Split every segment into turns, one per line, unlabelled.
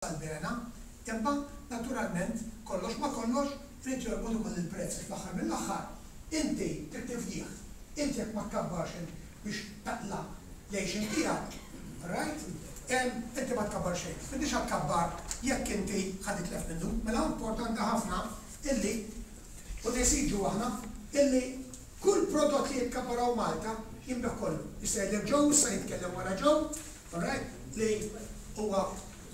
tal-bena, imma naturalment kollox ma' kollox irid jorbot ukoll il-prezz għax fl-aħħar mill-aħħar inti trid tifdih. Inti jekk ma tkabbarx biex taqla' l-għixien tiegħek, alright, inti ma tkabbar xejn. M'intix ħa tkabbar jekk inti ħa titlef minnu. Mela importanti ħafna illi, u nesiġu aħna, illi kull prodott li jitkabbar hawn Malta jinbiegħ kollu. Jista' jgħidlek Joe, issa jitkellem wara Joe, alright, li huwa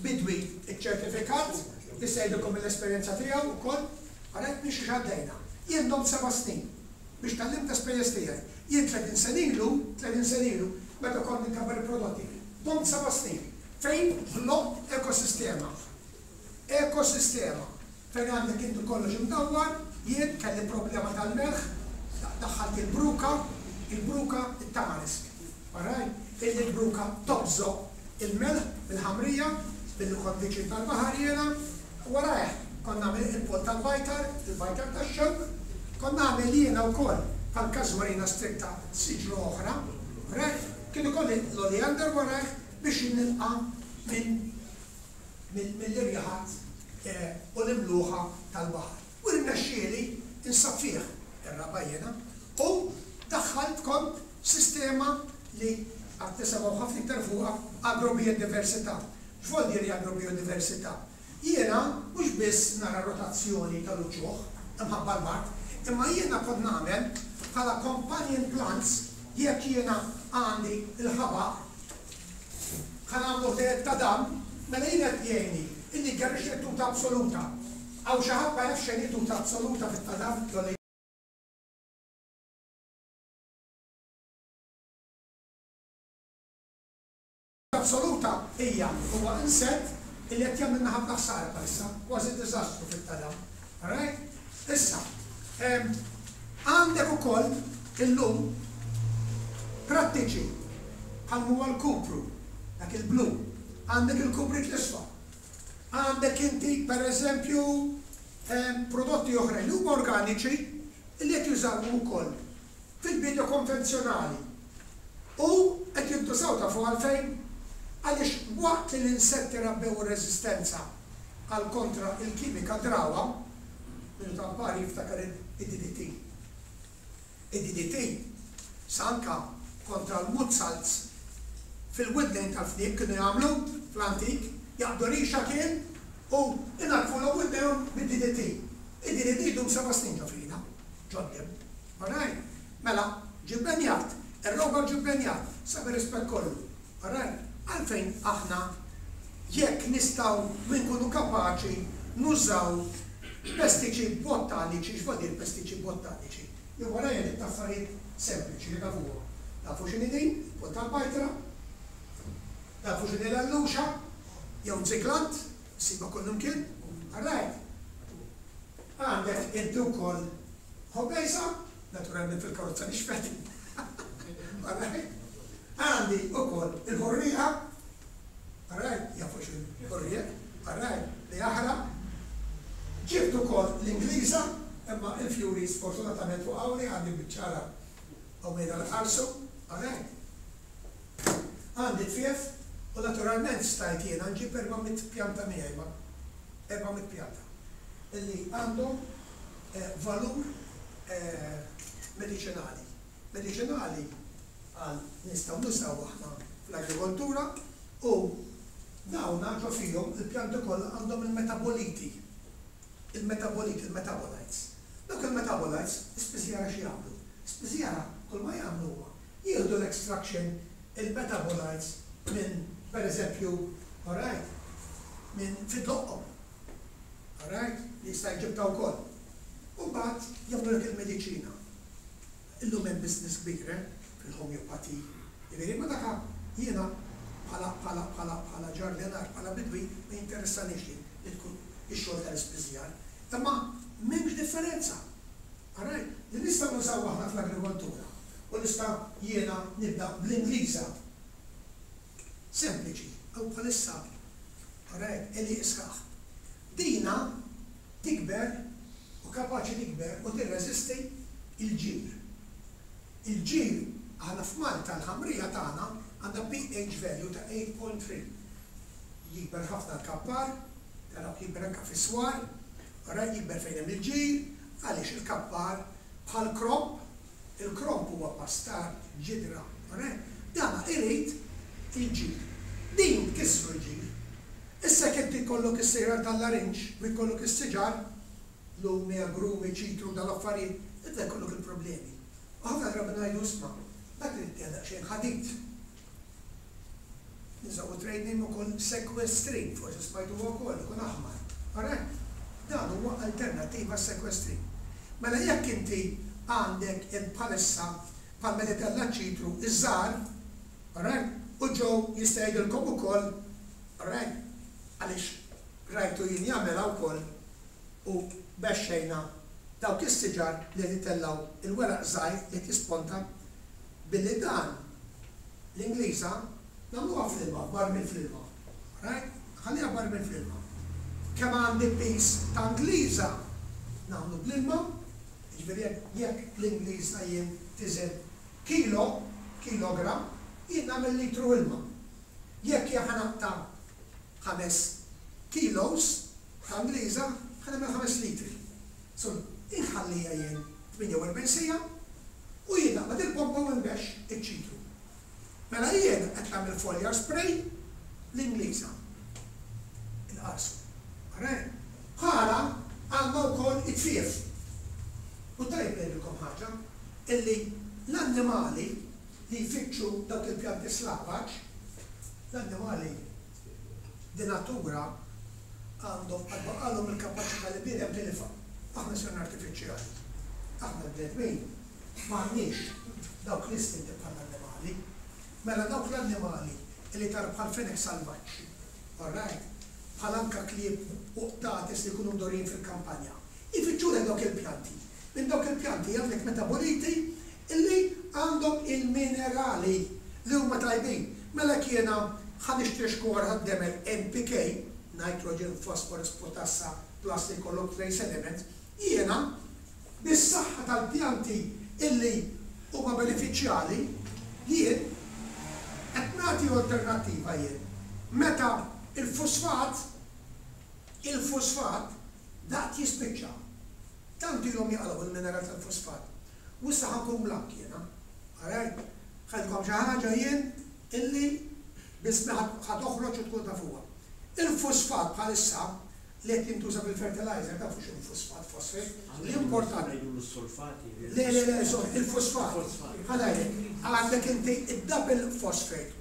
bidwi ċċertifikat, jista' jgħidilkom mill-esperjenza tiegħu wkoll, alright, minn xiex għaddejna. Jien domt seba' snin biex tgħallimt l-esperjenza tiegħi. Jien 30 sena ilu, 30 sena ilu, meta kont inkabbar il-prodotti, domt seba' snin fejn ħloqt ekosistema. Ekosistema. Fejn għandek inti kollox imdawwar, jien kelli problema tal-melħ, daħħalt il-bruka, il-bruka it-tamarisk. Alright? Illi l-bruka tobżoq il-melħ mill-ħamrija, billi kont viċin tal-baħar jiena, warajh kont nagħmel il-poll tal-bajtar, il-bajtar tax-xewk, kont nagħmel jiena wkoll bħall-casuarina stricta siġra oħra, alright? Kien ikolli l-oleander warajh biex nilqa' minn mill-irjaħat u l-imluħa tal-baħar. U rnexxieli nsaffih ir-raba' jiena u daħħalt kont sistema li għad nisimgħu ħafna iktar fuqha, agrobiodiversità. X'vol dire agrobiodiversità? Jiena mhux biss nara rotazzjoni tal-uċuħ imħabba l-mard, imma jiena kont nagħmel bħala companion plants jekk jiena għandi l-ħabaq, Ħa nagħmlu ħdejjed ta' dam, mela jien qed jgħinni illi jgerrixli t-tuta absoluta. Hawn xi ħadd ma jafx x'inhi tuta absoluta fit-tadam jew li Absoluta hija huwa insett illi qed jagħmilna ħafna ħsara bħalissa, kważi diżastru fit-tadam. Alright? Issa, għandek ukoll illum prattiċi bħal m'huwa l-kupru, dak il-blu, għandek il-kubrit l-isfar. Għandek inti, per eżempju, prodotti oħrajn li huma organiċi li qed jużawhom ukoll fil-biedja konvenzjonali u qed jintużaw tafu għalfejn? Għaliex waqt li l-insetti rabbew ir-reżistenza għal kontra il-kimika drawha, min hu tampar jiftakar id-DDT. Id-DDT sa anka kontra l-muzzalz fil-widnejn tal-fniek kienu jagħmlu fl-antik, jaqbdu rixa kien u inaddfulhom widnejhom bid-DDT. Id-DDT jdum seba' snin ġo fina, ġod-demm. Alright? Mela, ġie bbenjat, ir-rover ġie bbenjat, sa bir-rispett kollu. Alright? Għalfejn aħna jekk nistgħu u nkunu kapaċi nużaw pestiċi bottaniċi, x'vuol dir pestiċi bottaniċi? Jien warajja ġibt affarijiet sempliċi li tafuhom. Tafu x'inhi din? Il-pont tal-bajtra. Tafu x'inhi l-alluxa? Jew ziglant, issibha kullimkien. Alright? Għandek inti wkoll ħobejsa, naturalment fil-karozza nixfet. Alright? Għandi wkoll il-ħurrieqa, alright, jafu x'inhu ħurrieq, alright, li jaħraq. Ġibt ukoll l-Ingliża, imma il-fjuri sfortunatament waqgħuli għandi biċċa ara hawn qiegħda l-ħarsu, alright. Għandi tfief u naturalment stajt jiena nġib 400 pjanta miegħi ma 400 pjanta li għandhom valur mediċinali. Mediċinali għal nistgħu nużaw aħna fl-agrikoltura u dawna ġo fihom il-pjanti kollha għandhom il-metaboliti. Il-metaboliti, il-metabolites. Dawk il-metabolites, ispiżjara x'jagħmlu? Spiżjara kull ma jagħmlu huma jieħdu l-extraction il-metabolites minn pereżempju, alright, minn fi dloqqhom. Alright? Li jista' jġibtha wkoll. U mbagħad jagħmlulek il-mediċina. Illum hemm business kbir, eh, fil-homeopathy. Jiġifieri ma dak jiena bħala bħala bħala bħala ġardinar, bħala bidwi ma jinteressanix li li tkun ix-xogħol tal-ispiżjar. Imma m'hemmx differenza. Alright? Li nistgħu nużaw aħna fl-agrikoltura u nista' jiena nibda bl-Ingliża. Sempliċi, hawn bħalissa, alright, għelieq sħaħ. Dina tikber u kapaċi tikber u tirreżisti l-ġir. Il-ġir, aħna f'Malta l-ħamrija tagħna għandha pH value ta' 8.3. Jikber ħafna l-kappar. Tarawh jikber anke fis-swar, alright, jikber fejn hemm il-ġir, għaliex il-kappar bħall-kromb, il-kromb huwa pastar, ġidra, alright, dana irid il-ġir. Din tkissru l-ġir. Issa jekk inti jkollok is-siġar tal-larinġ u jkollok is-siġar, lumi, agrumi, ċitru, dawn l-affarijiet, tibda jkollok il-problemi. U ħafna drabi ngħidu isma', dak irid tiegħu daqsxejn ħadid. Nużaw it-trade name ukoll sequestrin, forsi smajtuha wkoll, ikun aħmar. Alright? Dan huwa alternattiva għas-sequestrin. Mela jekk inti għandek int bħalissa bħal meta jtella' ċ-ċitru iż-żgħar, alright, u Joe jista' jgħidilkom ukoll, alright, għaliex rajtu jien jagħmilha wkoll u bexxejna dawk is-siġar li qed itellgħu il-weraq żgħir li qed jisponta billi dan l-Ingliża nagħmluha fl-ilma, f'barmil fl-ilma. Alright? Nħalliha barmil fl-ilma. Kemm għandi piż ta' Ingliża nagħmlu bl-ilma, jiġifieri jekk jekk l-Ingliża jien tiżen kilo, kilogramm, jien nagħmel litru ilma. Jekk jien ħa naqta' 5 kilos ta' Ingliża, ħa nagħmel 5 litri. So, inħalliha jien 48 siegħa u jien naqbad il-pompa u nbexx iċ-ċitru. Mela jien qed nagħmel foliar spray l-Ingliża. Il-qarsu. Alright? Bħala għandna wkoll it-tfief. U tajjeb ngħidilkom ħaġa, illi l-annimali li jfittxu dawk il-pjanti slavaġ, l-annimali di natura għandhom għad baqalhom il-kapaċità li bniedem tilifha. Aħna sirna artifiċjali. Aħna l-bnedmin m'għandniex dawk l-istinti bħall-annimali. Mela dawk l-annimali li tara bħal fenek salvaġġ, alright, bħal anka klieb u qtates li jkunu mdorrijin fil-kampanja, ifittxulek dawk il-pjanti. Minn dawk il-pjanti għandek metaboliti illi għandhom il-minerali li huma tajbin. Mela jekk jiena ħa nixtri xkora tad-demel NPK, nitrogen, phosphorus, potassa, plus li jkollok trace elements, jiena bis-saħħa tal-pjanti illi huma benefiċjali, jien qed nagħti alternattiva jien. Meta il-fosfat, il-fosfat daqt jispiċċa. Tant ilhom jaqalgħu il-mineral tal-fosfat. U issa ħa nkun blank jiena. Alright? Ħa ngħidilkom xi ħaġa jien illi biss ħa toħroġ u tkun tafuha. Il-fosfat bħalissa li qed jintuża fil-fertilizer, tafu x'inhu fosfat, phosphate, l-importanti.
Ngħidulu s-sulfati.
Le, le, le, sorry, il-fosfat. Ħa ngħidlek, għandek inti id-double phosphate,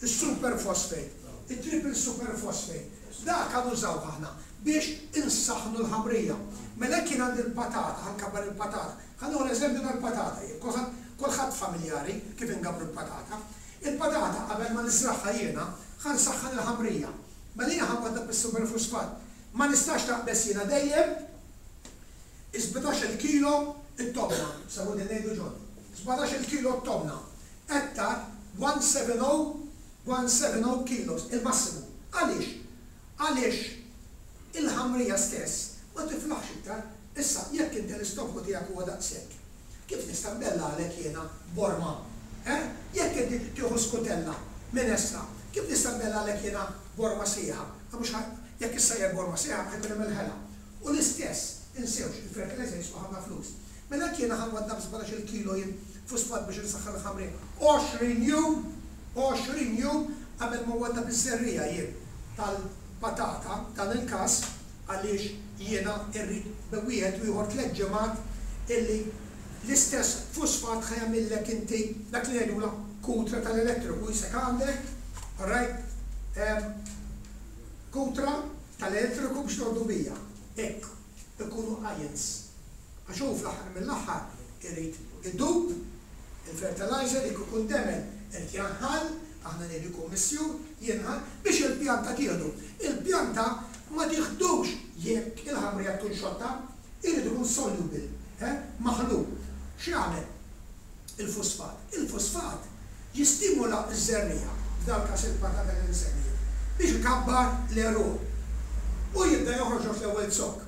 il-super phosphate, il-triple super phosphate. Dak għan użaw aħna biex insaħnu l-ħamrija. Mela kien għandi l-patata, ħa nkabbar il-patata. Ħa nieħu l-eżempju tal-patata, jien kulħadd familjari kif ingabru l-patata. Il-patata qabel ma niżragħha jiena, ħa nsaħħan il-ħamrija. Mela jiena ħa nwaddab is-super fosfat. Ma nistax naqbeż jiena dejjem 17 kilo it-tomna, sabu din ngħidu ġon. 17 kilo t-tomna. Ettar 170 170 kilos, il-massimu. Għaliex? Għaliex il-ħamrija stess ma tiflaħx iktar. Issa, jekk inti l-istonku tiegħek huwa daqshekk, kif nista' nbellagħlek jiena borma? Eh? Jekk inti tieħu skutella minestra, kif nista' nbellagħlek jiena borma sħiħa? Mhux jekk issajjar borma sħiħa ħa jkun hemm il-ħela. U l-istess, insewx, il-fertilizer jiswa ħafna flus. Mela jekk jiena ħa nwaddab 17 kilo jien fosfat biex insaħħan il-ħamrija, 20 jum, 20 jum qabel ma waddab iż-żerriegħa jien tal-patata, dan il-każ, għaliex jiena irrid wieħed u ieħor 3 ġimgħat illi l-istess fosfat ħa jagħmillek inti dak li ngħidula kutra tal-elettriku jisek għandek, alright, kutra tal-elettriku biex tordu bija. Hekk, ikunu ions. Għax hu fl-aħħar mill-aħħar irid idub, il-fertilizer jekk ikun demel irid janħal, aħna ngħidu jkun missjur, jinħal biex il-pjanta tieħdu. Il-pjanta ma tieħdux jekk il-ħamrija tkun xotta, irid ikun soluble, eh, maħlul. X'jagħmel il-fosfat? Il-fosfat jistimula ż-żerriegħa, f'dal każ il-patata li nsemmi, biex ikabbar l-għeruq. U jibda joħroġ l-ewwel zokk.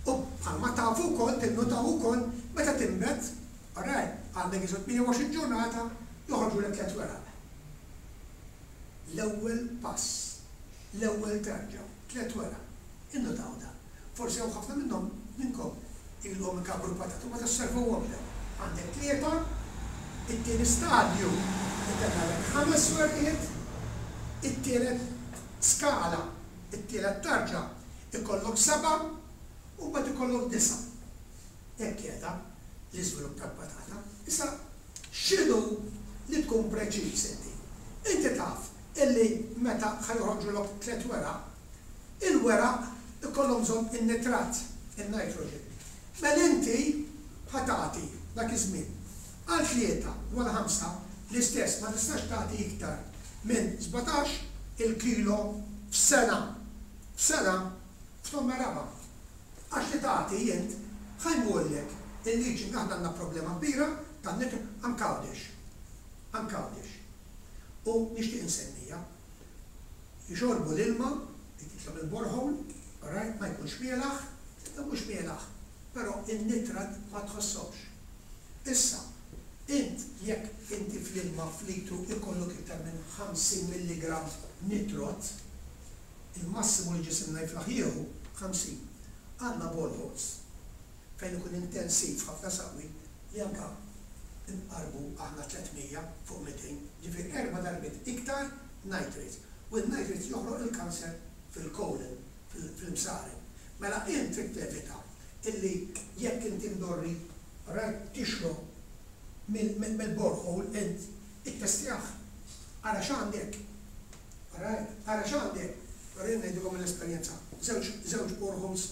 U bħalma tafu wkoll, tinnutaw ukoll, meta tinbet, alright, għandek isu 28 ġurnata, joħorġulek tliet weraq. L-ewwel pass, l-ewwel tarġa, tliet weraq. Innutaw dan. Forsi hawn ħafna minnhom minnkom ilhom ikabbru l-patata u ma tosservawhomx dawn. Għandek tlieta, it-tieni stadju itellgħalek ħames werqiet, it-tielet skala, it-tielet tarġa ikollok sebgħa u mbagħad ikollok disgħa. Hekk qiegħda l-iżvilupp tal-patata. Issa x'inhu li tkun preċiż inti? Inti taf illi meta ħa joħorġulok tlett weraq, Il-weraq ikollhom bżonn in-nitrat, in-nitrogen. Mela inti ħa tagħti dak iż-żmien għal tlieta u għal ħamsa l-istess, ma tistax tagħti iktar minn 17 il-kilo f'sena. F'sena, f'tomma raba'. Għax li tagħti int ħa jmurlek il-leaching, aħna għandna problema kbira tan-nitro anke Għawdex. Anke Għawdex. U nixtieq insemmija. Jixorbu l-ilma li titla' mill-borehole, alright, ma jkunx mielaħ, iżda mhux mielaħ, però in-nitrat ma tħossokx. Issa, int jekk inti fl-ilma f'litru ikollok iktar minn 50 milligramm nitrot, il-massimu li ġisimna jiflaħ jieħu 50. Għandna boreholes fejn ikun intensiv ħafna saqwi li anke nqarrbu aħna 300 fuq 200, ġifieri erba' darbiet iktar nitrates. U n-nitrates joħloq il-kanser fil-colon, fil-msaren. Mela int trid tevita illi jekk inti mdorri, alright, tixrob mill-borehole int ittestjah. Ara x'għandek. Alright, ara x'għandek. Però jien ngħidilkom mill-esperjenza, żewġ żewġ boreholes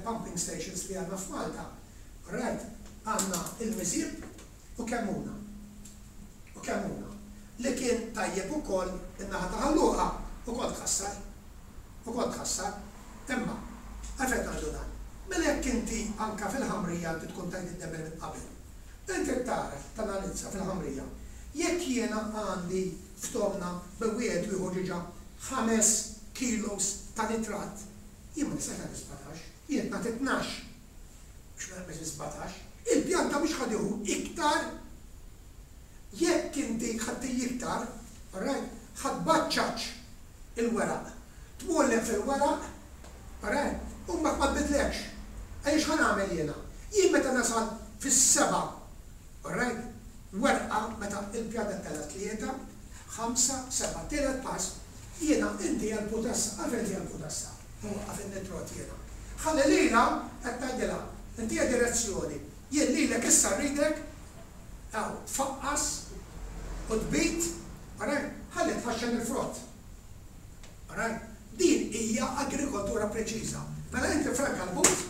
pumping stations li għandna f'Malta, Alright, għandna il-Miżieb u Kemmuna. U Kemmuna. Li kien tajjeb ukoll in-naħa ta' Ħal Luqa ukoll tħassar. Ukoll tħassar. Imma, għalfejn qed ngħidu dan? Mela jekk inti anke fil-ħamrija inti tkun tajt id-demel minn qabel, inti trid tara, tanalizza fil-ħamrija, jekk jiena għandi f'tomna bejn wieħed u ieħor diġà ħames kilos ta' nitrat, jien ma nistax nagħti 17, jien qed nagħti 12. Biex ma naqbeż is-17. Il-pjanta mhux ħa tieħu iktar. Jekk inti ħa ttihi iktar, alright, ħa tbaċċaċ il-weraq. Tmurlek fil-weraq, alright, u mbagħad ma tbidlekx. Għaliex x'ħa nagħmel jiena? Jien meta nasal fis-seba', alright, werqa meta l-pjanta ttella' tlieta, ħamsa, seba', tielet pass, jiena intiha l-putassa. Għalfejn intiha l-putassa? Nwaqqaf in-nitrot jiena. Ħalli lilha qed tgħidilha, intiha direzzjoni, jien lilek issa rridek hawn tfaqqas u tbid, alright, ħalli tħaxxen il-frott. Alright? Din hija agrikoltura preċiża. Mela inti franka l-but,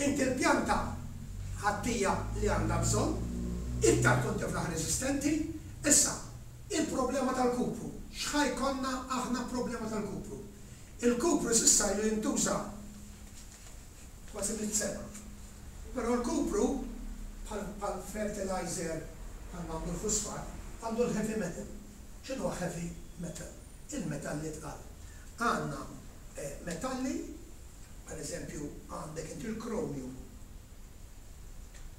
inti l-pjanta ħadtija li għandha bżonn, iktar tkun tiflaħ reżistenti. Issa, il-problema tal-kupru, x'ħa jkollna aħna problema tal-kupru? Il-kupru s'issa ilu jintuża kważi mitt sena. Però l-kupru, bħal bħal fertilizer bħalma għandu l-fosfat, għandu l-heavy metal. X'inhuwa heavy metal? Il-metalli tqal. Għandna metalli, per eżempju għandek inti l-chromium,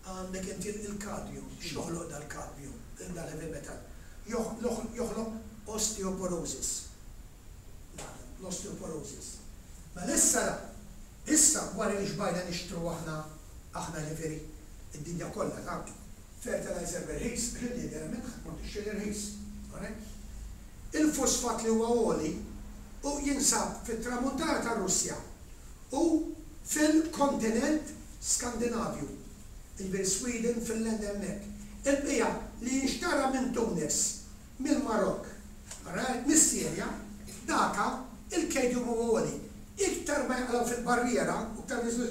għandek inti l-cadmium. X'joħloq dal-cadmium, dal-heavy metal? Joħloq osteoporosis. l-osteoporosis. Mela issa la, issa wara li xbajna nixtru aħna, aħna jiġifieri d-dinja kollha ta' fertilizer b'irħis, għax inti idealment ħa tmur tixtri l-irħis, alright? Il-fosfat li huwa għoli u jinsab fit-tramuntana tar-Russja u fil-kontinent Skandinavju, jiġifieri Sweden, Finland hemmhekk. Il-bqija li jinxtara minn Tunis mill-Marokk, alright, mis-Sirja, daka il-cadmium huwa għoli. Iktar ma jaqlgħu fil-barriera, u iktar ma jiżlu,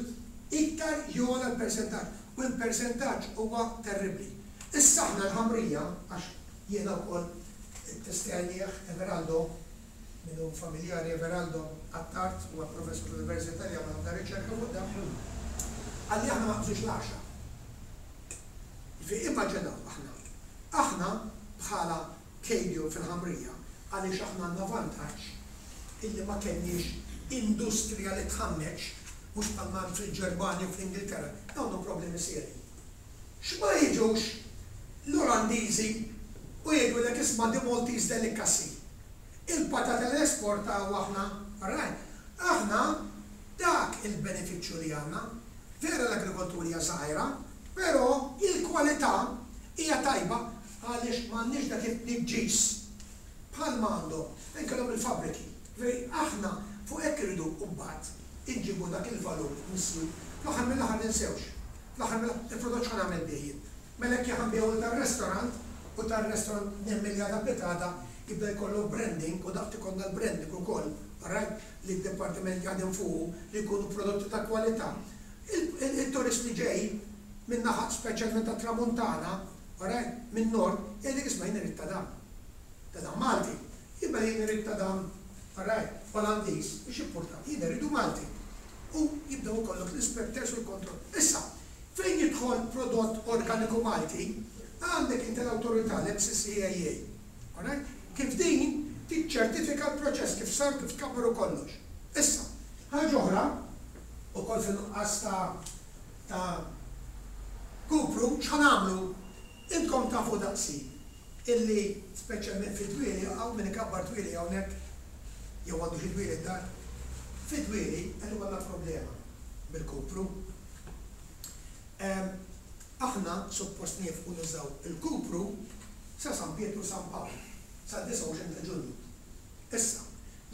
iktar jogħla l-persentaġġ, u l-persentaġġ huwa terribbli. Issa aħna l-ħamrija, għax jiena wkoll ittestjajnieh, Everaldo, min hu familjari Everaldo Attard, huwa professur fl-Università li għamel ħafna riċerka fuq dan, qalli aħna ma naqbżux l-għaxra. Jiġifieri immaġinaw aħna Aħna, bħala Kejdium fil-ħamrija, għaliex aħna għandna vantaġġ illi ma kellniex industrija li tħammeġ, mhux bħalma hemm fil-Ġermanja u fl-Ingilterra, dawn għandhom problemi serji. X'ma jiġux l-Olandiżi u jgħidulek isma' the Maltese delicacy, il-patata li nesportaw aħna, alright, aħna. il-benefiċċju li għandna. Vera l-agrikoltura hija żgħira, però il-kwalità hija tajba għaliex m'għandniex dak it-tniġġis bħalma għandhom fejn kellhom il-fabbriki. Jiġifieri aħna fuq hekk irridu mbagħad inġibu dak il-valur miżjud. Fl-aħħar mill-aħħar ninsewx, fl-aħħar mill-aħħar il-prodott x'ħa nagħmel bih jien? Mela jekk jien ħa nbigħu lil tar-restaurant u tar-restaurant nemmen li għada pitgħada jibda jkollu branding u daqt ikollna l-branding ukoll, alright, li d-dipartiment jaħdem fuqu li jkunu prodotti ta' kwalità. Il-turist li ġej min-naħa speċjalment tat-Tramuntana, alright, min-Nord, jgħidlek isma' jien irrid ta' dan. Ta' dan Malti. Jien mela jien irrid ta' dan, alright, Olandiż, mhux importat, jien irridu Malti. U jibdew ikollok l-inspectors u l-kontroll. Issa, Fejn jidħol prodott organiku Malti, għandek inti l-awtorità, l-MCCAA, alright, kif din tiċċertifika l-proċess kif sar, kif tkabbar u kollox. Issa, ħaġa oħra, ukoll fin-nuqqas ta' ta' kupru, x'ħa nagħmlu? Intkom tafu daqsi illi speċjalment fid-dwieli, hawn min ikabbar dwieli hawnhekk jew għandu xi dwieli d-dar? Fid-dwieli qed ikollna problema bil-kupru. Aħna suppost niefqu nużaw il-kupru sa San Pietru u San Pawl, sad-29 ta' Ġunju. Issa,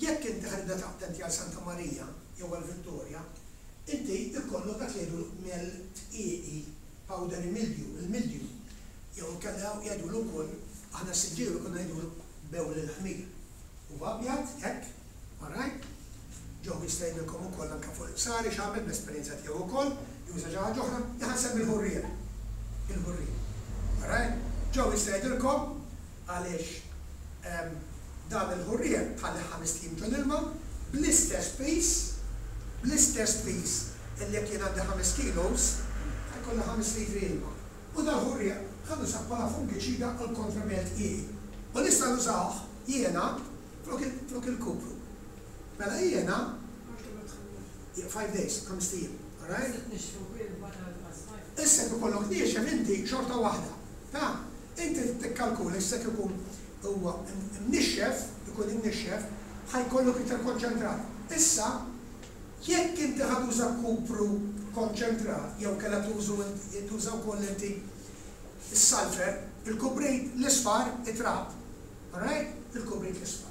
jekk inti ħa tibda taqta' inti għal Santa Marija jew għal Vittoria, inti jkollok dak li jgħidulu mel tqieqi, powdery mildew, il-mildew, jew inkella jgħidulu wkoll, aħna s-Siġġiewi konna ngħidulu bewl il-ħmir. Huwa abjad, hekk, All right? Joe jista' jgħidilkom ukoll anke fuq il-qsari x'għamel bl-esperjenza tiegħu wkoll, juża xi ħaġa oħra, jien ħa nsemmi l-ħurrieq. Il-ħurrieq. All right? Joe jista' jgħidilkom għaliex dan il-ħurrieq tħallih ħamest ijiem ġol-ilma bl-istess piż, bl-istess piż illi jekk jien għandi ħames kilos, ħa jkolli ħames litri ilma. U dal-ħurrieq ħa nużah bħala fungiċida għal kontra mel tqieqi. U nista' nużah jiena Flok il flok il-kupru. Mela jiena.
Għax kemm qed tħallih?
5 days, ħamest ijiem. Alright?
Se tnixxfu bil wara l-qasma.
Issa jekk ikollok niexef inti xorta waħda. Ta? Inti trid tikkalkula issa jekk ikun huwa mnixxef, ikun imnixxef, ħa jkollok iktar konċentrat. Issa jekk inti ħa tuża kupru konċentrat jew kellha tużu tuża wkoll inti s-sulfur, il-kubrit l-isfar, it-trab, Alright? Il-kubrit l-isfar.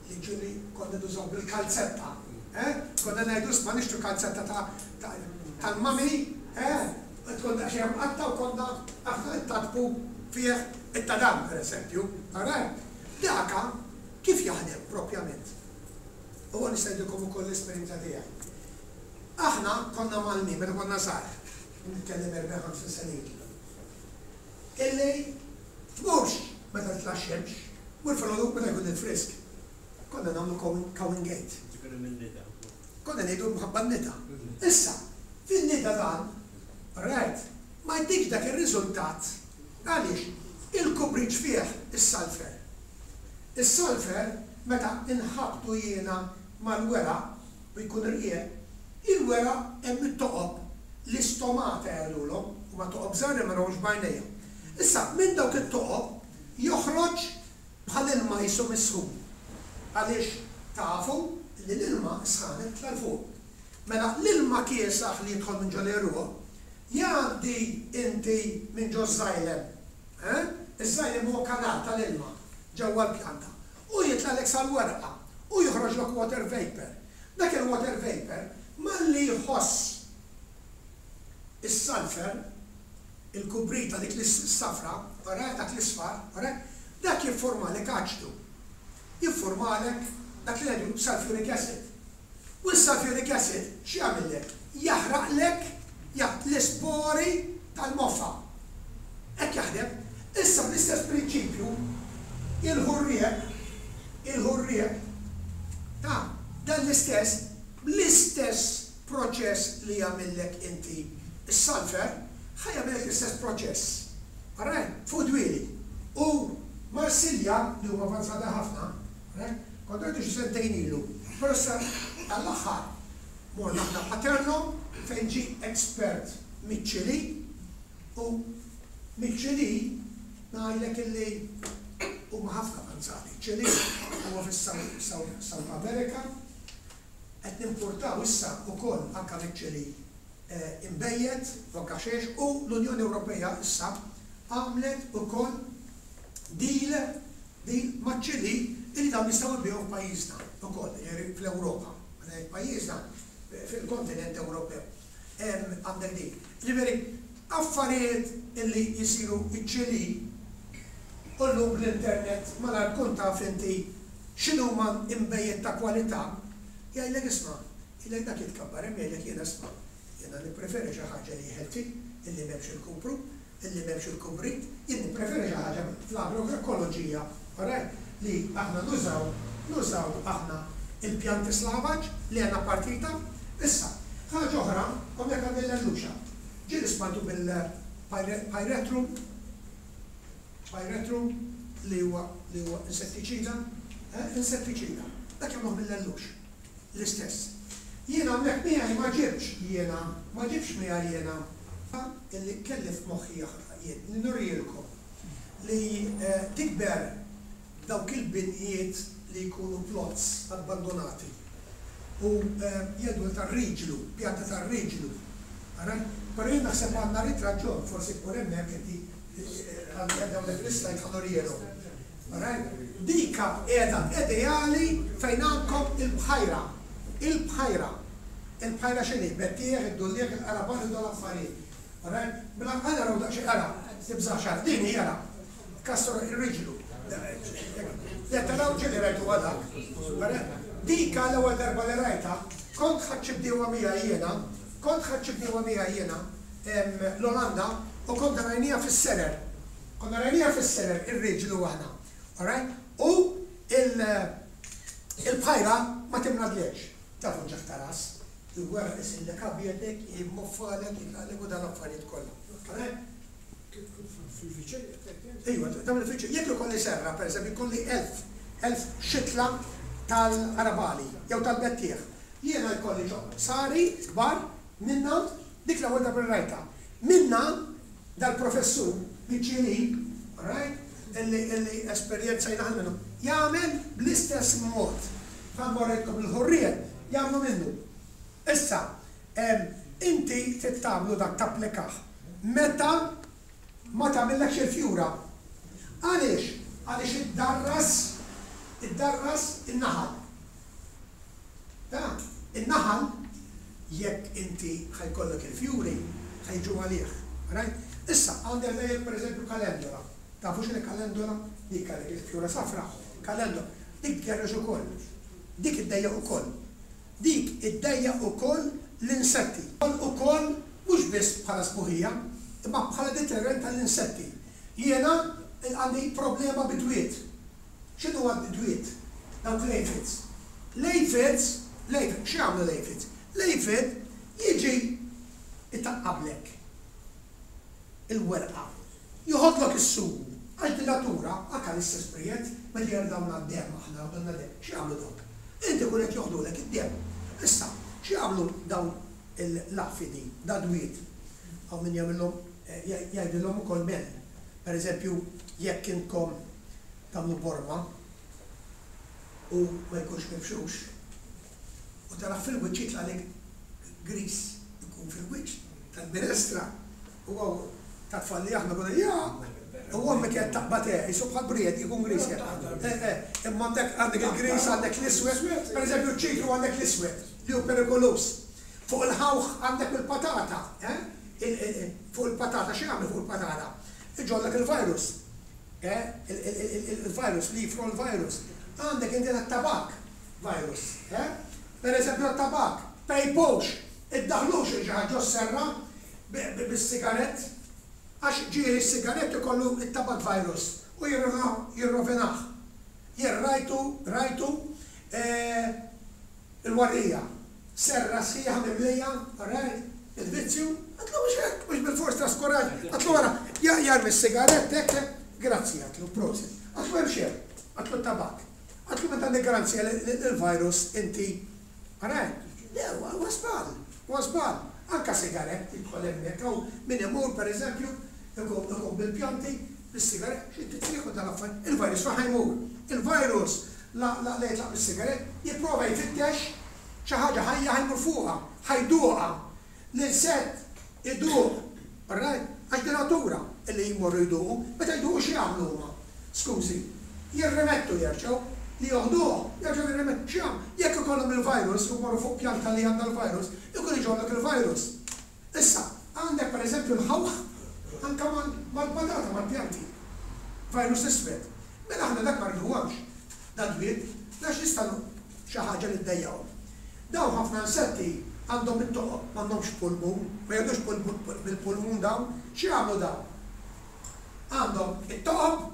Li ġieli konna nużaw bil-kalzetta. Eh? Konna ngħidu isma' nixtru kalzetta ta' tal-mummy, eh? Tkun daqsxejn mqatta' u konna aħna ntatbu fih it-tadam, pereżempju. Alright? Daka kif jaħdem propjament? U nista' ngħidilkom ukoll l-esperjenza tiegħi. Aħna konna mgħallmin meta konna żgħar, nitkellem 40, 50 sena ilu. Illi tmurx meta titla' x-xemx, mur filgħodu meta jkun il-frisk. Konna nagħmlu cowing gate.
Ġifieri min-nida.
Konna ngħidu mħabba n-nida. Issa, fin-nida dan, alright, ma jtikx dak ir-riżultat. Għaliex? Il-kubriċ fih is-sulphur. Is-sulphur meta inħabbtu jiena mal-weraq u jkun irqiegħ, il-weraq hemm it-toqob L-istomata jgħidulhom, huma toqob żgħar li ma narahomx b'għajnejja. Issa, minn dawk it-toqob joħroġ bħal ilma qisu misħun. Għaliex tafu li l-ilma s-sħana titla' 'l fuq. Mela l-ilma kiesaħ li jidħol minn ġol-għeruq jgħaddi inti minn ġoż-xylem. Eh? Iż-xylem huwa kanal tal-ilma ġewwa l-pjanta. U jitlagħlek sal-werqa u joħroġlok water vapour. Dak il-water vapour malli jħoss is-sulphur, il-kubrita dik l-safra, alright, dak l-isfar, alright, dak jifformalek aċidu. Jifformalek dak li ngħidulu sulphuric acid. U s-sulphuric acid x'jagħmillek? Jaħraqlek l-ispori tal-moffa. Hekk jaħdem. Issa bl-istess prinċipju, il-ħurrieq, il-ħurrieq, ta' dan l-istess, bl-istess proċess li jagħmillek inti s-sulphur, ħa jagħmillek l-istess proċess. Alright? Fuq dwieli. U Marsilja, li huma avanzati ħafna, alright, kont rajtu xi sentejn ilu, però issa tal-aħħar morna aħna Paterno fejn ġie expert miċ-Ċilì, U miċ-Ċilì ngħidlek illi huma ħafna avanzati. Ċilì huwa fis-South America. Qed nimpurtaw issa wkoll anke miċ-Ċilì inbejjed u anke ħxejjex u l-Unjoni Ewropea issa għamlet ukoll deal deal maċ-Ċilì illi dawn jistgħu jbigħu f'pajjiżna wkoll, jiġifieri fl-Ewropa. Meta ngħid pajjiżna, fil-kontinent Ewropew. Għandek dik. Jiġifieri affarijiet illi jsiru ċ-Ċilì u llum bl-internet malajr tkun taf inti x'inhuma inbejjed ta' kwalità, jgħidlek isma', jgħidlek dak jitkabbar hemm jgħidlek jiena isma' jiena nippreferi xi ħaġa li hi healthy, illi m'hemmx il-kupru, illi m'hemmx il-kubrit, jien nippreferi xi ħaġa fl-agroekoloġija, alright, li aħna nużaw, nużaw aħna il-pjanti slavaġ li għandna partita. Issa, ħaġa oħra, hawnhekk għandi l-lelluxa. Ġieli smajtu bil-pyretrum? Pyretrum li huwa li huwa insettiċida, eh, insettiċida. Dak jagħmluh bil-lellux. L-istess. Jiena hawnhekk miegħi ma ġibtx jiena, ma ġibtx miegħi jiena illi kelli f'moħħi jien li nurielkom li tikber dawk il-binjiet li jkunu plots abbandonati u jgħidulha tar-riġlu, pjanta tar-riġlu. Alright? Però jien naħseb għandna ritratt ġo, forsi tmur hemmhekk inti għandi hawnhekk l-islide ħa nurielhom. Alright? Dika qiegħda ideali fejn għandkom il-bħajra. Il-bħajra. Il-bħajra x'inhi? Bettieħ, id-dulliegħ, il-qaraban u dawn l-affarijiet. Alright? Mela ħa naraw daqsxejn, ara, tibżax ara, din hi ara. Kastor ir-riġlu. Le taraw ġieli rajtuha dak. Dika l-ewwel darba li rajtha, kont ħadt xi bdiewa miegħi jiena, kont ħadt xi bdiewa miegħi jiena l-Olanda u konna rajniha fis-serer. Konna rajniha fis-serer ir-riġlu aħna. Alright? U il-bħajra ma timradlekx. Tafu ġaħ ta' ras. Il-weraq isirlek abjad hekk, jimmoffalek, jitlaqlek u dan l-affarijiet kollha. Alright?
Fil-viċin qed tgħid int?
Ejwa, tagħmel il-viċin. Jekk ikolli serra, pereżempju, jkolli 1000, 1000 xitla tal-qarabali jew tal-bettieħ, jiena jkolli ġo qsari kbar minnha, dik l-ewwel darba li rajtha, minnha dal-professur miċ-Ċilì, all right, illi illi esperjenzajna aħna minnu, jagħmel bl-istess mod bħalma urejtkom il-ħurrien jagħmlu minnu. Issa, inti trid tagħmlu dak tapplikah meta ma tagħmillekx il-fjura. Għaliex? Għaliex iddarras, iddarras in-naħal. Ta? In-naħal jekk inti ħa jkollok il-fjuri ħa jiġu għalih. Right? Issa, għandek lejek pereżempju kalendola. Tafu x'inhi kalendola? Dik għalek il-fjura safra, kalendola. Dik tgerrex ukoll. Dik iddejjaq ukoll. Dik iddejjaq ukoll l-insetti. Ukoll mhux biss bħala sbuħija, imma bħala deterrent għall-insetti. Jiena għandi problema bid-dwiet. X'inhuwa d-dwiet? Dawk l-aphids. L-aphids, l-aphids, x'jagħmlu l-aphids? L-aphid jiġi jtaqqablek il-werqa. Joħodlok is-sugu, għax din natura, anke l-istess briegħed, meta jerdgħulna d-demm aħna joħdulna demm, x'jagħmlu dawk? Inti jkun qed joħdulek id-demm. Issa, x'jagħmlu dawn l-affidi, dadwiet? Hawn min jagħmilhom, jgħidilhom ukoll mel. Per eżempju, jekk intkom tagħmlu borma u ma jkunx mifxux, u tarah fil-wiċċ jitlagħlek griż, ikun fil-wiċċ tal-minestra. U hawn tat-tfal li aħna konna jaqq! U ommi kienet taqbad eh, qisu bħal bried, ikun griż hekk. Eh, eh, imma għandek għandek il-griż, għandek l-iswed, pereżempju ċ-ċitru għandek l-iswed li hu perikoluż. Fuq il-ħawħ għandek il-patata, eh, fuq il-patata x'jagħmel fuq il-patata? Iġollok il-virus, eh, il-virus, leaf roll virus. Għandek inti tat-tabakk virus, eh. Pereżempju tat-tabakk, pejpux, iddaħħlux il xi ħadd ġos-serra bis-sigarett, għax ġieli s-sigarett ikollu t-tabak virus u jirrovinah. Jien rajtu, rajtu l-warrija, serra sħiħa mimlija, alright, il-vizzju, għedtlu mhux hekk, mhux bilfors traskuraġ, għedtlu ara, jarmi s-sigarett hekk, grazzi għedtlu, prosit. Għedtlu hemm x'hemm, għedtlu t-tabak. Għedtlu meta għandek garanzija li l-virus inti Alright? Le, huwa żball, huwa żball. Anke sigarett jidħol hemmhekk, hawn min imur pereżempju ikun ikun bil-pjanti, bis-sigarett, xi tieħu dal-affarijiet, il-virus fejn ħa jmur? Il-virus la la la jitlaq mis-sigarett, jipprova jfittex Xi ħaġa ħajja ħa jmur fuqha, ħa jduqha. L-insett iduq, alright? Għax di natura illi jmorru jduqu. Meta jduqu x'jagħmlu huma? Skużi, jirrimettu jerġgħu, li joħduh, jerġgħu jirrimettu. X'jagħmlu? Jekk ikollhom il-virus u jmorru fuq pjanta li għandha l-virus, ikun iġorrlek il-virus. Issa, għandek pereżempju l-ħawħ anke mal-patata, mal-pjanti. Virus iswed. Mela aħna dak ma rriduhomx, dad-dwiet, għax jista' xi ħaġa li ddejjaqhom. Dawn ħafna insetti għandhom it-toqob, m'għandhomx pulmun, ma jgħaddux bil-pulmun dawn. X'jagħmlu dawn? Għandhom it-toqob,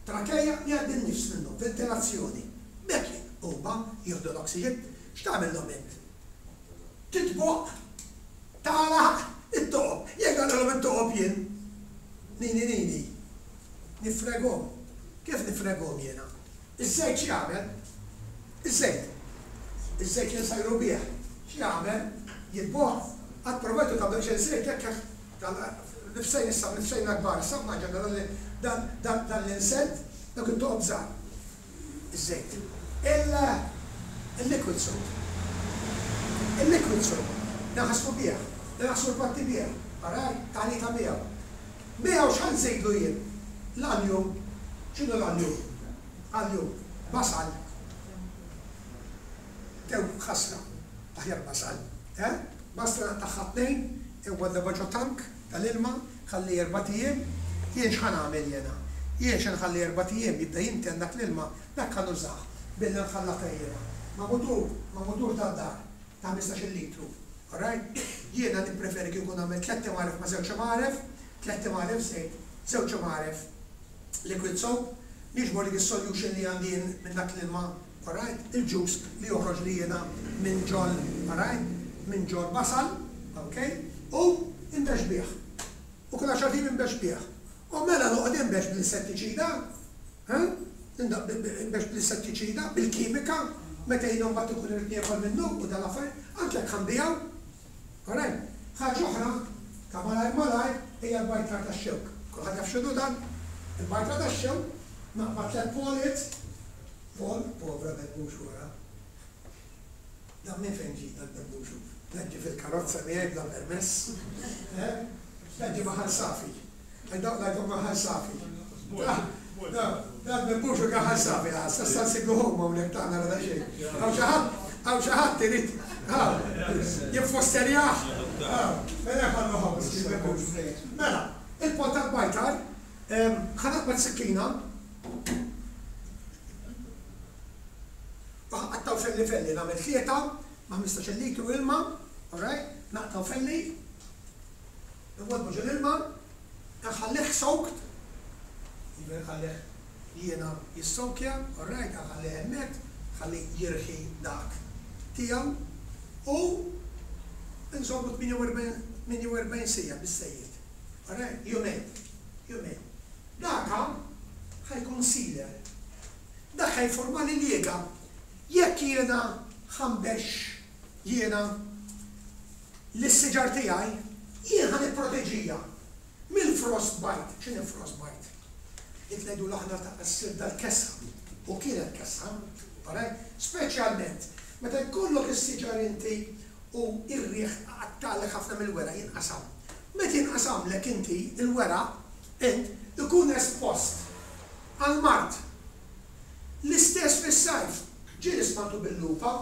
trakeja li jgħaddi n-nifs minnhom, ventilazzjoni. B'hekk huma jieħdu l-oksiġen. X'tagħmilhom int? Titboq, tagħlaq it-toqob. Jekk nagħlaqilhom it-toqob jien, nini nini, nifreghom. Kif nifreghom jiena? Iż-żejt x'jagħmel? Iż-żejt. Iż-żejt li nsajru bih x'jagħmel? Jitboħ. Qatt provajtu tagħmlu daqsxejn żejt hekk hekk nifsejn issa nifsejna kbar issa immaġina dan dan dan l-insett dawk it-toqob żgħar. Iż-żejt. Il il-liquid soap. Il-liquid soap. Naħslu bih. Naħslu l-patti bih. Alright? Taħlita miegħu. Miegħu x'ħa nżidlu jien? L-alju. X'inhu l-alju? Alju. Basal. Tew ħasra. Aħjar basal. Eh? Basla naqtagħha tnejn, inwaddabha ġo tank tal-ilma, ħalli erbat ijiem. Jien x'ħa nagħmel jiena? Jien xi nħalli erbat ijiem jibda jinten dak l-ilma, dak ħa nużah billi nħallatha jiena ma' mutur, ma' mutur tad-dar. ta' 15-il litru. Alright? Jiena nippreferi kieku nagħmel tlett imgħaref ma' żewġ imgħaref, tlett imgħaref żejt, żewġ imgħaref liquid soap, niġbor dik is-solution li għandi jien minn dak l-ilma, alright, il-juice li joħroġli jiena minn ġol, alright, minn ġol-basal, ok, u nbexx bih. U kull għaxart ijiem inbexx bih. U mela noqgħod inbexx bl-insettiċida? Ha? Inbexx bl-insettiċida, bil-kimika, meta jiena mbagħad inkun irrid niekol minnu u dal-affarijiet, anke jekk ħa nbigħu. Alright? Ħaġa oħra, ta' malajr malajr, hija l-bajtra tax-xewk. Kulħadd jaf x'inhu dan? Il-bajtra tax-xewk, naqbad tlett poliet, pol, povra bebbux wara. Dan minn fejn ġie dan bebbux? Dan ġie fil-karozza miegħi bla permess. Eh? Dan ġie ma' Ħal Safi. Ngħidilkom ma' Ħal Safi. Dan bebbux u Ħal Safi, sa issa nsibluhom hawnhekk ta' nara daqsxejn. Hawn xi ħadd, hawn xi ħadd irid jiffosterjah? Mela ħallu hawn miskin bebbux. Mela, il-pont tal-bajtar, ħa naqbad sikkina u ħa nqattgħu felli felli, nagħmel tlieta ma' 15-il litru ilma, all right, naqtgħu felli. Inwaddbu ġol-ilma, inħallih soaked, jiġifieri nħallih jiena jissowkja, alright, inħallih hemmhekk, nħalli jirħi dak tiegħu u nżommu 48 48 siegħa biżżejjed, alright, jumejn, jumejn. Daka ħa jkun sealer. Dak ħa jifformali liega. Jekk jiena ħa nbexx jiena Lis-siġar tiegħi jien ħa nipproteġiha mill-frostbite. X'inhi frostbite? Dik ngħidulha aħna ta' ssir dal-kesħa. U kienet kesħa, alright? Speċjalment meta jkollok is-siġar inti u r-riħ iqattagħlek ħafna mill-weraq jinqasam. Meta jinqasamlek inti l-weraq, int ikun espost għall-mard. L-istess fis-sajf. Ġieli smajtu bil-lupa?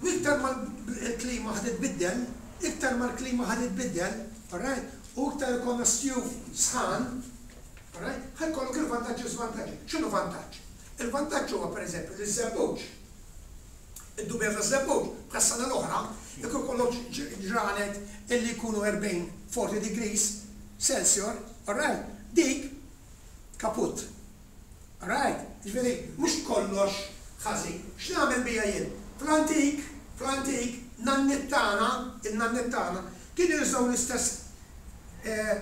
U iktar ma l-klima ħa titbiddel, iktar ma l-klima ħa titbiddel, alright, u iktar ikollna sjuf sħan, alright, ħa jkollok il-vantaġġi u żvantaġġi. X'inhu vantaġġ? Il-vantaġġ huwa pereżempju li ż-żebbuġ, id-dubja taż-żebbuġ, bħas-sena l-oħra, jekk ikollok ġranet illi jkunu 40, 40 degrees Celsior, alright, dik kaput. Right? Jiġifieri mhux kollox ħażin. X'nagħmel bija jien? Fl-antik, fl-antik, nanniet tagħna, in-nanniet tagħna, kienu jużaw l-istess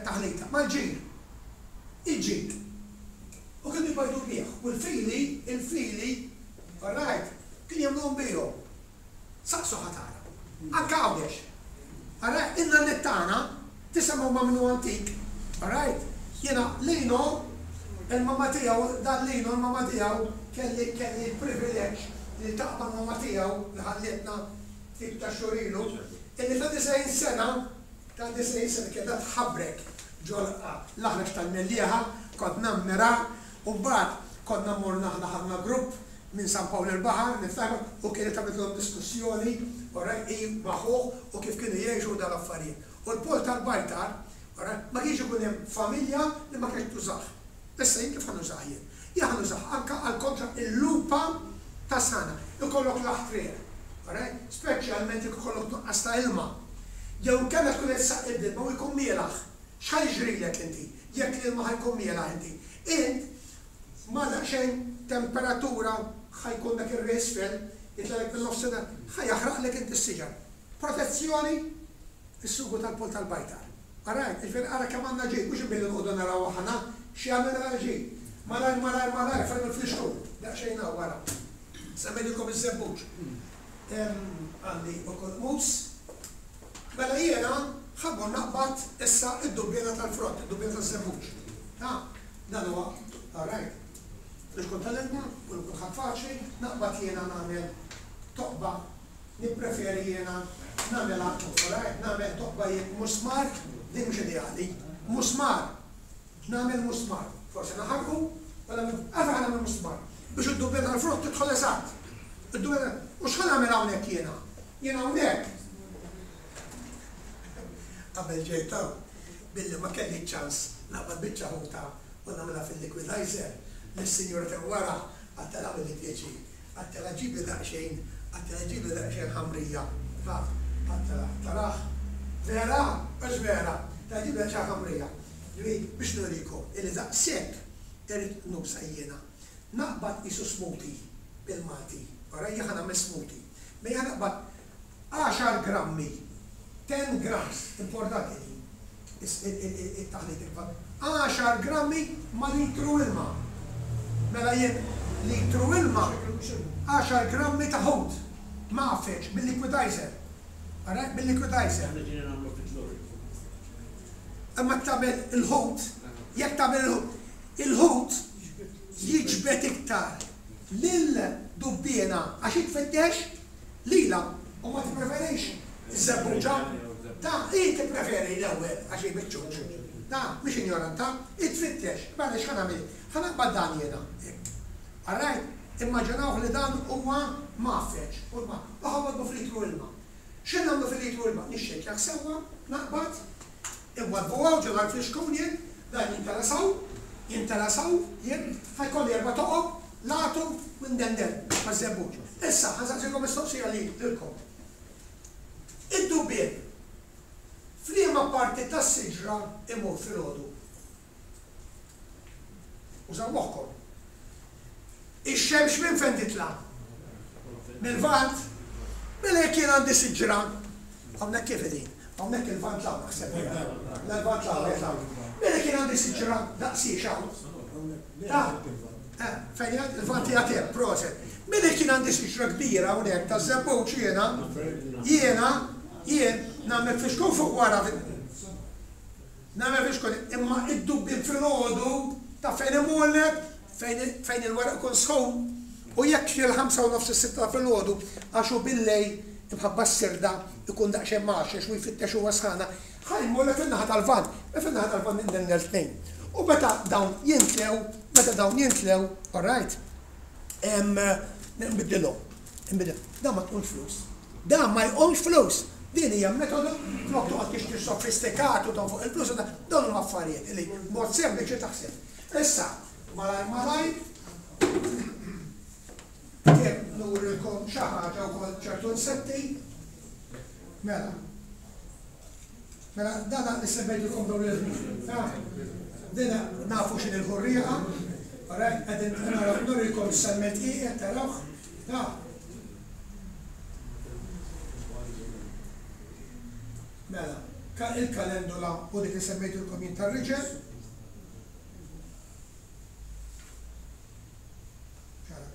taħlita mal-ġir. Il-ġir. U kienu jbajdu bih. U l-fili, il-fili, all right, kienu jagħmluhom bihom. Saqsu ħa tara. Anke Għawdex. Alright, in-nanniet tagħna, tisimgħu ma' min hu antik, alright? Jiena Lino, il-mamma tiegħu, dan Lino, il-mamma tiegħu, kelli kelli l-privileġġ li niltaqa' mal-mamma tiegħu li ħallietna ftit ta' xhur ilu, illi ta' 90 sena, ta' 90 sena kienet qed tħabrek ġo l-aħrax tal-Mellieħa, kont nammira, u mbagħad konna morna aħna ħadna grupp minn San Pawl il-Baħar, niftakar, u kienet għamlitilhom diskussjoni, alright, hi ma' ħuh u kif kienu jgħixu u dal-affarijiet. U l-pol tal-bajtar, alright, ma kienx ikun hemm familja li ma kienx tużah. Issa jien kif ħa nużah jien? Jien ħa nużah anke għal kontra il-lupa tas-sħana. Ikollok l-aħtriq, alright, speċjalment jekk ikollok nuqqas ta' ilma. Jew inkella tkun qed issaqqi bl-ilma u jkun mielaħ. X'ħa jiġrilek inti jekk l-ilma ħa jkun mielaħ inti? Int ma' daqsxejn temperatura ħa jkun dak ir-riħ isfel jitlagħlek min-nofsinhar, ħa jaħraqlek inti s-siġar. Protezzjoni, is-sugu tal-pol tal-bajtar. Alright, jiġifieri ara kemm għandna ġid, mhux billi noqogħdu naraw aħna x'jagħmilna dal-ġid. Malajr, malajr, malajr, fejn hu l-flixkun? Daqsxejn hawn wara. Semmejtilkom iż-żebbuġ. Għandi wkoll mus. Mela jiena ħa mmur naqbad issa d-dubbiena tal-frott, id-dubbiena taż-żebbuġ. Ta? Dan huwa, alright. Flixkun tal-ilma, u lil kulħadd faċli, naqbad jiena nagħmel toqba, nippreferi jiena nagħmilha, alright, nagħmel toqba jien musmar, din mhux ideali, musmar, nagħmel musmar, forsi naħarqu, u nagħmel, għalfejn ħa nagħmel musmar? Biex id-dubbiena tal-frott tidħol eżatt. Id-dubbiena, u x'ħa nagħmel hawnhekk jiena? Jien hawnhekk, qabel ġejt hawn, billi ma kelli ċ-ċans naqbad biċċa ħuta u nagħmilha fil-liquidizer, lis-sinjura t'hemm wara għedtilha agħmilli pjaċir, għedtilha ġibli daqsxejn, għedtilha ġibli daqsxejn ħamrija, ha, għedtilha, tarah? Vera? Hux vera? Għedtilha ġibli daqsxejn ħamrija. Ġifieri biex nurikom illi daqshekk irrid nusa jiena. Naqbad qisu smoothie bil-Malti, ora jien ħa nagħmel smoothie. Mela jien naqbad għaxar grammi, ten grams, importanti din, it-taħlit għaxar grammi ma' litru ilma. Mela jien litru ilma, għaxar grammi ta' ħut mgħaffeġ bil-liquidizer. Alright, bil-liquidizer.
Aħna ġieli nagħmlu fit-lorry.
Imma tagħmel il-ħut, jekk tagħmel il-ħut, il-ħut jiġbed iktar lil dubbiena għax hi tfittex lilha u ma tippreferix iż-żebbuġa. Ta, hi tippreferi l-ewwel għax hi biċ-ċuċ. Ta, mhix injoranta, hi tfittex. Mela x'ħa nagħmel jien? Ħa naqbad dan jiena, hekk. Alright? Immaġinawh li dan huwa mgħaffeġ u ħa nwaddbu f'litru ilma. X'ħin nagħmlu fil-litru ilma? Nixxejkjah sewwa, naqbad, inwaddbu hawn ġo dal-flixkun jien, dan jimtela s'hawn, jimtela s'hawn, jien, ħa jkolli erba' toqob, l-għatu u ndendel maż-żebbuġ. Issa, ħa nsaqsikom mistoqsija li lilkom. Id-dubbien f'liema parti tas-siġra imur filgħodu? Użaw moħħkom. Ix-xemx minn fejn titla'? Mil-Lvant? Mela jekk jien għandi siġra, hawnhekk kif qegħdin? Hawnhekk il-Lvant 'l hawn naħseb. L-Lvant 'l hawn, qiegħed hawn. Mela jekk jien għandi siġra daqsiex hawn. Ta' eh, fejn qiegħed? Il-Lvant qiegħed hemm, proset. Mela jekk jien għandi siġra kbira hawnhekk taż-żebbuġ jiena, jiena, jien nagħmel fixkun fuq wara Nagħmel biex tkun, imma id-dubbien filgħodu taf fejn imurlek? Fejn fejn il-weraq ikun sħun. U jekk xi l-ħamsa u nofs is-sitta ta' filgħodu, għax hu billejl imħabba s-sirda jkun daqsxejn mgħaxxex u jfittex huwa sħana, ħa jmurlek fin-naħa tal-Lvant. Mela fin-naħa tal-Lvant nindendel tnejn. U meta dawn jintlew, meta dawn jintlew, all right, nbiddilhom. Nbiddilhom. Dan ma tqumx flus. Dan ma jqumx flus. Din hija metodu flok toqgħod tixtri sofistikat u tonfoq il-flus u dan, dawn huma affarijiet li b'mod sempliċi taħseb. Issa, malajr malajr, kemm nurilkom xi ħaġa wkoll ċertu insetti. Mela. Mela, dana li semmejtilkom dawn il-ħmir. Dina nafu x'inhi l-ħurrieqa, alright, qegħdin naraw nurikom semmejt qiegħed tarawh. Mela, il-kalendula u dik li semmejtilkom jien tar-riġel. Ċara.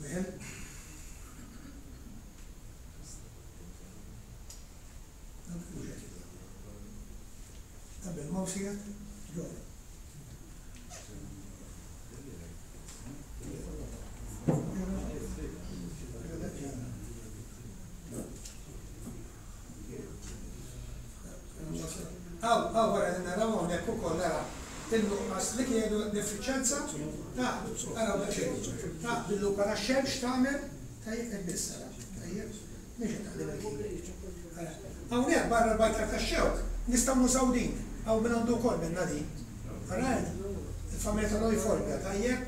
Wieħed. Dan mhux qed jidher. Dan bil-mouse qiegħed? Ġol. Hawn, hawn wara li naraw hawnhekk ukoll ara in-nuqqas li kienu l-effiċjenza ta' araw daqsxejn ta' bil-lupa tax-xemx tagħmel tajjeb hekk biss ara tajjeb mhix qed taħdem il-key. Ara hawnhekk barra l-bajtar tax-xewk nistgħu nużaw din hawn min għandu wkoll minnha din. Alright? Il-familja tal-Euphorbia tajjeb.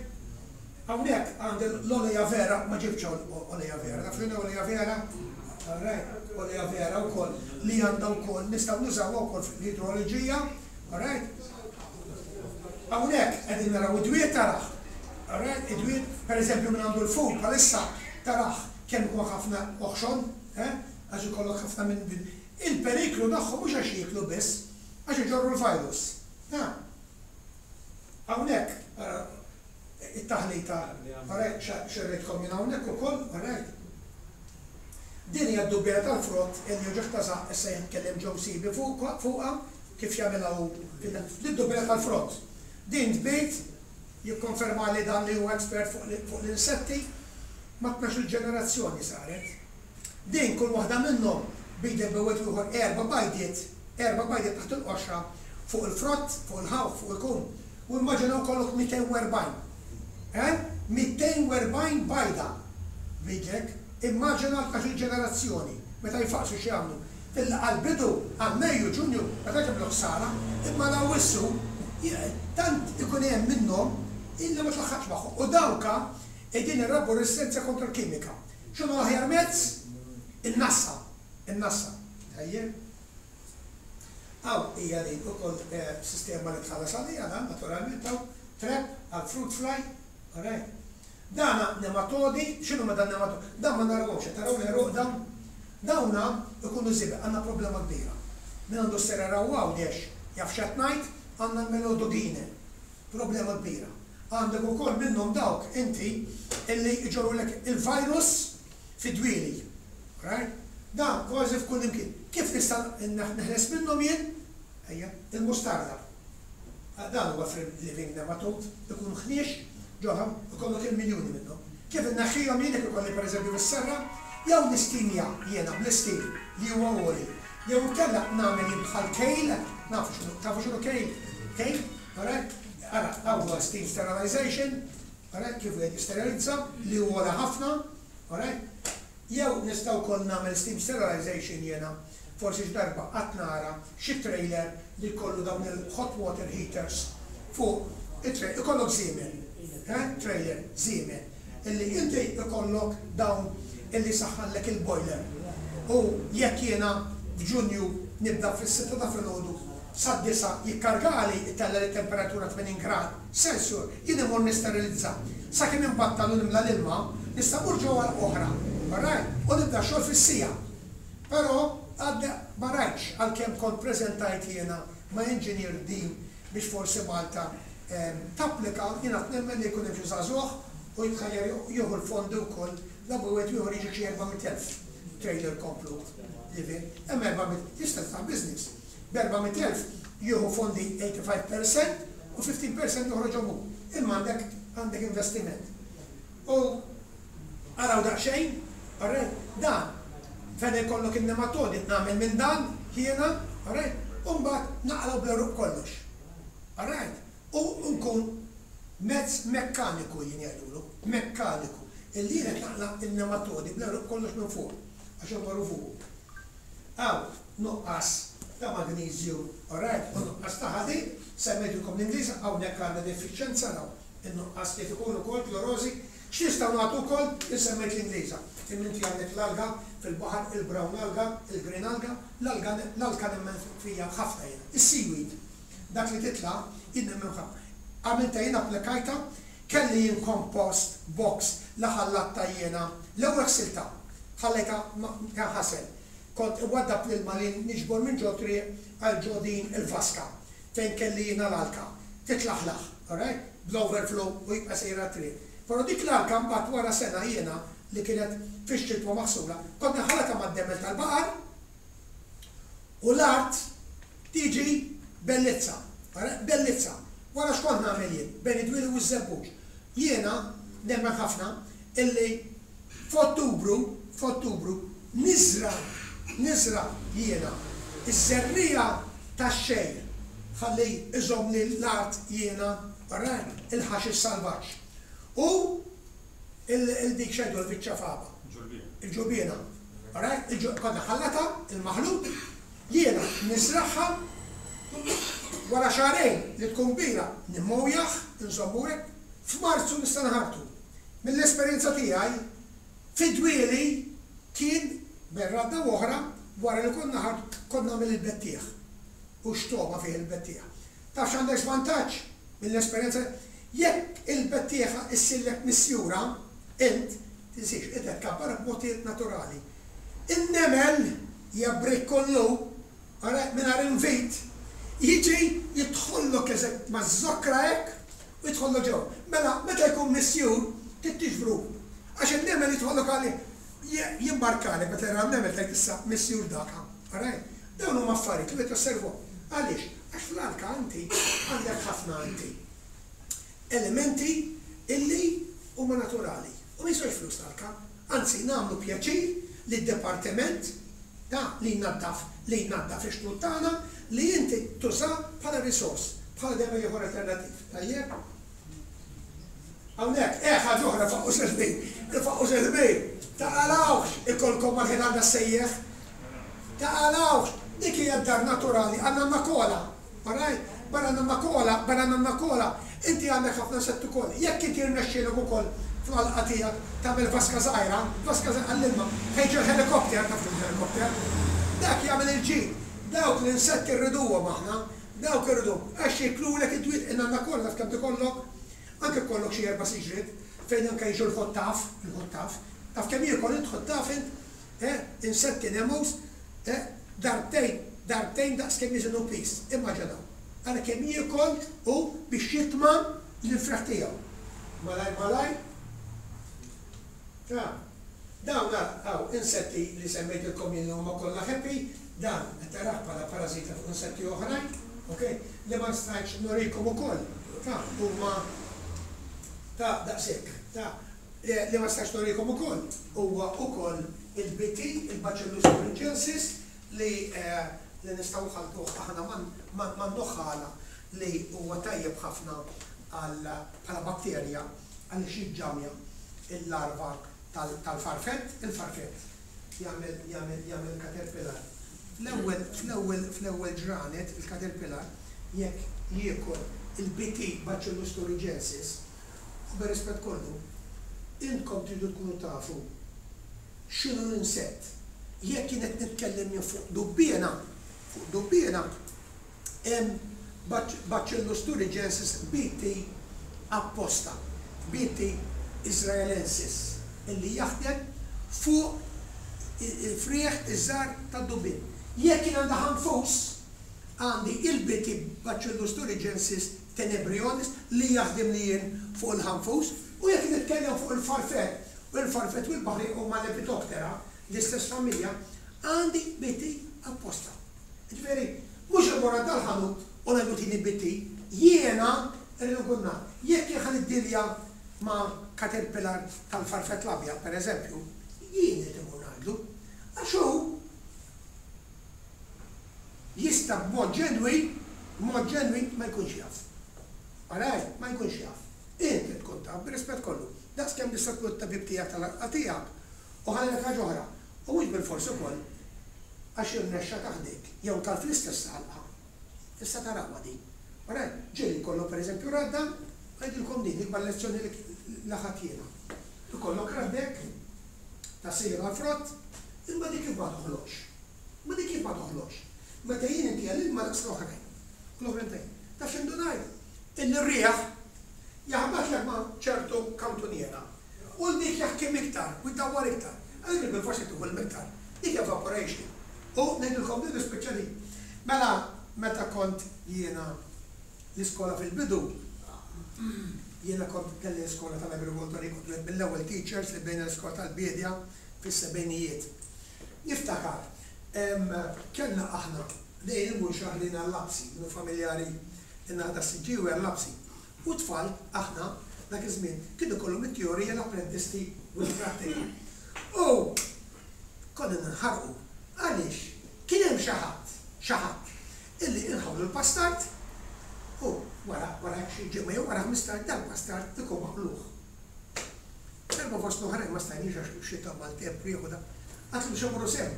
Hawnhekk għandi l-olea vera, ma ġibtx olea vera, taf x'inhi olea vera? Alright, olea vera wkoll li għandha wkoll nistgħu nużawha wkoll fl-idroloġija, alright? Hawnhekk qegħdin naraw id-dwiet tarah. Alright, id-dwiet, pereżempju min għandu l-ful bħalissa tarah kemm ikun ħafna oħxon, eh? Għax ikollok ħafna minn din. Il-periklu tagħhom mhux għax jieklu biss, għax iġorru l-virus. Ha? Hawnhekk, ara, it-taħlita, alright, xerridtkom jien hawnhekk ukoll, alright. Din hija d-dubbiena tal-frott illi uġigħ ta' żaqq issa jitkellem Joe Sibi fuqha, kif jagħmilha hu lid-dubbiena tal-frott. Din tbid, jikkonfermali dan li huwa expert fuq l-insetti, ma' tnax-il ġenerazzjoni saret. Din kull waħda minnhom bidek bejn wieħed u ieħor erba' bajdiet, erba' bajdiet taħt il-qoxra, fuq il-frott, fuq il-ħawħ, fuq il-kum. U immaġinaw jkollok 240. Eh? 240 bajda b'idek. Immaġina l-tnax-il ġenerazzjoni, meta jfaqqsu x'jagħmlu. Fil għall-bidu, għal Mejju, Ġunju, ma tantx jagħmlu ħsara, imma għal Awwissu, tant ikun hemm minnhom illi ma tlaħħaqx magħhom. U dawka qegħdin irabbu reżistenza kontra l-kimika. X'inhu l-aħjar mezz? In-nassa. In-nassa. Tajjeb? Hawn hija din ukoll sistema li tħallas għaliha dan naturalment hawn trap għal fruit fly. Alright. Dana nematodi, x'inhuma dan nematodi? Dan ma narawhomx, qed taraw l-għeruq dawn? Dawna jkunu żibel, għandna problema kbira. Min għandu s-serra u Għawdex jaf x'qed ngħid, għandna l-melodogine. Problema kbira. Għandek ukoll minnhom dawk inti illi jġorrulek il-virus fid-dwieli. Alright? Dan kważi f'kull imkien. Kif nista' neħles minnhom jien? Ejja, il-mustarda. Dan huwa free living nematode, ikun ħniex ġo ikollok il-miljuni minnhom. Kif inneħħihom jien jekk ikolli pereżempju fis-serra? Jew nistimja jiena bl-istim li huwa għoli, jew inkella nagħmel jien bħal kale, nafu x'inhu, tafu x'inhu kale? Kale? Alright? Ara, hawn huwa steam sterilization, alright, kif wieħed jisterilizza, li hu ogħla ħafna, alright? Jew nista' wkoll nagħmel steam sterilization jiena, forsi xi darba qatt nara xi trailer li jkollu dawn il-hot water heaters fuq it-trailer, ikollok żiemel, eh, trailer, żiemel, illi inti jkollok dawn illi jsaħħanlek il-boiler u jekk jiena f'Ġunju nibda fis-sitta ta' filgħodu sad-disgħa jikkargali jtella' lit-temperatura 80 grad Celsiur jien immur nisterilizza sakemm inbattal u nimla l-ilma nista' mmur ġewwa għalqa oħra alright u nibda x-xogħol fis-siegħa però għadni ma rajtx għalkemm kont preżentajt jiena ma' engineer din biex forsi Malta tapplika, jien għad nemmen li jkun hemm xi żagħżugħ u jitħajjar jieħu l-fondi wkoll la wieħed u ieħor jiġik xi 400,000 trailer komplut living, hemm 400, tista' tiftaħ business b'400,000 jieħu fondi 85 per cent u 15 per cent joħroġhom hu, imma għandek għandek investiment. U araw daqsxejn, alright, dan fejn ikollok in-nematodi nagħmel minn dan jiena, alright, u mbagħad naqlgħu bl-għeruq kollox. Alright? U nkun mezz mekkaniku jien jgħidulu, mekkaniku, illi jien qed naqla' n-nematodi bl-għeruq kollox minn fuq, għax hemm magħruf hu. Hawn nuqqas ta' magneżju, alright, u nuqqas ta' ħadid, semmejtilkom l-Ingliż, hawnhekk għandna defiċjenza naraw in-nuqqas kif ikun ukoll klorożi. X'nistgħu nagħtu wkoll? Jien semmejt l-Ingliża, imma inti għandek l-alga fil-baħar, il-brown alga, il-green alga, l-alga l-alka nemmen fiha ħafna jiena. Is-seaweed. Dak li titla' jien nemmen ħafna. Għamiltha jien applikajtha, kelli jien compost box li ħallattha jiena, l-ewwel ħsiltha, ħallejtha tinħasel. Kont inwaddab l-ilma li niġbor minn ġo triq għal ġo din il-vaska fejn kelli jiena l-alka, titlaħlaħ, alright, bl-overflow u jibqa' sejjer għat-triq. Però dik l-alka mbagħad wara sena jiena li kienet fix-xitwa maħsula, kont inħallatha mad-demel tal-baqar u l-art Tiġi bellezza. Ara, bellezza. Wara x'kont nagħmel jien, bejn id-dwieli u ż-żebbuġ? Jiena nemmen ħafna illi f'Ottubru, f'Ottubru, niżra', niżra' jiena ż-żerriegħa. Tax-xejn ħalli iżommli l-art jiena, alright, il-ħaxix salvaġġ. U il-dik x'għidu l-viċċa fava? Il-ġulbiena. Alright, konna ħallata, il-maħlut, jiena niżragħha, wara xahrejn li tkun kbira nimmowjah, inżommu hekk, f'Marzu nista' nħartu. Mill-esperjenza tiegħi, fi dwieli kien bejn radda u oħra wara li konna ħart kont nagħmel il-bettieħ. U x'togħma fih il-bettieħ. Taf x'għandek żvantaġġ? Mill-esperjenza, jekk il-bettieħa issirlek misjura, int, tinsiex, int qed tkabbarha b'mod naturali. In-nemel jabrik kollu, ara, mingħajr invit, jiġi jidħollok eżatt maż-żokra hekk u jidħollok ġewwa. Mela, meta jkun misjur, trid tiġbru. Għax in-nemel jidħollok għalih, jimmarkalek meta jara n-nemel tgħid issa misjur daka. Alright? Dawn huma affarijiet li wieħed josservhom. Għaliex? Għax fl-alka inti għandek ħafna inti elementi illi huma naturali u ma jiswewx flus l-alka. Anzi nagħmlu pjaċir lid-dipartiment ta' li jnaddaf li jnaddaf ix-xtut tagħna li inti tuża bħala resource, bħala demel ieħor alternattiv. Tajjeb? Hawnhekk, eh ħaġa oħra faqqus il-ħbir. Il-faqqus il-ħbir taqalgħuhx ikollkom mal-ħitan tas-sejjeħ. Taqalgħuhx, dik hija d-dar naturali għan-nanna Kola. Alright? Barra nanna Kola, barra nanna Kola, inti għandek ħafna insetti ukoll. Jekk inti jirnexxielek ukoll fl-għalqa tiegħek tagħmel vaska żgħira, vaska żgħira għall-ilma, fejn ġie l-ħelikopter, taf x'inhu l-ħelikopter? Dak jagħmel il-ġid. Dawk l-insetti rriduhom aħna, dawk irriduhom għax jiklulek id-dwiet. In-nanna Kola taf kemm tikollok? Anke jkollok xi erba' siġriet fejn anke jiġu l-ħottaf, il-ħottaf. Taf kemm jiekol int ħottaf int? Eh, insetti nemus, eh, darbtejn, darbtejn daqs kemm jiżinu piż. Immaġinaw. Ara kemm jiekol hu biex jitma' l-infraħ tiegħu. Malajr malajr. Ta. Dawn ara, hawn, insetti li semmejtilkom jien li huma kollha happy, dan qed tarah bħala parażita fuq insetti oħrajn, ok, li ma stajtx nurikom ukoll, ta, huma ta' daqshekk, ta. Li ma stajtx nurikom ukoll huwa ukoll il-BT, il-Bacillus thuringiensis, li li nistgħu nħalltuh aħna man-nuħħala li huwa tajjeb ħafna għal bħala batterja għaliex jiġġamja l-larva tal-farfett, il-farfett jagħmel jagħmel jagħmel caterpillar. Fl-ewwel fl-ewwel fl-ewwel ġranet il-caterpillar jekk jiekol il-BT Bacillus thuringiensis u bir-rispett kollu intkom tridu tkunu tafu x'inhu l-insett. Jekk jien qed nitkellem jien fuq dubbiena, fuq dubbiena, hemm Bacillus thuringiensis BT apposta, BT israelensis, illi jaħdem fuq il-frieħ iż-żgħar tad-dubbien. Jekk jien għandi ħanfus, għandi il-BT Bacillus thuringiensis tenebrionis li jaħdimli jien fuq il-ħanfus, u jekk nitkellem fuq il-farfett, u l-farfett u l-baħri huma Lepidoptera, l-istess familja, għandi BT apposta. Jiġifieri, mhux immur għand tal-ħanut u ngħidlu tini BT, jiena rrid inkun naf. Jekk jien ħa niddilja ma' caterpillar tal-farfett l-abjad, pereżempju, jien irid immur ngħidlu. Għax hu jista' b'mod ġenwin, b'mod ġenwin ma jkunx jaf. Alright? Ma jkunx jaf. Int trid tkun taf, bir-rispett kollu. Daqs kemm tista' tkun it-tabib tiegħek tal-għalqa tiegħek. U ħa ngħidlek ħaġa oħra, u mhux bilfors ukoll għax irnexxa ta' ħdejk jew tal fl-istess għalqa. Tista' tarawha din. Alright? Ġieli jkollok pereżempju radda, ngħidilkom din l-ikbar lezzjoni li ħadt jiena. Ikollok raddek ta' sejra għall-frott, imma dik kif ma toħloqx? Imma dik kif ma toħloqx? Meta jien intiha l-ilma daqs l-oħrajn. U l-oħrajn tajjeb. Taf x'indunajt? Illi r-riħ jaħbatlek ma' ċertu kantuniera U l dik jaħkem iktar u jdawwar iktar. Għalhekk bilfors qed tieħu l-iktar. Dik evaporation. U ngħidilkom din nispiċċa din. Mela meta kont jiena l-iskola fil-bidu, jiena kont kelli l-iskola tal-agrikoltura, kont wieħed mill-ewwel teachers li bdejna l-iskola tal-biedja fis-sebgħinijiet. Niftakar, kellna aħna dejjem immur xahrejn għal-lapsi, minnu familjari in-naħa tas-Siġġiewi għal-lapsi. U t-tfal, aħna, dak iż-żmien, kien ikollhom it-teorija, l-apprendisti u l-prattika. U konna ninħarqu. Għaliex? Kien hemm xi ħadd, xi ħadd, Illi inħawlu l-pastard u wara wara xi ġimgħa jew wara 15 dal-pastard ikun maqlugħ. Darba fost l-oħrajn ma stajniex għax xita maltemp riħ u da. Għadtlu biex immorru s'hemm.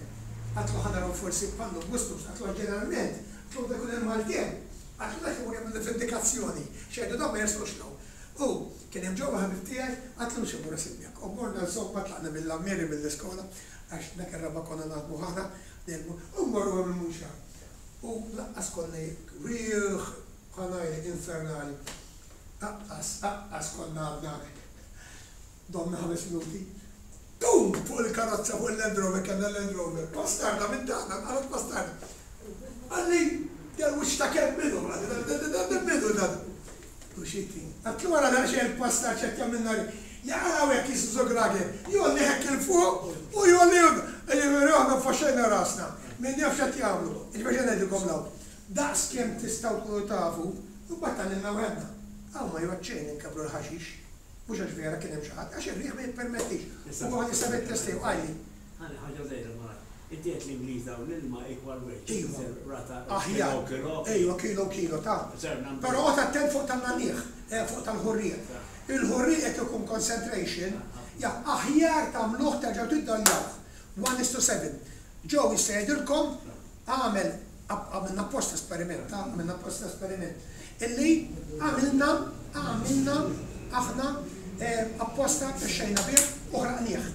Għadtlu ħa naraw forsi pannu b'gustus, għadtlu għax ġeneralment, għadtlu meta jkun hemm maltemp, għadtlu dak imur jagħmel vendikazzjoni, x'jgħidu dawn ma jersqux 'l hawn. U kien hemm ġewwa ħabib tiegħi, għadtlu biex immorru s'hemmhekk. U morna insomma tlaqna mill-Għammieri mill-iskola għax dak ir-raba' konna naħdmu aħna, u mmorru hemm il-Munxar. U lanqas konna jekk riħ ħa ngħidlek infernali. Aqqas, aqqas konna għadna domna ħames minuti. Bum! Fuq il-karozza, fuq il-Land Rover, kellna Land Rover. Bastarda minn tagħna, nqalgħet bastarda. Qalli, dal-wiċċ ta' kemm minnu, qalli, dan minnu dan. U xi tin. Għedtlu wara daqsxejn il-pastar x'qed jagħmilna ri. Jaqalgħu hekk qisu żugrager. Jgħolli hekk 'il fuq u jgħolli Jiġifieri aħna nfaxxejna rasna. Min jaf x'qed jagħmlu. Jiġifieri x'qed ngħidilkom 'l hawn. Daqs kemm tistgħu tkunu tafu, imbagħad tgħallimna waħedna. Hawn ma jgħodd xejn inkabbru l-ħaxix. Mhux għax vera kien hemm xi ħadd, għax ir-riħ ma jippermettix. U huwa jista' bit-test tiegħu qalli.
Ħalli ħaġa żgħira malajr. Inti għedt l-Ingliża u l-ilma equal weight.
Iva. Aħjar. Ejwa, kilo kilo ta'. Però oqgħod attent fuq tan-nagħniegħ, fuq tal-ħurrieq. Il-ħurrieq jekk ikun concentration, ja, aħjar tagħmluh terġgħu tiddoljawh. 1:7. Joe jista' jgħidilkom għamel għamilna apposta esperiment, ta' għamilna apposta esperiment. Illi għamilna għamilna aħna apposta mexxejna bih u ħraqnieh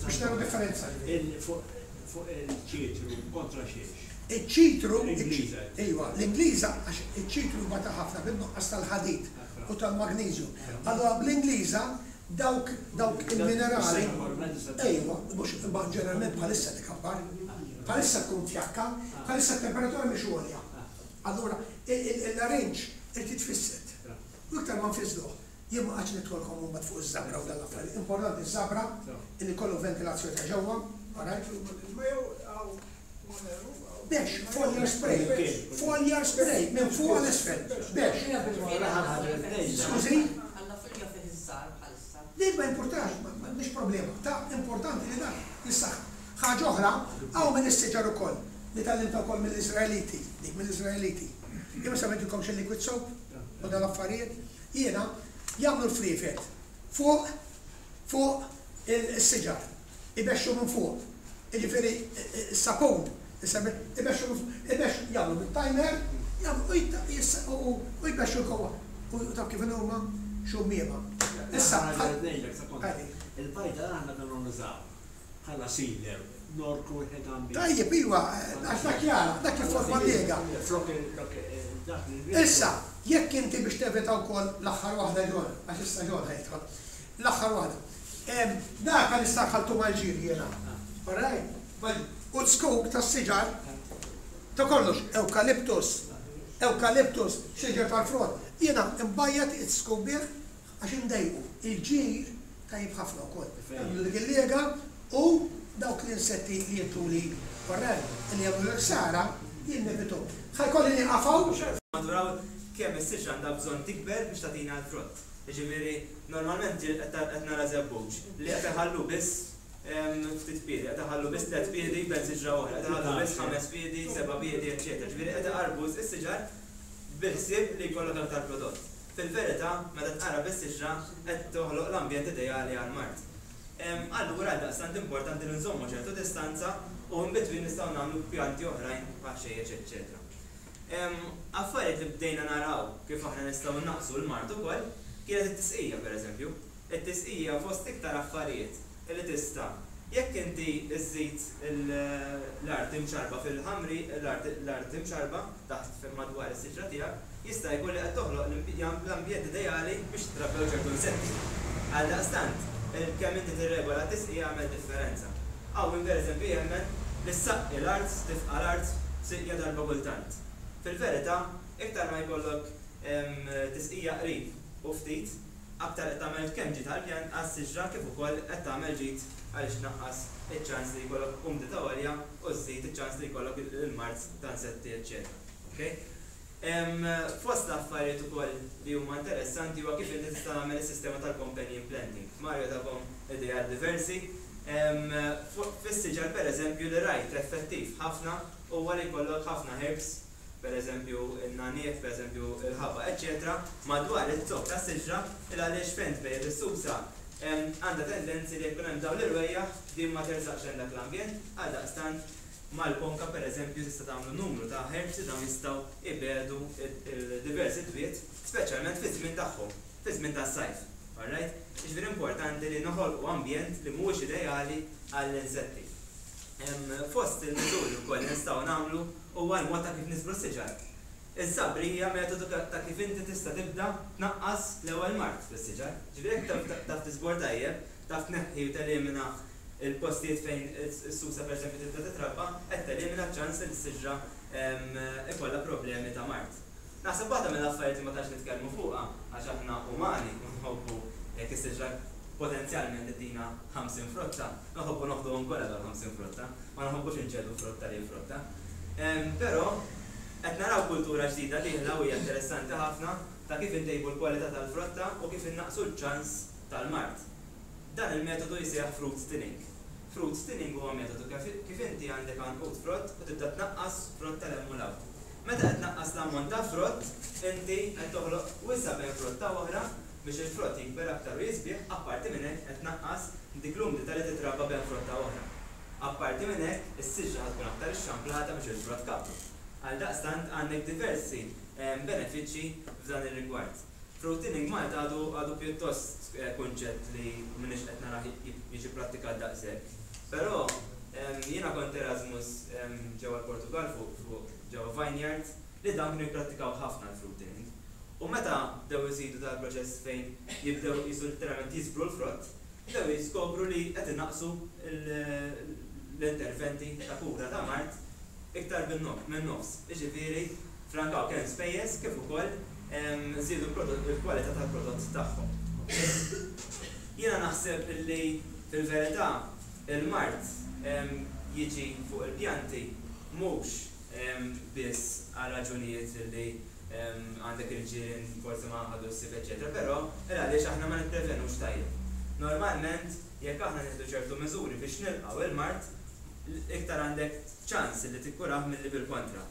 biex naraw differenza.
Fuq il-ċitru kontra xiex?
Iċ-ċitru, iva, l-Ingliża għax iċ-ċitru jbata ħafna bin-nuqqas tal-ħadid u tal-magneżju. Allura bl-Ingliża dawk dawk il-minerali, ejwa, mhux imma ġeneralment bħalissa tikabbar, bħalissa tkun fjakka, bħalissa t-temperatura mhix għolja. Allura l-larinġ irid jitfissed. U iktar ma nfissduh. Jien ma qgħadx nidħolkom imbagħad fuq iż-żabra u dan l-affarijiet. Importanti ż-żabra illi jkollu ventilazzjoni ta' ġewwa, alright? Bex, foliar spray, foliar spray minn fuq għal isfel, bex. Skużi? Din ma jimpurtax, mhix problema. Ta' importanti li dan jissaħħaħ. Ħaġa oħra, hawn min is-siġar ukoll, li tgħallimtha wkoll mill-Iżraeliti, dik mill-Iżraeliti. Jien ma semmejtilkomx il-liquid soap u dawn l-affarijiet? Jiena, jagħmlu l-friefet fuq fuq is-siġar, ibexxu minn fuq. Jiġifieri s-sapun, ibexxu minn fuq, ibexxu, jagħmlu bit-timer, jagħmlu u jbexxu l-kowa. U taf kif inhuma? Xummiema.
Issa, ħa ngħidlek sekonda. Il-bajda aħna konna nużaw bħala sealer, norku l-ħitan bih.
Tajjeb, iva, għax dak jagħlaq, dak jifforma lega.
Flok dak li.
Issa, jekk inti biex tevita wkoll l-aħħar waħda John, għax issa John ħa jidħol. L-aħħar waħda. Dak għalissa ħaltu mal-ġir jiena. All right? U z-zkuk tas-siġar ta' kollox, ewkaliptus, ewkaliptus, siġar tal-frott. Jiena nbajjad iz-zkuk bih għax indejqu. Il-ġir tajjeb ħafna wkoll. Jagħmlu dik il-lega u dawk l-insetti li jidhruli korrel li jagħmlu l-ħsara jien nevithom. Ħa jkolli nieqaf hawn.
Maturaw kemm is-siġra għandha bżonn tikber biex tagħtina l-frott. Jiġifieri normalment ġieli qed nara żebbuġ li qed iħallu biss ftit piedi, qed iħallu biss tlett piedi bejn siġra u oħra, qed iħallu biss ħames piedi, seba' piedi, eċċetera. Ġifieri qed iqarrbu s-siġar bil-ħsieb li jkollok aktar prodott. Fil-verità, meta tqarrab is-siġra qed toħloq l-ambjent ideali għall-mard. Allura għaldaqstant importanti li nżommu ċertu distanza u in between nistgħu nagħmlu pjanti oħrajn bħal ħxejjex eċċetera. Affarijiet li bdejna naraw kif aħna nistgħu nnaqqsu l-mard ukoll kienet it-tisqija pereżempju. It-tisqija fost iktar affarijiet li tista' jekk inti żżid l-art imċarrba fil-ħamri l-art imċarrba taħt madwar is-siġra tiegħek jista' jkun li qed toħloq l-ambjent ideali biex jitrabbew ċertu insetti. Għaldaqstant, kemm inti tirregola t-tisqija jagħmel differenza. Hawn min pereżempju jemmen li ssaqqi l-art, tifqa' l-art b'siqja darba kultant. Fil-verità, iktar ma jkollok tisqija qrib u ftit, aktar qed tagħmel kemm ġid għall-pjan għas-siġra kif ukoll qed tagħmel ġid għaliex tnaqqas iċ-ċans li jkollok umdità għolja u żżid iċ-ċans li jkollok il-mard ta' insetti eċċetera. Okay? Fost l-affarijiet ukoll li huma interessanti huwa kif inti tista' tagħmel is-sistema tal-companion planting. Mario takom ideat diversi. Fis-siġar pereżempju li rajt effettiv ħafna huwa li jkollok ħafna herbs. pereżempju n-nagħniegħ, pereżempju l-ħabaq, eċċetera madwar iz-zokk tas-siġra il għaliex fejn tbejjet is-susa għandha tendenzi li jekk ikun hemm dawn l-irwejjaħ din ma tersaqx lejn dak l-ambjent, għaldaqstant mal-ponka pereżempju tista' tagħmlu numru ta' herbs li dawn jistgħu jbiegħdu d-diversi dwiet speċjalment fiż-żmien tagħhom, fiż-żmien tas-sajf. Alright? Jiġifieri importanti li noħolqu ambjent li mhuwiex ideali għall-insetti. Fost il-miżuri wkoll li nistgħu nagħmlu huwa l-mod ta' kif niżbru s-siġar. Iż-żabr hija metodu ta' kif inti tista' tibda tnaqqas l-ewwel mard fis-siġar. Ġifieri jekk taf tiżbor tajjeb, taf tneħħi u telimina l-postijiet fejn is-susa pereżempju tibda titrabba, qed telimina ċ-ċans li s-siġra ikollha problemi ta' mard. Naħseb waħda mill-affarijiet li ma tantx nitkellmu fuqha, għax aħna umani u nħobbu jekk is-siġra potenzjalment ittina 50 frotta, nħobbu noħduhom kollha dawn 50 frotta, ma nħobbux inċedu frotta lil frotta. Però qed naraw kultura ġdida dieħla u hija interessanti ħafna ta' kif intejbu l-kwalità tal-frotta u kif innaqqsu ċ-ċans tal-mard. Dan il-metodu jisejjaħ fruit thinning. Fruit thinning huwa metodu kif inti għandek għanqud frott u tibda tnaqqas frotta 'l hemm u 'l hawn. Meta qed tnaqqas l-ammont ta' frott, inti qed toħloq wisa' bejn frotta u oħra biex il-frott jikber aktar u jisbieħ, apparti minn hekk qed tnaqqas dik l-umdità li titrabba bejn frotta u oħra. Apparti minn hekk, is-siġra ħa tkun aktar ixxamplata biex il-frott kabru. Għaldaqstant għandek diversi benefiċċji f'dan ir-rigward. Fruit thinning Malta għadu għadu pjuttost kunċett li m'iniex qed narah jiġi pprattikat daqshekk. Però jiena kont Erasmus ġewwa l-Portugall fuq fuq ġewwa vineyard li dawn kienu jipprattikaw ħafna l-fruit thinning. U meta bdew iżidu dal-proċess fejn jibdew qisu litteralment jiżbru l-frott, bdew jiskopru li qed inaqqsu l-interventi ta' kura ta' mard iktar min-nofs. Jiġifieri frankaw kemm spejjeż kif ukoll żiedu l-kwalità tal-prodott tagħhom. Jiena naħseb li fil-verità il-mard jiġi fuq il-pjanti mhux biss għal raġunijiet li għandek il-ġirien forsi ma ħadux ħsieb eċċetera, però il għaliex aħna ma nipprevenux tajjeb. Normalment jekk aħna nieħdu ċertu miżuri biex nilqgħu il-mard, iktar għandek ċans li tikkurah milli bil-kontra.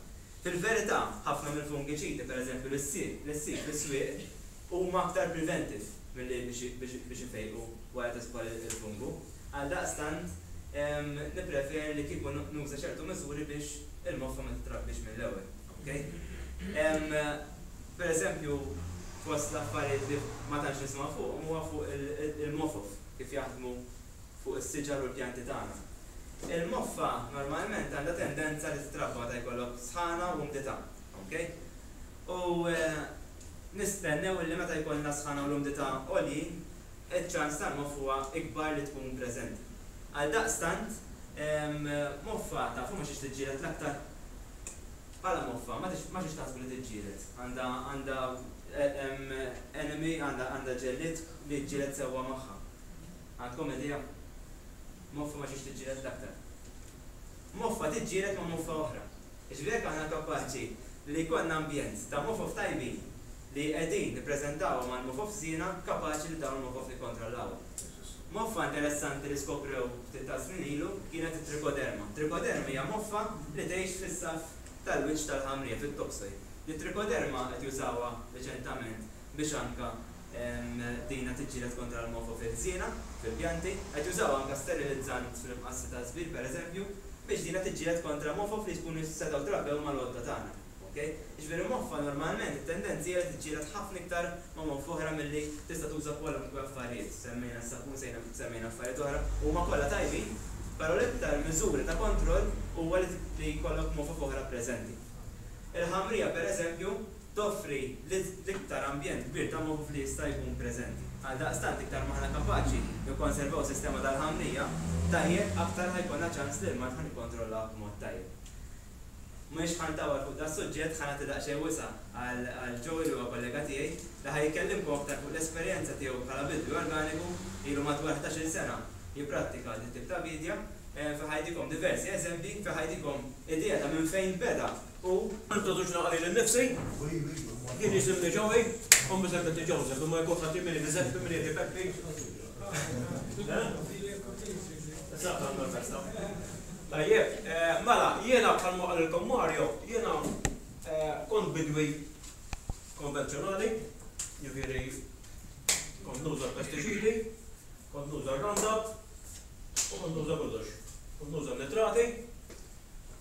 Fil-verità, ħafna mill-fungiċidi, pereżempju li ssib fis-swieq, huma aktar preventive milli biex ifejqu wara tidħol il-fungu. Għaldaqstant, nippreferi li kieku nuża ċertu miżuri biex il-moffa ma titrabbiex mill-ewwel. Okay? Pereżempju, fost l-affarijiet li ma tantx nisimgħu fuqhom huwa fuq il-mofof, kif jaħdmu fuq is-siġar u l-pjanti tagħna. Il-moffa normalment għandha tendenza li titrabba meta jkollok sħana u umdità. Okay? U nistennew illi meta jkollna s-sħana u l-umdità għoljin, iċ-ċans tal-moff huwa ikbar li tkun preżenti. Għaldaqstant, moffa tafu ma xiex tiġġieled l-aktar? Bħala moffa, ma xiex taħsbu li tiġġieled? Għandha għandha enemy, għandha għandha ġellied li jiġġieled sewwa magħha. Għandkom idea? Moffa ma xiex tiġġieled l-aktar? Moffa tiġġieled ma' moffa oħra. Jiġifieri jekk aħna kapaċi li jkollna ambjent ta' mofof tajbin li qegħdin nippreżentawhom għal mofof żiena, kapaċi li dawn il-mofof nikkontrollawhom. Moffa interessanti li skoprew ftit tas-snin ilu kienet it-trichoderma. Trichoderma hija moffa li tgħix fis-saff tal-wiċċ tal-ħamrija, fit-topsoil. It-trichoderma qed jużawha riċentament biex anka dina tiġġieled kontra l-mofo fil-ħżiena, fil-pjanti. Qed jużawha anka sterilizzant fl-imqassi taż-żbir pereżempju, biex dina tiġġieled kontra mofof li jkunu setgħu trabbew mal-għodda tagħna. Ok? Jiġifieri moffa normalment it-tendenza hija li tiġġieled ħafna iktar ma' moffa oħra milli tista' tuża kwalunkwe affarijiet. Semmejna s-sapun, semmejna affarijiet oħra, huma kollha tajbin, però l-iktar miżuri ta' kontroll huwa li jkollok mofof oħra preżenti. Il-ħamrija pereżempju, toffri l-iktar ambjent kbir ta' moħħ li jista' jkun preżenti. Għaldaqstant iktar m'aħna kapaċi nikkonservaw sistema tal-ħamrija tajjeb aktar ħa jkollna ċans li l-mard ħa nikkontrollawh b'mod tajjeb. M'iniex ħa ntawwal fuq das-suġġett, ħa nagħti daqsxejn wisa' għal Joey li huwa kollega tiegħi li ħa jkellimkom aktar fuq l-esperjenza tiegħu bħala bidwi organiku, ilu madwar 11-il sena jipprattika dit-tip ta' biedja, fejn ħa jtikom diversi eżempji, fejn ħa jtikom idea ta' minn fejn beda U.
Nintroduċi naqra lili nnifsi. Jien jisimni Joey, ommi semmitni Joseph, imma jekk kulħadd jgħidli Giuseppe, min jgħidli Peppi. Eżatt għandna l-festa. Tajjeb, mela, jiena bħalma qalilkom Mario, jiena bidwi konvenzjonali, jiġifieri kont nuża l-pestiċidi, kont nuża r-Roundup u kont nuża kollox. Kont nuża n-nitrati,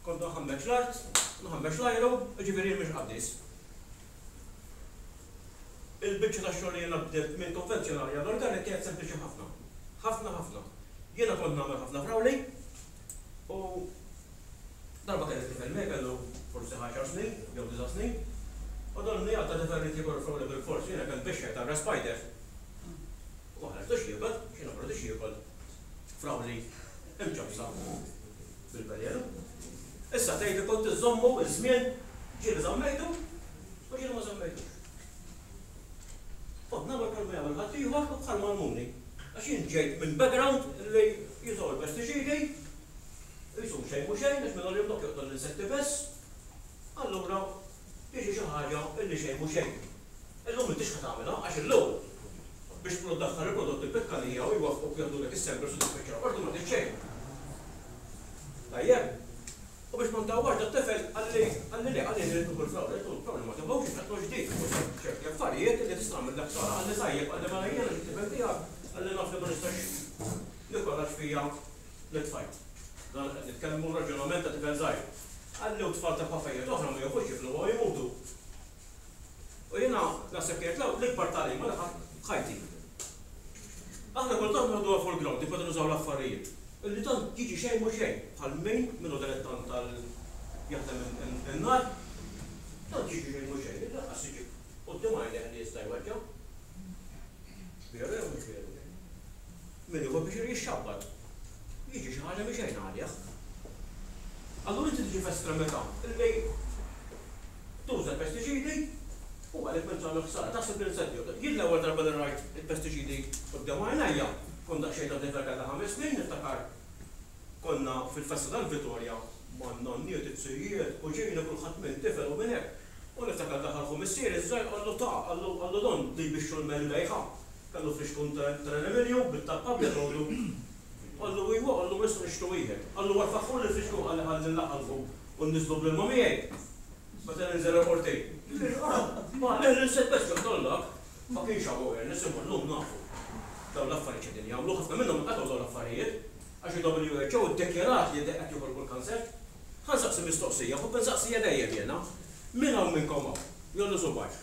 kont nħammeġ l-art, nħammeġ l-ajru, jiġifieri jien mhux qaddis. Il-biċċa tax-xogħol li jiena bdilt minn konvenzjonali għal organic kienet sempliċi ħafna. Ħafna ħafna. Jiena kont nagħmel ħafna frawli u darba kelli tifel miegħi kellu forsi għaxar snin jew disa' snin u dan li għadda tifel ried jiekol il-frawli bilfors, jiena kellt bixxejt għal spider. U ma ħallejtux jiekol, għax jiena ma rridux jiekol frawli imċappsa bil-velenu. Issa tgħidli kont iżżommu ż-żmien, ġieli żammejtu u ġieli ma żammejtux. Kont nagħmel bħalma jagħmel ħaddieħor u bħalma għallmuni. Għax jien ġejt minn background li jużaw il-pestiċidi, qishom xejn mhu xejn, għax minn għalihom dawk joqtol l-insetti biss, allura tiġi xi ħaġa li xejn mhu xejn. Illum m'intix ħa tagħmilha għax illum biex tmur ddaħħal il-prodott il-pitkalija u jwaffquk jaħdulek is-samples u tispiċċa l-qorti ma trid xejn. Tajjeb? U biex ma ntawwarx dat-tifel qalli qalli le qalli rrid nieħu l-flowers, għedtlu l-flowers ma tieħux għax qed ġdid u ċerti affarijiet li tista' tagħmillek ħsara qalli tajjeb qalli mela jiena xi tifel tiegħek qalli naf li ma nistax nikol għax fija l-tfajt. Dan qed nitkellmu raġunament ta' tifel żgħir. Qalli u tfal ta' ħwafejjet oħra ma jafux jifluha u jmutu. U jiena naħseb kienet l-ikbar tagħlima li ħadt f'ħajti. Aħna kultant noħduha for granted meta nużaw l-affarijiet, illi tant jiġi xejn mhu xejn, bħal min min hu dilettant tal jaħdem in-nar, tant jiġi xejn mhu xejn illi lanqas jiġi quddiem għajnejh li jista' jweġġa'. Veru jew mhux veru? Min jieħu pjaċir jixxabbat. Jiġi xi ħaġa mhi xejn għalih. Allura inti tiġi f'estremità illi tuża l-pestiċidi u għalhekk m'intx tagħmel ħsara. Taħseb li l-insetti Jien l-ewwel darba li rajt il-pestiċidi quddiem għajnejja, kont daqsxejn ta' tifel kellha ħames snin, niftakar konna fil-festa tal-Vitorja man-nonniet, it-zijiet, kuġini, kulħadd minn tifel u minn hekk. U niftakar daħal ħu missieri ż-żgħir qallu ta' qallu qallu don li jbixxu l-melbejħa. Kellu flixkun tal-aluminium bit-tappa abjad qallu qallu iwa qallu ma nistgħu nixtru wieħed. Qallu warfaħħuli l-flixkun qalli ħalli nlaqqalħu u nniżżlu bl-ilma miegħi meta ninżel il-qorti. Jiġifieri ara ma l-insett bes joqtol dak. Ma kienx hawn awareness imma llum nafu dawn l-affarijiet x'qegħdin jagħmlu. Ħafna minnhom inqatgħu dawn l-affarijiet għax il-WHO iddikjarat li qed joħolqu l-kanser. Ħa nsaqsi mistoqsija, nħobb insaqsiha dejjem jiena. Min hawn minnkom hawn, jgħolli subgħajh,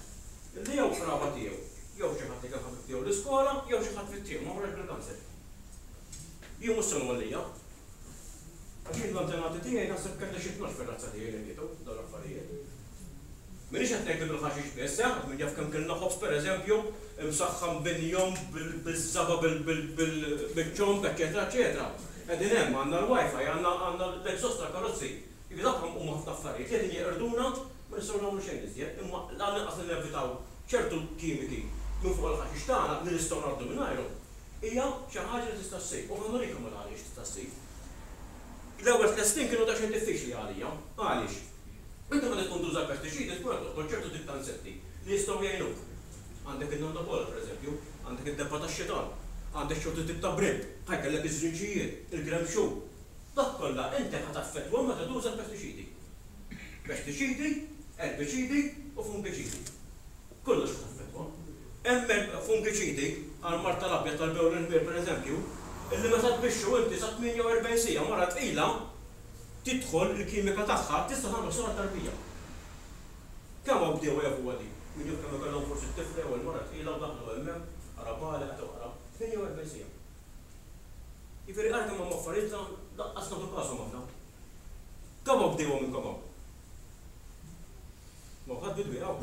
li jew qraba tiegħu, jew xi ħadd li kien ħabib tiegħu l-iskola, jew xi ħadd fit-triq ma marax bil-kanser? Jien mhux se ngħollija. Għax jien l-antenati tiegħi naħseb kellna xi 12 fir-razza tiegħi li mietu b'dawn l-affarijiet. M'iniex qed ngħid li bil-ħaxix biss, eh, għax min jaf kemm kilna ħobż pereżempju, imsaħħan b'injom, biż-żaba, biċ-ċomb, eċċetera eċċetera. Qegħdin hemm, għandna l-WiFi, għandna għandna l-exhaust tal-karozzi. Jiġifieri dawk huma ħafna affarijiet li qegħdin jeqirduna, ma nistgħu nagħmlu xejn iżjed, imma l-anqas li nevitaw ċertu kimiki minn fuq il-ħaxix tagħna li nistgħu ngħaddu mingħajrhom, hija xi ħaġa li tista' ssir u ħa nurikom il-għaliex tista' ssir. L-ewwel tlett snin kienu daqsxejn diffiċli għalija. Għaliex? Inti meta tkun tuża l-pestiċidi tkun qed toqtol ċertu tip ta' insetti li jistgħu jgħinuk. Għandek in-nannakola pereżempju, għandek id-debba tax-xitan, għandek ċertu tip ta' brimb, ħa jkellek iż-żrinġijiet, il-gremxu. Dak kollha inti ħa taffettwahom meta tuża l-pestiċidi. Pestiċidi, erbiċidi u fungiċidi. Kollox ħa taffettwa. Hemm fungiċidi għall-mard tal-abjad tal-bewl il-ħmir pereżempju, illi meta tbixxu inti sa 48 siegħa mara tqila tidħol il-kimika tagħha tista' tagħmel ħsara tarbija. Kemm hawn bdiewa jafuha din? Min jaf kemm ikollhom forsi t-tifla jew il-mara tqila u daħlu hemmhekk, ara bali qed oqra, 48 siegħa. Jiġifieri ara kemm hawn affarijiet li lanqas nagħtu kashom aħna. Kemm hawn bdiewa minnkom hawn? M'hawn ħadd bidwi hawn.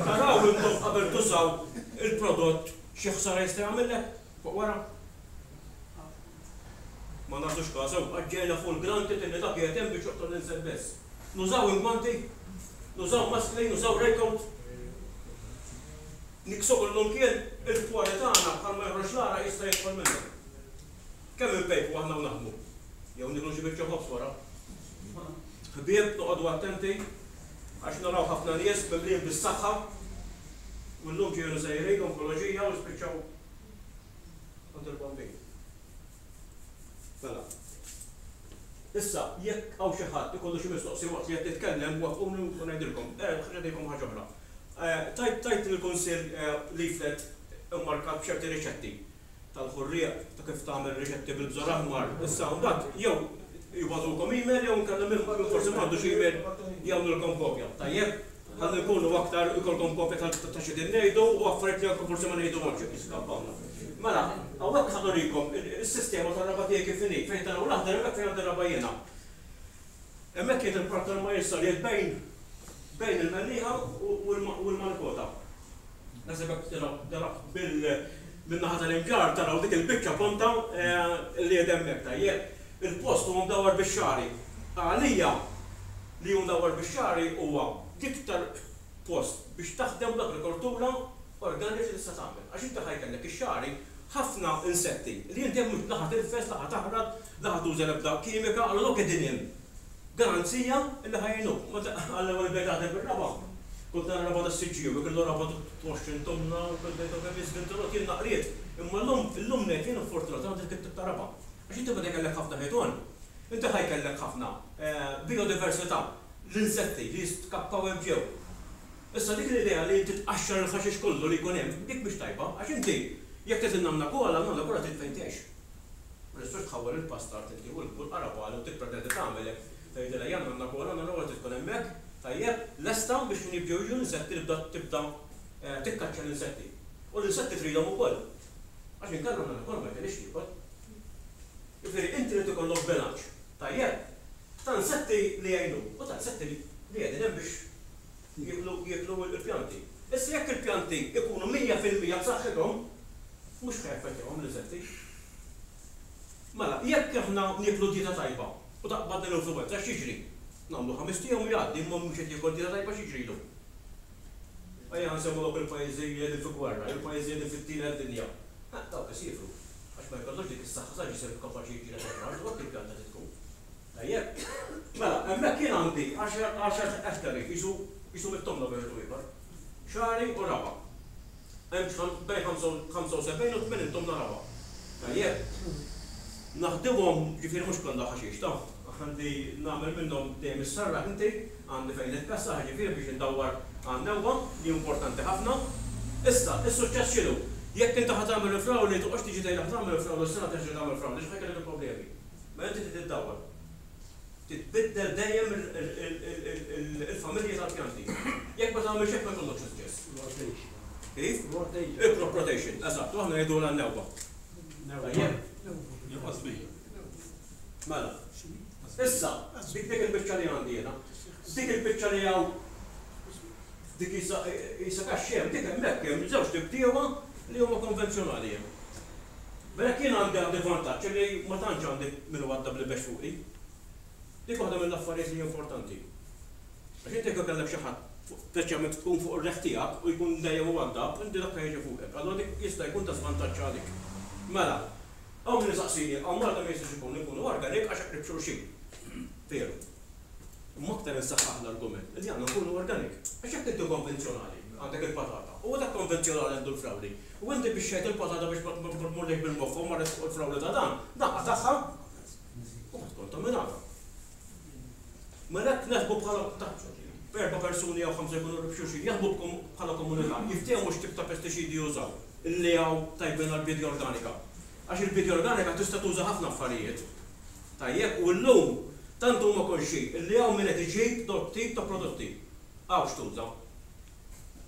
Taraw intom qabel tużaw il-prodott xi ħsara jista' jagħmillek fuq wara? Ma nagħtux każ hawn, għax ġejna full granted illi dak qiegħed hemm biex joqtol l-insett biss. Nużaw ingwanti? Nużaw maskli? Nużaw raincoat? Niksu kullumkien, il-pwari tagħna bħalma joħroġ l-għaraq jista' jidħol minnhom. Kemm inpejpu aħna u naħdmu? Jew nieklu xi biċċa ħobż wara. Ħbieb, noqogħdu attenti għax naraw ħafna nies mimlijin bis-saħħa u llum ġejjin sejrin onkoloġija u jispiċċaw għand il-bambin. Mela. Issa, jekk hawn xi ħadd ikollu xi mistoqsija waqt li qed nitkellem, waqqfuni u ngħidilkom. Ħa ngħidilkom ħaġa oħra. Tajt tajt lill-Kunsill leaflet immarkat b'ċerti riċetti tal-ħurrieq, ta' kif tagħmel riċetti bil-bżar aħmar. Issa mbagħad jew jibagħtulkom email jew inkella min forsi m'għandux email jagħmlulkom kopja. Tajjeb? Ħalli nkunu aktar ikollkom kopja ta' x'qegħdin ngħidu u affarijiet li anke forsi ma ngħiduhomx jekk jiskappawna. Mela, hawnhekk ħa nurikom is-sistema tar-raba' tiegħi kif inhi, fejn taraw l-aħdar hemmhekk fejn għandi r-raba' jiena. Hemmhekk qiegħed il-Park tal-Majjistral qiegħed bejn bejn il-Mellieħa u l-Malikota. Naħseb hekk taraw taraw bil min-naħa tal-Imġarr taraw dik il-biċċa ponta li qiegħda hemmhekk, tajjeb. Il-post huwa mdawwar bix-xagħri. Għalija, li hu mdawwar bix-xagħri huwa l-iktar post biex taħdem bl-agrikoltura organiċ li tista' tagħmel. Għax inti ħa jkellek ix-xagħri ħafna insetti li inti hemm mhux la ħa tirfes, la ħa taħrat, la ħa tuża l-ebda kimika, allura dawk qegħdin hemm garanzija li ħa jgħinuk. Meta għall-ewwel bdejt naħdem bir-raba', kont nara raba' tas-Siġġiewi, kellu raba' t'20 tomna u kont ngħid kemm jiżvinturot jien naqriet. Imma llum, illum ngħid jien fortunat għandi dik it-tip ta' raba'. Għax inti meta jkellek ħafna ħitan, inti ħa jkellek ħafna bijodiversità, l-insetti li jiskappaw hemm ġew. Issa dik l-idea li inti tqaxxar il-ħaxix kollu li jkun hemm, dik mhix tajba, għax inti jekk trid in-nanna kola, n-nanna kola trid fejn tgħix. Ma tistax tħawwel il-pastard inti u l-qarabagħli u tippretendi tagħmel hekk, tgħidilha ejja n-nanna kola, n-nanna kola trid tkun hemmhekk, tajjeb, lesta biex x'ħin jibdew jiġu l-insetti tibda tibda tikkaċċja l-insetti. U l-insetti tridhom ukoll. Għax inkella n-nanna kola ma jkollhiex tiekol. Jiġifieri inti irid ikollok bilanċ tajjeb ta' insetti li jgħinuk u ta' insetti li qegħdin hemm biex jieklu jieklu l-pjanti. Issa jekk il-pjanti jkunu 100% b'saħħithom, mhux ħa jaffettwahom l-insetti. Mela, jekk aħna nieklu dieta tajba u taqbadna l-influwenza x'jiġri? Nagħmlu ħamest ijiem u jgħaddi imma mhux qed jiekol dieta tajba x'jiġrilu? Ejja nsemmu dawk il-pajjiżi li qegħdin fi gwerra, jew il-pajjiżi li qegħdin fit-tielet dinja. Eh, dawk isiefru. Għax ma jkollux dik is-saħħa sa ġisem kapaċi jiġġieled il-mard u hekk il-pjanta trid tkun. Tajjeb? Mela, hemmhekk jien għandi għaxar ettari, qisu qisu mit-tomna bejn wieħed u ieħor. Xagħri u raba'. Hemm xi bejn 75 u 80 tomna raba'. Tajjeb? Naħdimhom, ġifieri mhux kollha ħaxix ta'. Għandi nagħmel minnhom dejjem issarraħ inti, għandi fejn nitkessaħ jiġifieri biex indawwar għan-newwa li importanti ħafna. Issa, is-suċċess x'inhu? Jekk inti ħa tagħmel il-frawli, toqgħodx tiġi tgħidli ħa tagħmel il-frawli u s-sena terġa' tagħmel frawli għax ħa jkollok il-problemi. Mela inti trid iddawwar. Trid tbiddel dejjem il-familji tal-pjanti. Jekk ma tagħmilx hekk ma jkollokx suċċess.
Rotation.
Kif?
Rotation.
Il-crop rotation, eżatt, u aħna ngħidulha n-newba. Tajjeb?
Newba.
Mela. Issa, dik dik il-biċċa li għandi jiena. Dik il-biċċa li hawn dik qisha qisha kaxxa hemm, dik hemmhekk hemm żewġt ibdiewa li huma konvenzjonali hemm. Mela jekk jien għandi għandi vantaġġ li ma tantx għandi min iwaddab li bex fuqi. Dik waħda mill-affarijiet li hi importanti. Għax inti jekk ikollek xi ħadd speċjalment tkun fuq ir-riħ tiegħek u jkun dejjem iwaddab, inti dak ħa jiġi fuqek. Allura dik jista' jkun ta' żvantaġġ għalik. Mela, Hawn min isaqsini, hawn Malta ma jistax ikun inkunu organic għax qrib xulxin. Veru. Imma aktar insaħħaħ l-argument li għandna nkunu organic. Għax jekk inti konvenzjonali, għandek il-patata, u dak konvenzjonali għandu l-frawli, u inti bixxejt il-patata biex ma tmurlekx bil-moħħ u marret fuq il-frawli ta' dan, dan qatagħha u ħa tikkontaminata. Mela hekk naħdmu bħala b'erba' persuni jew ħamsa jkunu qrib xulxin, jaħdmu bħala komunità, jiftehmu x'tip ta' pestiċidi jużaw, li hawn tajbin għall-biedja organika. Għax il-biedja organika tista' tuża ħafna affarijiet. Tajjeb, u llum tant huma konxji li hawn min qed iġib dawk tip ta' prodotti. Hawn x'tuża.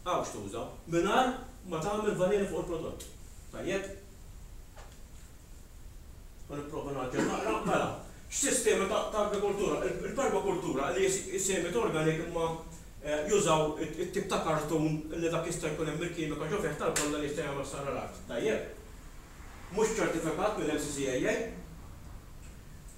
Hawn x'tuża, mingħajr ma tagħmel valeni fuq il-prodott. Tajjeb? Ħa nipprova ngħaġġel naqra. Mela, x'sistemi ta' agrikoltura? Il-permakultura li hi semit organic imma jużaw it-tip ta' kartun li dak jista' jkun hemm il-kimika ġo fih tal-kolla li jista' jagħmel ħsara l-art. Tajjeb? Mhux ċertifikat mill-MCCAA.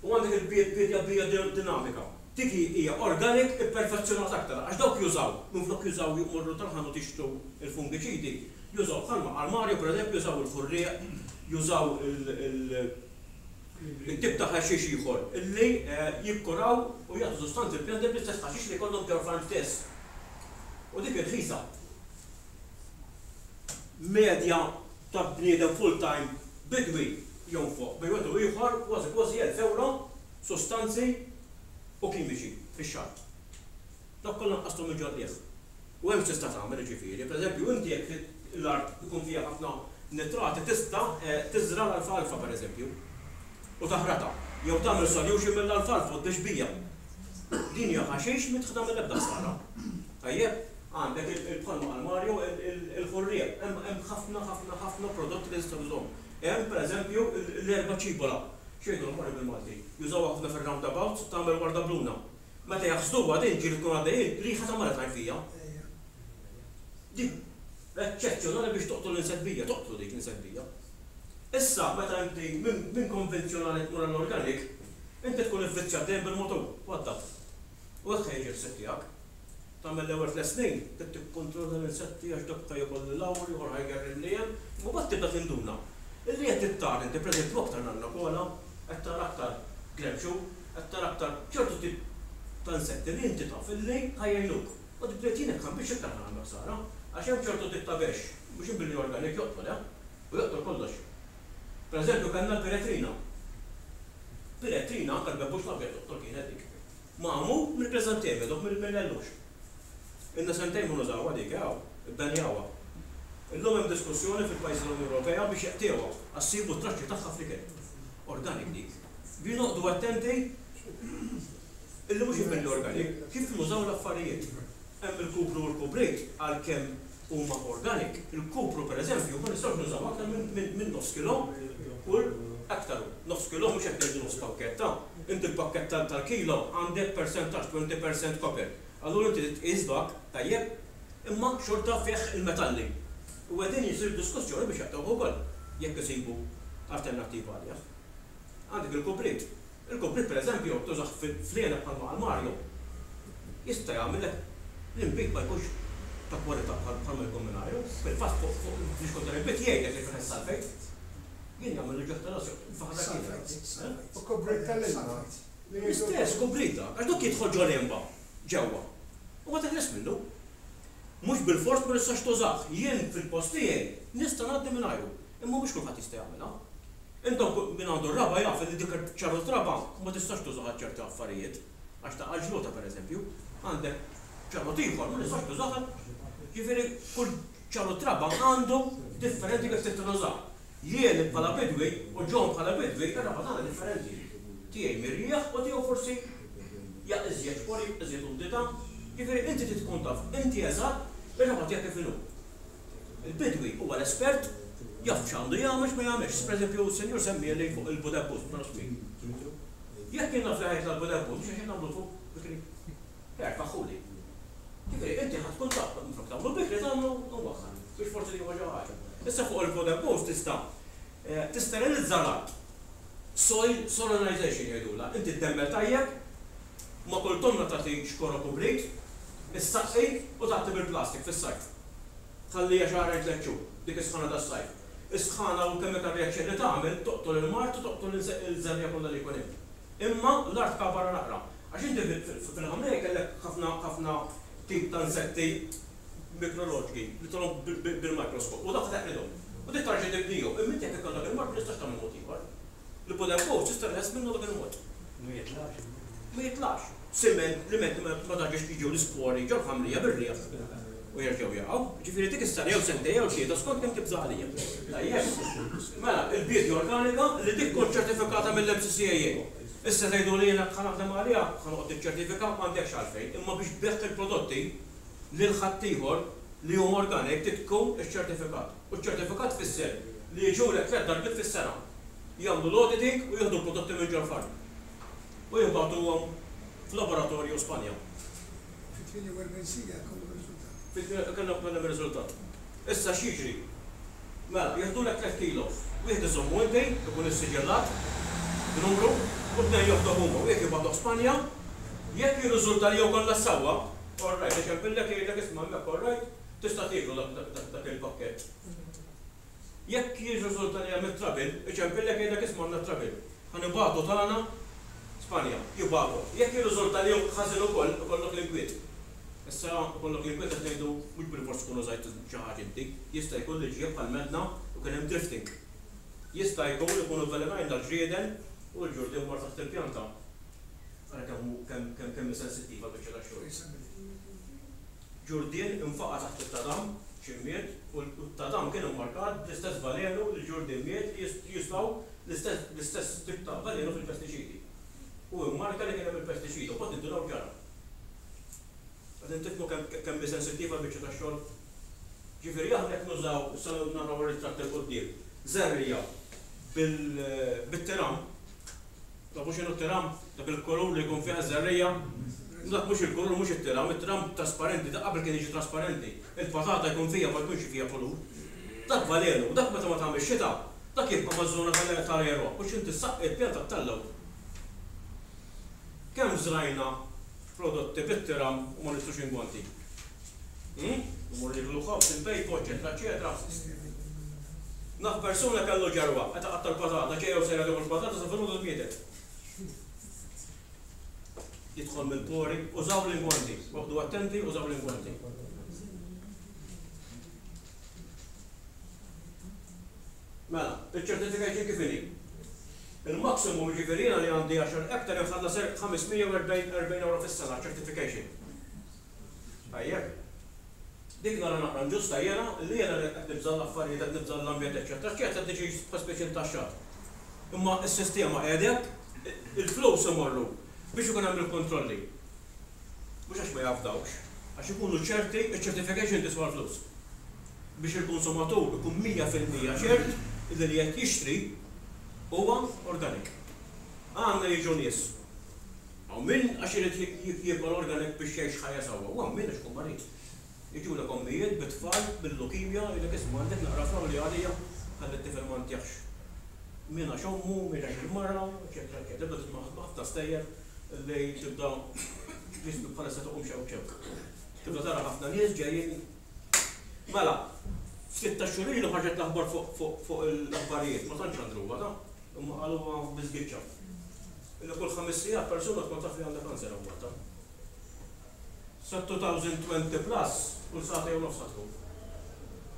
U għandek il-biedja bijodinamika. Dik hija organic ipperfezzjonata aktar għax dawk jużaw, minflok jużaw jmorru tal-ħanut jixtru l-fungiċidi, Jużaw bħalma qal Mario pereżempju jużaw il-ħurrieq, jużaw il-tip ta' ħaxix ieħor li jikkuraw u jagħtu sustanzi l-pjanti bl-istess ħaxix li jkollhom ġol-farm stess. U dik irħisa. Medja ta' bniedem full time bidwi jonfoq bejn wieħed u ieħor kważi kważi 1000 ewro. Sustanzi u kimiċi fix-xahar. Dawk kollha nqasthom minn ġol-qligħ. U hemm x'tista' tagħmel jiġifieri. Pereżempju, inti jekk l-art ikun fiha ħafna nitrati tista' tiżra' l-alfalfa pereżempju u taħratha jew tagħmel solution mill-alfalfa u tbix bija. Din hija ħaxix m'int ħa tagħmel ebda ħsara. Tajjeb? Għandek il bħalma qal Mario il-ħurrieq. Hemm ħafna ħafna ħafna prodotti li tista' tużahom. Hemm pereżempju l-erba' ċibola. X'jgħidulha Mario bil-Malti? Jużawha ħafna fir-roundabouts tagħmel warda bluna. Meta jaħsduha din ġieli tkun għaddejjin, riħa ta' mara tgħin fija. Dik eċċezzjonali biex toqtol l-insett bija, toqtlu dik l-insett bija. Issa meta inti minn konvenzjonali tmur għall-organic, inti tkun ivvizzjat dejjem bil-mutur, u għaddat. U hekk ħa jiġi l-ħsieb tiegħek. Tagħmel l-ewwel tlett snin, trid tikkontrolla l-insetti għax dak ħa jiekol 'l hawn, l-ieħor ħa jgerri 'l hemm, imma mbagħad tibda tinduna illi qed tara inti pereżempju aktar nannakola, qed tara aktar gremxu, qed tara aktar ċertu tip ta' insetti li inti taf illi ħa jgħinuk. U tibda tgħid jien hekk ħa nbixx iktar ħa nagħmel ħsara għax hemm ċertu tip ta' bexx, mhux billi organic joqtol, eh, u joqtol kollox. Pereżempju kellna l-piretrina. Piretrina anke l-bebbux l-abjad toqtol kienet dik. Magħmul mill-kriżantemi, dawk mill-ellux. Ilna sentejn ma nużawha dik, eh, hawn. Ibbenjawha. Illum hemm diskussjoni fil-pajjiżi tal-Unjoni Ewropea biex jeqtiegħuha għax sibu t-traċċi tagħha fl-ikel. Organic dik. Biex noqogħdu attenti illi mhux inbidlu organic, kif nużaw l-affarijiet. Hemm il-kupru u l-kubrit għalkemm huma organic, il-kupru pereżempju ma nistgħux nużaw aktar minn nofs kilo kull ektaru. Nofs kilo mhux qed ngħidu nofs pakketta. Inti l-pakkett tal-kilo għandek persentaġġ, 20% copper. Allura inti trid tqis dak, tajjeb, imma xorta fih il-metalli. U qegħdin jsir diskussjoni biex jaqtgħuh ukoll jekk isibu alternattiva għalih. Għandek il-kubrit. Il-kubrit pereżempju tużah fl-għeneb bħalma qal Mario, jista' jagħmillek l-inbid ma jkunx ta' kwalità bħalma jkun mingħajru. Fil-fatt fuq fl-ixkun tal-inbid jgħidlek li fih is-sulfate. Jien jagħmilli ġuħ ta' rasi faħra kienet.
U kubrit tal-ilma.
L-istess kubrit dak, għax dak jidħol ġol-għenba ġewwa u ma teħles minnu. Mhux bilfors ma tistax tużah. Jien fil-post tiegħi nista' ngħaddi mingħajru, imma mhux kulħadd jista' jagħmilha. Intom min għandu r-raba' jaf li dik ċarrut raba' ma tistax tużaha għal ċerti affarijiet, għax taqa' l-ġluta pereżempju. Għandek ċarrut ieħor ma tistax tużah għal Jiġifieri kull ċarrut raba' għandu differenti kif trid tużah. Jien bħala bidwi u John bħala bidwi ir-raba' tagħna differenti. Tiegħi mirjieħ u tiegħu forsi ja iżjed xpori, iżjed umdità. Jiġifieri inti trid tkun taf inti eżatt ir-raba' tiegħek kif inhu. Il-bidwi huwa l-espert, jaf x'għandu jagħmel x'ma jagħmilx. Pereżempju, s-senjur semmieli fuq il-budebbus, ma nafx min. Jekk jien naf li ħa jitla' l-budebbus, mhux għax nagħmlu fuq bikri. Erfaħhuli. Ġifieri, inti ħa tkun taf, minflok tagħmlu bikri tagħmlu mwaħħar, biex forsi tieħu xi ħaġa. Issa fuq il-budebbus tista' tisterilizza l-art. Soil solanization jgħidulha. Inti ddemmel tajjeb, ma' kull tomna tagħti xkora kubrit, issaqqi u tgħatti bil-plastik fis-sajf. Tħalliha xahrejn tlett xhur, dik is-sħana tas-sajf. Is-sħana u l-chemical reaction li tagħmel toqtol il-mard u toqtol il-żerriegħa kollha li jkun hemm. Imma l-art tkabarha naqra. Għax inti fil-ħamrija jkellek ħafna ħafna tip ta' insetti mikroloġiki li tarhom bil-microscope u dawk teqridhom. U dik tarġa' tibnihom. Imma inti jekk ikollok il-mard ma tistax tagħmel mod ieħor. L-ipodempus tista' teħles minnu dak il-mod.
Ma jitlax.
Ma jitlax. Siment, liment li ma tarġax jiġu l-ispori ġol-ħamrija bir-riħ u jerġgħu jaqgħu. Ġifieri dik is-sena jew sentejn jew tlieta skont kemm tibża' għalija. Tajjeb. Mela, il-biedja organika li dik tkun ċertifikata mill-MCCAA. Issa tgħiduli jiena ħa naħdem għaliha, ħa noqgħod niċċertifika, m'għandekx għalfejn. Imma biex tbigħ il-prodotti lil ħaddieħor li huma organic trid tkun iċċertifikat. U ċ-ċertifikat tfisser li jiġulek tlett darbiet fis-sena. Jagħmlu l-auditing u jieħdu l-prodotti minn ġol-farm. U jibagħtuhom f'laboratorju Spanja.
Fi 48 siegħa jkollhom ir-riżultat.
Fi kellhom kellhom ir-riżultat. Issa x'jiġri? Mela, jieħdulek tlett kilos. Wieħed iżommu inti, ikun issiġillat b'numru, u tnejn joħduh huma. Wieħed jibagħtuh Spanja. Jekk jirriżulta li jew kollha sewwa, all right, iċempillek jgħidlek isma' hemmhekk all right, tista' tieklu dak il-pakkett. Jekk jirriżulta li hemm it-trouble, iċempillek jgħidlek isma' għandna t-trouble. Ħa nibagħtu tagħna Spanja. Jibagħtuh. Jekk jirriżulta li hu ħażin ukoll, ikollok l-inkwiet. Issa, ikollok l-inkwiet qed ngħidu mhux bilfors tkun użajt xi ħaġa inti. Jista' jkun li ġie bħal m'għedna u kien hemm drifting. Jista' jkun ikunu vvelenajna l-ġrieden u l-ġurdien mar taħt il-pjanta. Ara kemm hu kemm kemm kemm hi sensittiva l-biċċa tax-xogħol. Ġurdien infaqa' taħt it-tadam xi miet u t-tadam kien immarkat bl-istess valenu li l-ġurdien miet li jużaw l-istess l-istess tip ta' valenu fil-pestiċidi. Hu immarka li kien hemm il-pestiċida u mbagħad indunaw ġara. Qegħdin tifhmu kemm kemm hi sensittiva l-biċċa tax-xogħol? Ġifieri aħna jekk nużaw, issa naraw ir-ritratt 'il quddiem, żerriegħa bil bit-tiram, Tafu x'inhu t-tiram? Dak il-kulur li jkun fih iż-żerriegħa? Dak mhux il-kulur, mhux it-tiram, it-tiram trasparenti, dak qabel kien jiġi trasparenti. Il-patata jkun fiha ma jkunx fiha kulur. Dak valenu, dak meta ma tagħmilx xita, dak jibqa' maż-żona tal-għeruq u x'inti ssaqqi l-pjanta ttellgħu. Kemm żrajna prodotti bit-tiram u ma nixtrux ingwanti? Hm? Immorru nieklu ħobż, inpejpu, eċċetera, eċċetera. Naf persuna kellu ġerwa, qed iqatta' l-patata, ġejja u sejra tieħu l-patata sa filgħodu mietet. Jidħol mill-pori, użaw l-ingwanti, oqgħdu attenti, użaw l-ingwanti. Mela, iċ-certification kif inhi? Il-maximum jiġifieri jiena li għandi għaxar hectare inħallas 540 euro fis-sena certification. Tajjeb. Dik nara naqra inġusta jiena, li jiena li qed nibża' l-affarijiet, qed nibża' l-ambjent eċċetera eċċetera qed niġi bħal speċi ntaxxat. Imma s-sistema qiegħda hekk, il-flus imorru biex ikun hemm il-kontrolli. Mhux għax ma jafdawx, għax ikunu ċerti, iċ-certification tiswa l-flus. Biex il-konsumatur ikun 100% ċert illi li qed jixtri huwa organic. Għandna jiġu nies Hawn min għax irid jiekol organic biex jgħix ħajja sewwa u hawn min għax ikun marid. Jiġulek ommijiet bit-tfal bil-lukimja jgħidlek isma' għandek naqra frawli għalija ħalli t-tifel ma ntihx. Min għax ommu, min għax il-mara, eċċetera eċċetera. Tibda tisma' ħafna stejjer li tibda ġismek bħalissa tqum xewk xewk. Tibda tara ħafna nies ġejjin Mela, ftit tax-xhur ilu ħarġet l-aħbar fuq l-aħbarijiet, ma tantx xandruha ta', imma qaluha bi żgiċċa. Illi kull ħames sigħat persuna tkun taf li għandha kanser hawn Malta. Sa 2020 plus kull sagħtejn u nofs ħa tkun.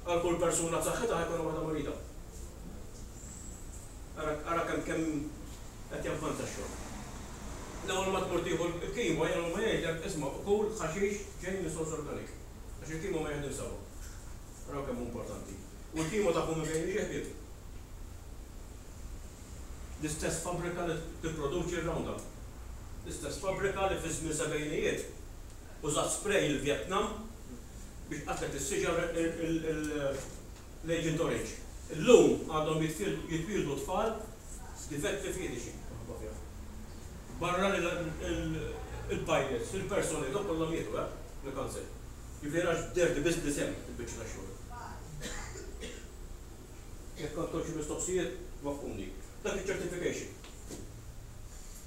Għal kull persuna b'saħħitha ħa jkollna waħda marida. Ara ara kemm kemm qed javvanza x-xogħol. L-ewwel ma tmur tieħu l-kimo jien huma jgħidlek isma' kul ħaxix ġej minn sors organic. Għax il-kimo ma jaħdimx sewwa. Araw kemm hu importanti. U l-kimo tafu minn fejn jiġi ħbieb? L-istess fabbrika li tipproduċi r-Roundup. L-istess fabbrika li fiż-żmien sebgħinijiet użat spray il-Vjetnam biex qatlet is-siġar l-Agent Orange. Illum għadhom jitwieldu tfal b'difetti fiżiċi minħabba fih. Barra li l-pilots, il-persuni, dawk kollha mietu, eh, bil-kanser. Jiġifieri għax dirty business hemm il-biċċa tax-xogħol. Jekk għandkom xi mistoqsijiet, waffquni. Dak iċ-certification.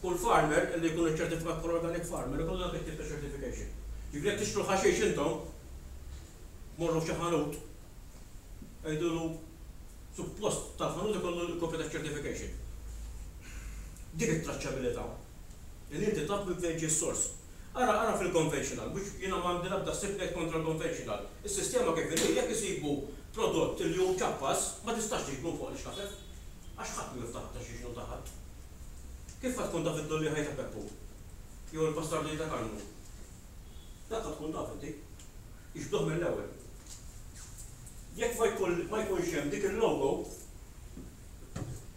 Kull farmer li jkun iċċertifikat bħala organic farmer ikollu dak it-tip ta' certification. Jiġifieri jekk tixtru l-ħaxix intom, morru f'xi ħanut, għidulu suppost tal-ħanut ikollu l-kopja taċ-certification. Dik it-traċċabilità. Li inti taf minn fejn ġie s-sors. Ara, ara fil-conventional, mhux jiena m'għandi l-ebda ħsieb ngħid kontra l-conventional. Is-sistema kif inhi, jekk isibu prodott li hu mċappas, ma tistax tiġbru fuq l-ixkafef. Għax ħadd mhu jiftaħ ta' xiex inhu ta' ħadd. Kif ħa tkun taf id-dulliegħa ta' Peppu? Jew il-pastardija ta' Karmnu? Dak ħa tkun taf inti. Jiġbduh mill-ewwel. Jekk ma jkun ma jkunx hemm dik il-logo,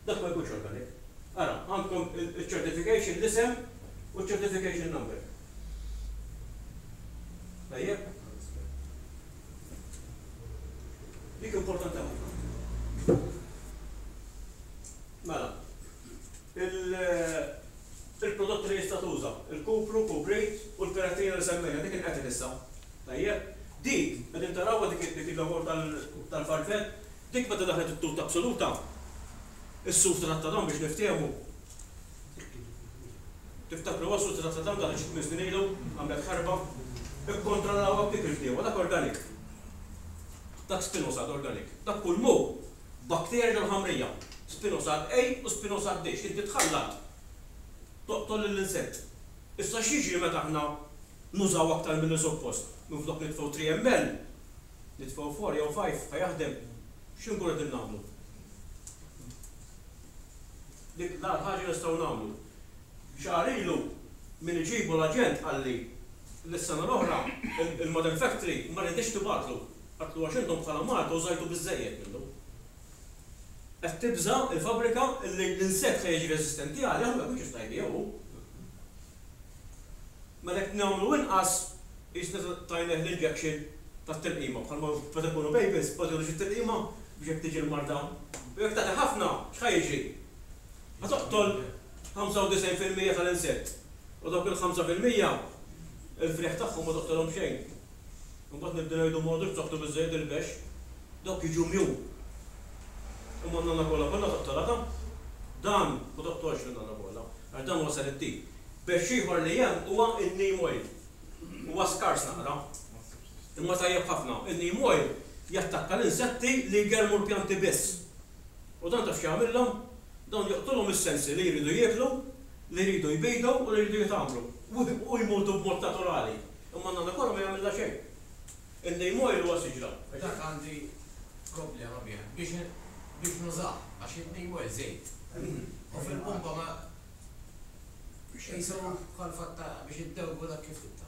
Dak ma jkunx organic. Ara, għandkom iċ-certification, l-isem u ċ-certification number. Tajjeb? Dik importanti ħafna. Mela, il-prodotti li jista' tuża, il-kupru, kubrit u l-perettina li semmejna, dik inqetel issa. Tajjeb? Dik, qegħdin tarawha dik il-logo tal-farfett, Dik meta daħlet it-tutta absoluta, is-suf ta' Tat-Tadam biex niftehmu. Tiftakruha s-suf ta' Tat-Tadam daħlet xi tmien snin ilu, għamlet ħarba. Ikkontrollawha b'dik il-bdiewa, dak organic. Dak spinosad organic. Dak kull m'hu bakterji ġol-ħamrija. Spinosad A u spinosad D, x'inti tħallat toqtol lill-insett. Issa x'jiġri meta aħna nużaw aktar milli suppost? Minflok nitfgħu 3 ml, Nitfgħu four jew five ħa jaħdem? X'inkunu qegħdin nagħmlu? Dik l-agħar ħaġa li nistgħu nagħmlu. Xahar ilu Min iġibu l-aġent qalli li s-sena l-oħra il-Model Factory ma riditx tibgħatlu. Qaltlu għax intom bħala Malta użajtu biżżejjed minnu. Qed tibża' l-fabbrika li l-insett ħa jiġi reżistenti għalih u ma jkunx jista' jbigħu hu. Mela jekk nagħmlu inqas qisna tajnieh l-injection tat-tilqima bħalma meta jkunu babies bagħtulu xi tilqima biex jekk tiġi l-marda. U jekk tagħti ħafna x'ħa jiġri? Ħa toqtol 95% tal-insett u dawk il-5% il-frieħ tagħhom ma toqtolhom xejn. Imbagħad nibdew ngħidu m'għodux b'saħħtu biżżejjed il-bexx. Dawk jiġu mju. Imma n-nanna kollha kollha toqtolha ta'? Dan ma toqtolx lin-nanna kollha għax dan huwa selettiv. Bexx ieħor li hemm huwa n-neem oil. Huwa skars naqra. Imma tajjeb ħafna. In-neem oil jattakka l-insetti li jgerrmu l-pjanti biss. U dan taf x'jagħmillhom? Dawn joqtolhom is-sensi li jridu jieklu, li jridu jbidu u li jridu jitgħammru. U jmutu b'mod naturali. Imma n-nanna kollha ma jagħmillha xejn. In-neem oil huwa siġra.
Dak għandi problema bih biex biex nużah għax in-neem oil żejt. U fil-pumpa ma qisu bħal fatta biex iddewbu dak kif tibda.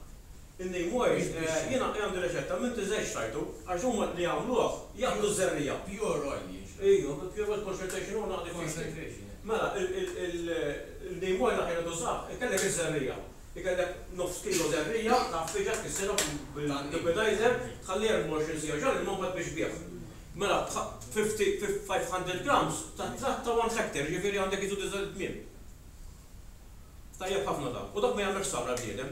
In-neem oil, jiena għandi riċetta m'inti żejt xtrajtu, għax huma li jagħmluh jaqbdu ż-żerriegħa.
Pure oil jinxtara.
Ejja, pure oil concentration oil naqra diffiċli. Mela, il-neem oil aħjar tużah, ikellek iż-żerriegħa. Ikellek nofs kilo żerriegħa, tgħaffiġha, tkissirha bil-liquidizer, tħalliha 24 siegħa ġol-ilma u mbagħad biex tbigħ. Mela, 500 grams tat-tratt ta' 1 hectare, jiġifieri għandek qisu disa' tmiem. Tajjeb ħafna dak. U dak ma jagħmilx ħsara għall-bniedem.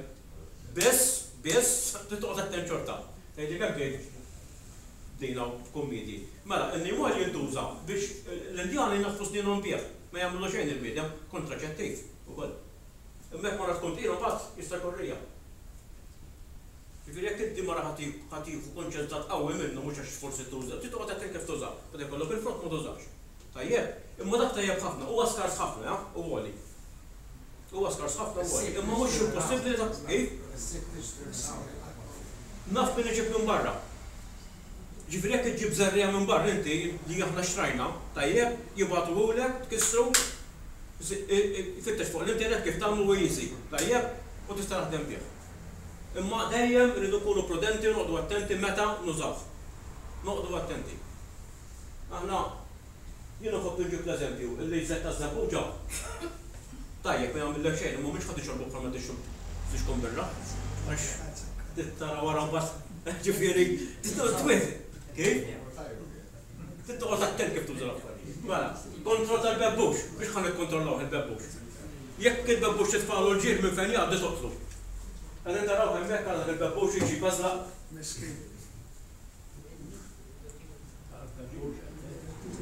Biss, biss, trid toqgħod attent xorta. Tgħidli kemm tgħid bdejna b'kummiedji. Mela, in-neem oil jintuża biex l-Indjani jnaddfu snienhom bih. Ma jagħmillu xejn il-bniedem, kontraċettiv ukoll. Imma jekk mara tkun tqila mbagħad jista' jkun rija. Jiġifieri jekk inti mara ħa tieħu konċentrat qawwi minnu mhux għax forsi tuża, trid toqgħod attent kif tużah. Meta jkollok il-frott ma tużax. Tajjeb? Imma dak tajjeb ħafna, huwa skars ħafna, eh, u għoli. Huwa skars ħafna u għoli. Imma mhux impossibbli li ta' kif? Naf min iġib minn barra. Ġifieri jekk iġġib żerriegħa minn barra inti li aħna xtrajna, tajjeb, jibagħtuhulek, tkissru, fittex fuq l-internet kif tagħmlu hu easy, tajjeb, u tista' taħdem bih. Imma dejjem irridu nkunu prudenti u noqogħdu attenti meta nużawh. Noqogħdu attenti. Aħna, jien inħobb inġib l-eżempju illi ż-żejt taż-żebbuġa tajjeb ma jagħmillek xejn imma mhux ħa tixorbu bħalma tixrob flixkun birra għax trid tara wara mbagħad ġifieri trid twieħ. Kif? Trid toqgħod attent kif tuża l-affarijiet. Mela, kontroll tal-bebbux, biex ħa nikkontrollawh il-bebbux. Jekk il-bebbux titfagħlu l-ġir minn fejn jgħaddi toqtlu. Qegħdin tarawh hemmhekk ara dak il-bebbux jiġi jbeżlaq.
Miskin.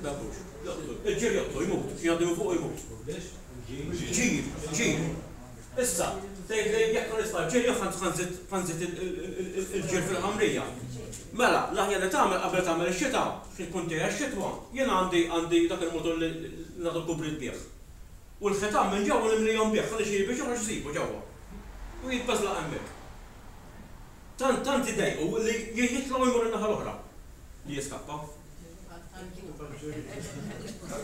Bebbux. Joqtlu. Il-ġir joqtlu, jmut. Jgħaddi minn fuq u jmut. Ġir, ġir. Issa, tgħidli jekk ħa nitfa' l-ġir jew ħa nżid il-ġir fil-ħamrija. Mela, l-aħjar li tagħmel qabel tagħmel ix-xita, xi tkun ġejja x-xitwa, jien għandi għandi dak il-mutur li nagħtu l-kubrit bih. U l-ħitan minn ġewwa nimlihom bih, ħalli xi biex joħroġ isibu ġewwa. U jitbeżlaq hemmhekk. Tant tant idejqu li jitla' u jmur in-naħa l-oħra li jiskappa.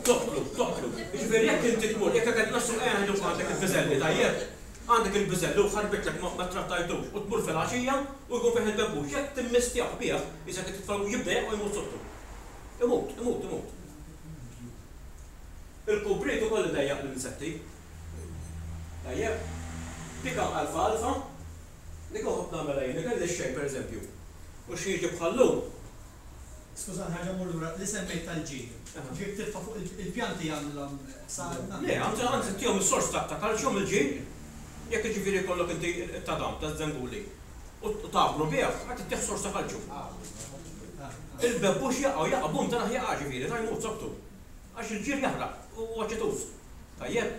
Toqtlu, toqtlu. Jiġifieri jekk inti tmur, jekk qed nassu ejja ngħidu għandek il-biżelli tajjeb, għandek il-biżelli u ħarbitlek ma trattajtux u tmur filgħaxija u jkun fih il-bebbux, jekk timmistjah bih, qisek qed titfgħu jibda jaqa' u jmut sottu. Imut, imut, imut. Il-kubrit ukoll idejjaq l-insetti. Tajjeb? Dik alfa alfa, Dik inħobb nagħmilha jien, ikelli x-xejn pereżempju, u xi jiġi bħal-lum.
Skużani ħaġa mmur lura, li semmejt tal-ġir. Ġir titfa' fuq il-pjanti jagħmlilhom ħsara?
Le, anzi anzi ttihom is-sors ta' calcium il-ġir. Jekk jiġifieri jkollok inti t-tadam taż-żenguli u tagħmlu bih, qed ittih sors ta' calcium. Il-bebbux jaqa' u jaqa' bum tarah jaqa' ġifieri ta' jmut soktu. Għax il-ġir jaħraq u huwa aċituż. Tajjeb?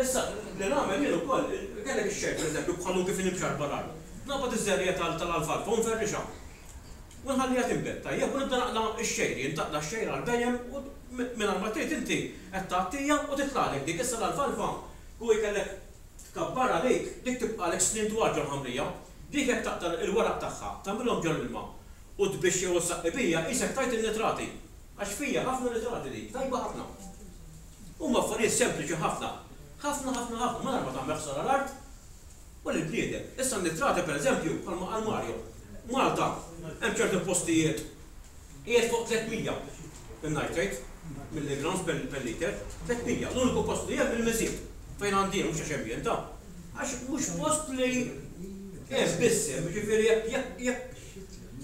Issa, li nagħmel jien ukoll, kellek ix-xejn pereżempju bħal kif inhi mxarrba l-art. Naqbad iż-żerriegħa tal-alfalfa u nferrixha. U nħalliha tinbet, tajjeb, u nibda naqla' x-xejr jien, taqla' x-xejr għall-bhejjem u mingħajr ma trid inti qed tgħattija u titlagħlek dik. Issa l-alfalfa, kieku jkellek tkabbarha dik, dik tibqagħlek snin twal ġol-ħamrija. Dik jekk taqta' l-weraq tagħha, tagħmilhom ġol-ilma u tbixx jew issaqqi bija, qisek tajt in-nitrati. Għax fija ħafna nitrati dik, tajba ħafna. Huma affarijiet sempliċi ħafna. Ħafna, ħafna, ħafna, mingħajr ma tagħmel ħsara l-art. U lill-bniedem. Issa n-nitrati pereżempju, bħalma qal Mario, Malta hemm ċerti postijiet qiegħed fuq 300 in-nitrate milligrams per liter, 300. L-uniku post li hemm il-Miżieb, fejn għandi jien, mhux għax hemm jien ta', għax mhux post li hemm biss hemm, jiġifieri jekk jekk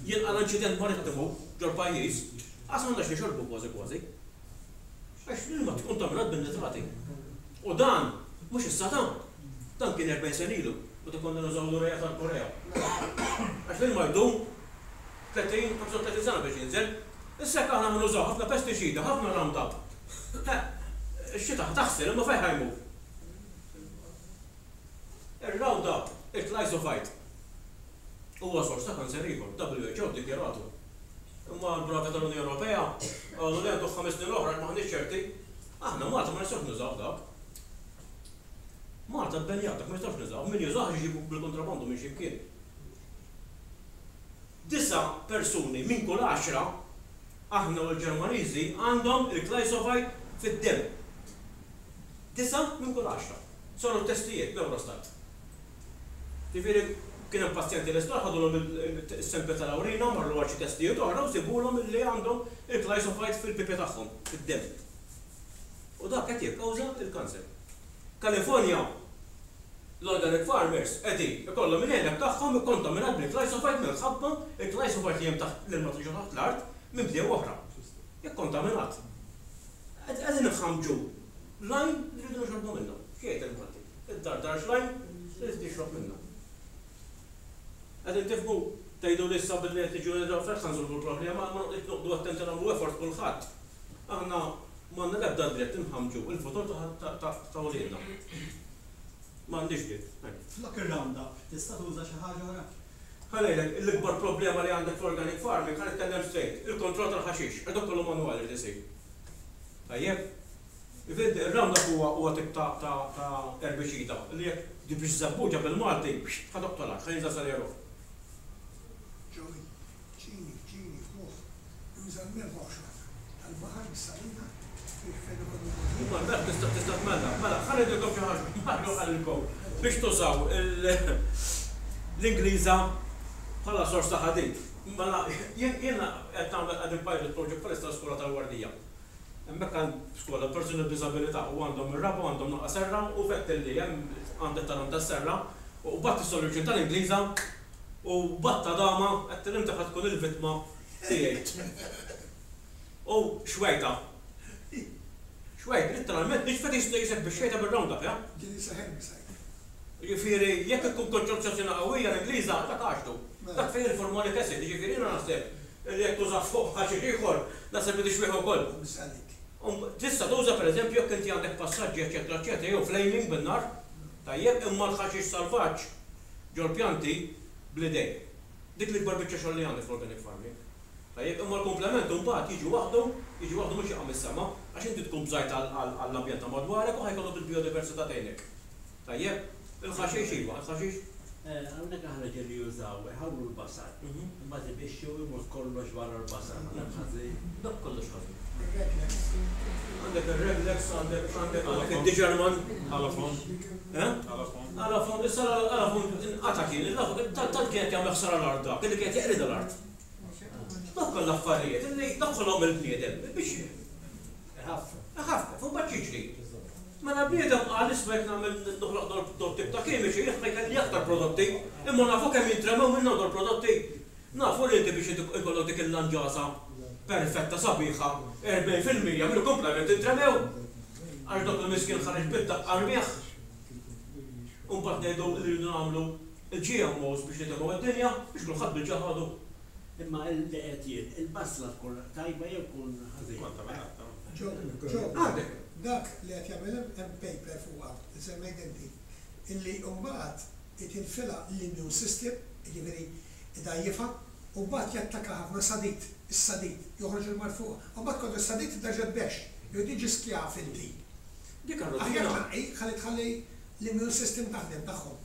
jinqala' inċident marittimu ġol-pajjiż, qas m'għandna x'nixorbu kważi kważi. Għax l-ilma kkontaminat bin-nitrati. U dan mhux issa ta', dan kien 40 sena ilu, meta konna nużaw l-urea tal-Korea. Għax l-ilma jdum 30, 35 sena biex jinżel. Issa jekk aħna ħa nużaw ħafna pestiċida, ħafna Roundup, eh, ix-xita ħa taħsel imma fejn ħa jmur? Ir-Roundup, il-glyphosate, huwa sors ta' kanser ieħor, WHO ddikjaratu. Imma l-bravi tal-Unjoni Ewropea qalu le għandu ħames snin oħra għax m'aħniex ċerti. Aħna Malta ma nistgħux nużawh dak. Malta bbenjat dak ma nistgħux nużawh, min jużah iġibu bil-kontrabandu minn xi mkien. Disa' persuni minn kull għaxra, aħna u l-Ġermaniżi, għandhom il-glyphosate fid-demm. Disa' minn kull għaxra. Saru t-testijiet l-Eurostat. Jiġifieri kien hemm pazjenti l-isptar ħadulhom is-sample tal-awrina, marru għal xi testijiet oħra u sibulhom illi għandhom il-glyphosate fil-pipi tagħhom, fid-demm. U dak qed jikkawża l-kanser. California, l-organic farmers qegħdin ikollhom il-għeneb tagħhom ikkontaminat bil-glyphosate minħabba l-glyphosate li hemm taħt l-ilma li ġo taħt l-art minn bdiewa oħra. Ikkontaminat. Qegħdin iħammġu l-għajn li rridu nixorbu minnha. X'jgħid il-Malti? Iddardarx l-għajn li trid tixrob minnha. Qegħdin tifhmu? Tgħiduli issa billi qed niġu nidhru f'hekk ħa nsolvu l-problema, imma jekk noqogħdu attenti nagħmlu effort kulħadd, aħna m'għandna l-ebda dritt inħammġu l-futur ta' uliedna. M'għandniex dritt.
Flok ir-Roundup tista' tuża xi ħaġa oħra?
Ħa ngħidlek, l-ikbar problema li għandek fl-organic farming, ħa nitkellem straight, il-kontroll tal-ħaxix, għax dak kollu manwali jrid isir. Tajjeb? Ivedi, ir-Roundup huwa huwa tip ta' ta' ta' erbiċida li jekk ġġib xi żebbuġa bil-Malti, ħa toqtolha, ħa jinżel sal-għeruq.
Joey, ċini, ċini, ħuh, juża l-melħ oħxon tal-baħar bis-salina biex fejn ikun il-ħut.
Imma l-melħ tista' tista' tmellaħ. Mela, ħa ngħidilkom xi ħaġa, Mario qalilkom biex tużaw l-Ingliża bħala sors ta' ħadid. Mela, jien jiena qed nagħmel qegħdin pilot project bħalissa l-iskola tal-Wardija. Hemmhekk għand skola persuni b'diżabilità u għandhom ir-raba' u għandhom naqra serra u fett illi hemm għand it-talon tas-serra u qbadt is-solution tal-Ingliża u qbadt għadama għedtilha inti ħa tkun il-vittma tiegħi. U xwejta. Xwejta, litteralment nixfet qisek bix-xejta bir-Roundup, eh?
Ġieli seħ herbicide.
Jiġifieri jekk ikun konċentrazzjoni qawwija l-Ingliża dak għaxtu. Dak fih il-formolic acid, jiġifieri jiena naħseb li jekk tużah fuq ħaxix ieħor naħseb li tixwih ukoll. Tista' tuża pereżempju jekk inti għandek passaġġi eċċetera eċċetera jew flaming bin-nar, tajjeb, imma l-ħaxix salvaġġ ġol-pjanti bl-idejn. Dik l-ikbar biċċa xogħol li għandek fl-organic farming. Tajjeb, imma l-komplement imbagħad jiġi waħdu, jiġi waħdu mhux jaqa' mis-sema, għax inti tkun bżajt għall-ambjent ta' madwarek u ħa jkollok il-bijodiversità tgħinek. Tajjeb, il-ħaxix iva, il-ħaxix.
Hawnhekk aħna ġieli jużaw, iħawlu l-basal, imbagħad ibixxu u jmur kollox barra l-basal. Dak ħażin.
Dak kollox ħażin. Għandek ir-Reglex, għandek għandek għandek id-Digerman.
Alafon.
Eh?
Alafon.
Alafon, issa l-alafon inqata' kien, tant kien qed jagħmel ħsara l-art dak, illi kien qed jeqridha l-art. Dawk kollha affarijiet illi daħħalhom il-bniedem biex
Iħaffef.
Iħaffef, u mbagħad x'jiġri? Mela l-bniedem qal isma' jekk nagħmel noħloq dol tip ta' kimiċi jien ħa jkelli aktar prodotti, imma nafu kemm jintremew minnhom dol prodotti. Nafu li inti biex ikollok dik il-lanġasa perfetta sabiħa 40% mill-kumplament intremew. Għax dak il-miskin ħareġ bid-daqqa rmieħ. U mbagħad ngħidu li rridu nagħmlu il-GMOs biex nitemgħu id-dinja biex kulħadd bil-ġaħadu.
Imma li qed jien, il-basla tkun tajba jew tkun ħażina?
Kontaminata.
Joe, Joe,
Għandek.
dak li qed jagħmel hemm paper fuqha li semmejt inti, illi mbagħad itilfilha l-immune system, jiġifieri idgħajjifha, u mbagħad jattaka ħafna sadid, is-sadid, joħroġ il-mard fuqha. U mbagħad kontra s-sadid tibda terġa' tbexx, jew tiġi skjav inti.
Dik
Aħjar
għar-rutina.
tnaqqi ħalli tħalli l-immune system taħdem tagħhom.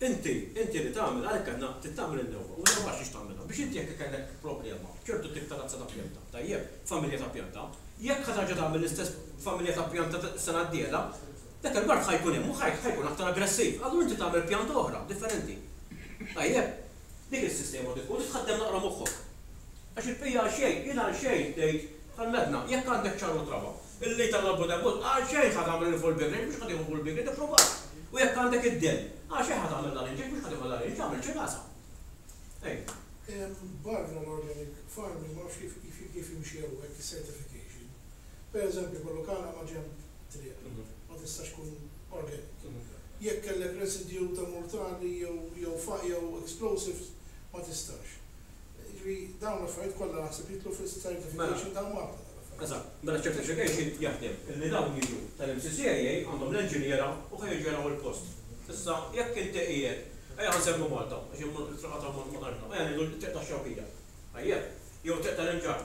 Inti, inti li tagħmel, għalhekk għedna trid tagħmel in-newba, u n-newba għax tagħmilha? Biex inti jekk ikollek problema b'ċertu tip ta' razza ta' pjanta, tajjeb, familja ta' pjanta, jekk ħa terġa' tagħmel l-istess familja ta' pjanta s-sena d-dieħla, Dak il-mard ħa jkun hemm u ħa jkun aktar aggressiv. Allura inti tagħmel pjanta oħra, differenti. Tajjeb? Dik is-sistema trid tkun, trid tħaddem naqra moħħok. Għax il-bqija għal xejn, jien għal xejn tgħid bħal medna, jekk għandek ċar u traba, illi tagħmel b'debut, għal xejn ħa tagħmel il-full big range, mhux ħa tieħu full big range, ipprovat. U jekk għandek id-dell, għal xejn ħa tagħmel l-arinġ, mhux ħa tieħu l-arinġ, agħmel ċirasa. Ej.
Barra l-organic farming ma nafx kif kif jimxi hawnhekk is-certification. Per eżempju jkollok għalqa ma' ġenb triq, ma tistax tkun organic. Jekk kellek residue ta' mortali jew jew jew explosives ma tistax. Jiġifieri dawn l-affarijiet kollha naħseb jidħlu fis-certification ta' Malta tal-affarijiet.
Eżatt. Mela ċ-certification jaħdem illi dawn jiġu tal-MCCAA għandhom l-enġiniera u ħa jiġu jaraw il-post. Issa jekk inti qiegħed, ejja ħa nsemmu Malta għax il-triqa ta' Malta ma tantx naf, ejja ngħidu t-triq tax-Xewkija. Tajjeb? Jew triq tal-Imġarr.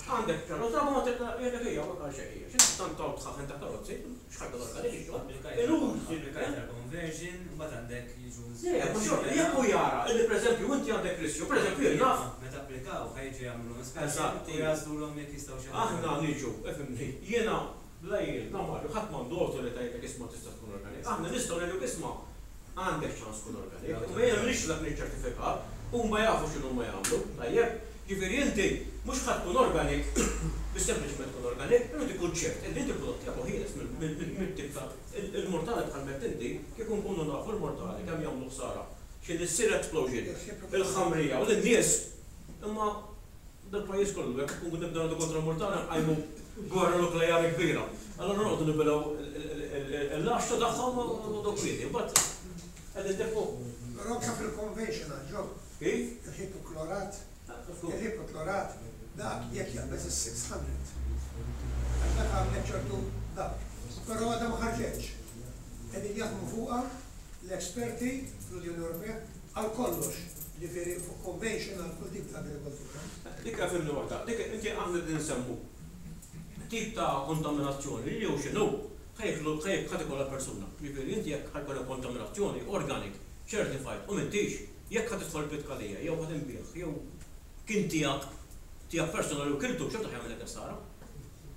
Għandek karozza ma triq ta' jgħidlek ejja hawnhekk għal xejn hija. X'inti tant hawn dħaħen ta' karozzi, x'ħaġa l-organic ix-xogħol. Inutli.
Applikajt għall-conversion, imbagħad għandek jiġu
Le, mhux xorta, jekk hu jara illi pereżempju inti għandek riskju, pereżempju jien naf.
Meta applikaw ħa jiġu jagħmlulhom inspection u jagħżlulhom jekk jistgħux jagħmlu.
Aħna niġu, ifhimni, jiena la jien, la Mario, ħadd m'għandu awtorità jgħidlek isma' tista' tkun organic. Aħna nistgħu ngħidulek isma' Għandek ċans tkun organic, imma jiena m'iniex dak niċċertifika, huma jafu x'inhuma jagħmlu, tajjeb? Ġifieri inti mhux ħa tkun organic biex sempliċement tkun organic, irid ikun ċert illi inti l-prodott tiegħek hu ħieles mit-tip ta' il-mortali bħal m'għedt inti, kieku nkunu nafu l-mortali kemm jagħmlu ħsara, x'inhi ssir explosion, il-ħamrija u lin-nies, imma Dal-pajjiż kollu jekk nkunu nibdew nagħtu kontra l-murtala nqajmu gwerra nukleari kbira. Allura noqogħdu nibilgħu l-għaxta tagħhom u noqogħdu kwieti. Imbagħad qegħdin nifhmu.
Però anke fil-conventional, ġo.
Kif?
Il-ħipoklorat, il-ħipoklorat dak jekk jaqbeż is-600. Għax dak għamlet ċertu dak. Però għadha ma ħarġetx. Qegħdin jaħdmu fuqha l-esperti fl-Unjoni Ewropea għal kollox, jiġifieri fuq conventional kull tip ta' agrikoltura.
Dik fhimni waħda, dik inti aħna qegħdin insemmu tip ta' kontaminazzjoni li hu x'inhu ħa jieklu ħa tikolha persuna. Jiġifieri inti jekk ħa jkun hemm kontaminazzjoni organic, certified u m'intix, jekk ħa tidħol pitkalija jew ħa tinbiegħ jew kien tiegħek tiegħek personali u kiltu xorta ħa jagħmillek ħsara.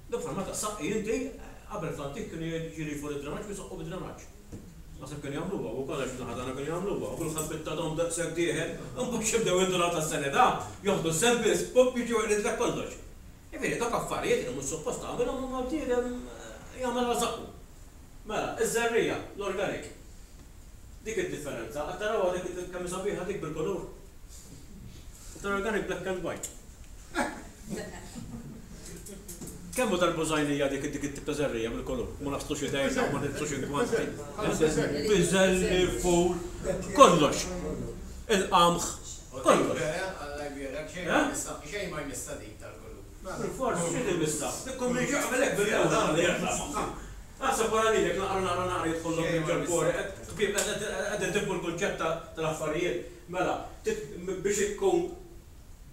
Dak bħal meta ssaqqi inti qabel fl-antik kienu jrifu lid-drenaġġ u jsaqqu bid-drenaġġ. Naħseb kienu jagħmluha wkoll għax fin-naħa tagħna kienu jagħmluha u kulħadd bit-tadam daqshekk dieħel, imbagħad x'jibdew jindunaw tas-sanità, joħdu s-samples, pupp jiġu jeqridlek kollox. Jiġifieri dawk affarijiet li mhux suppost tagħmilhom imma l-bniedem jagħmel għal żaqqu. Mela, iż-żerriegħa, l-organic. Dik id-differenza, qed tarawha dik kemm hi sabiħa dik bil-kulur? Tal-organic black and white. Kemm hu tal-bużajnija dik dik it-tip ta' żerriegħa bil-kulur? Ma naħslux idejna, ma nilbsux ingwanti. Piżelli, ful, kollox. Il-qamħ, kollox.
Alla jbierek, xejn ma jmissha dik tal-kulur.
Bilfors, xi timissha? Ikun min jaqbel hekk bil-lewża. Aħseb wara lilek naqra naqra naqra jidħollok minn ġol-pori, ħbieb qegħdin tifhmu l-kunċett tal-affarijiet. Mela, biex ikun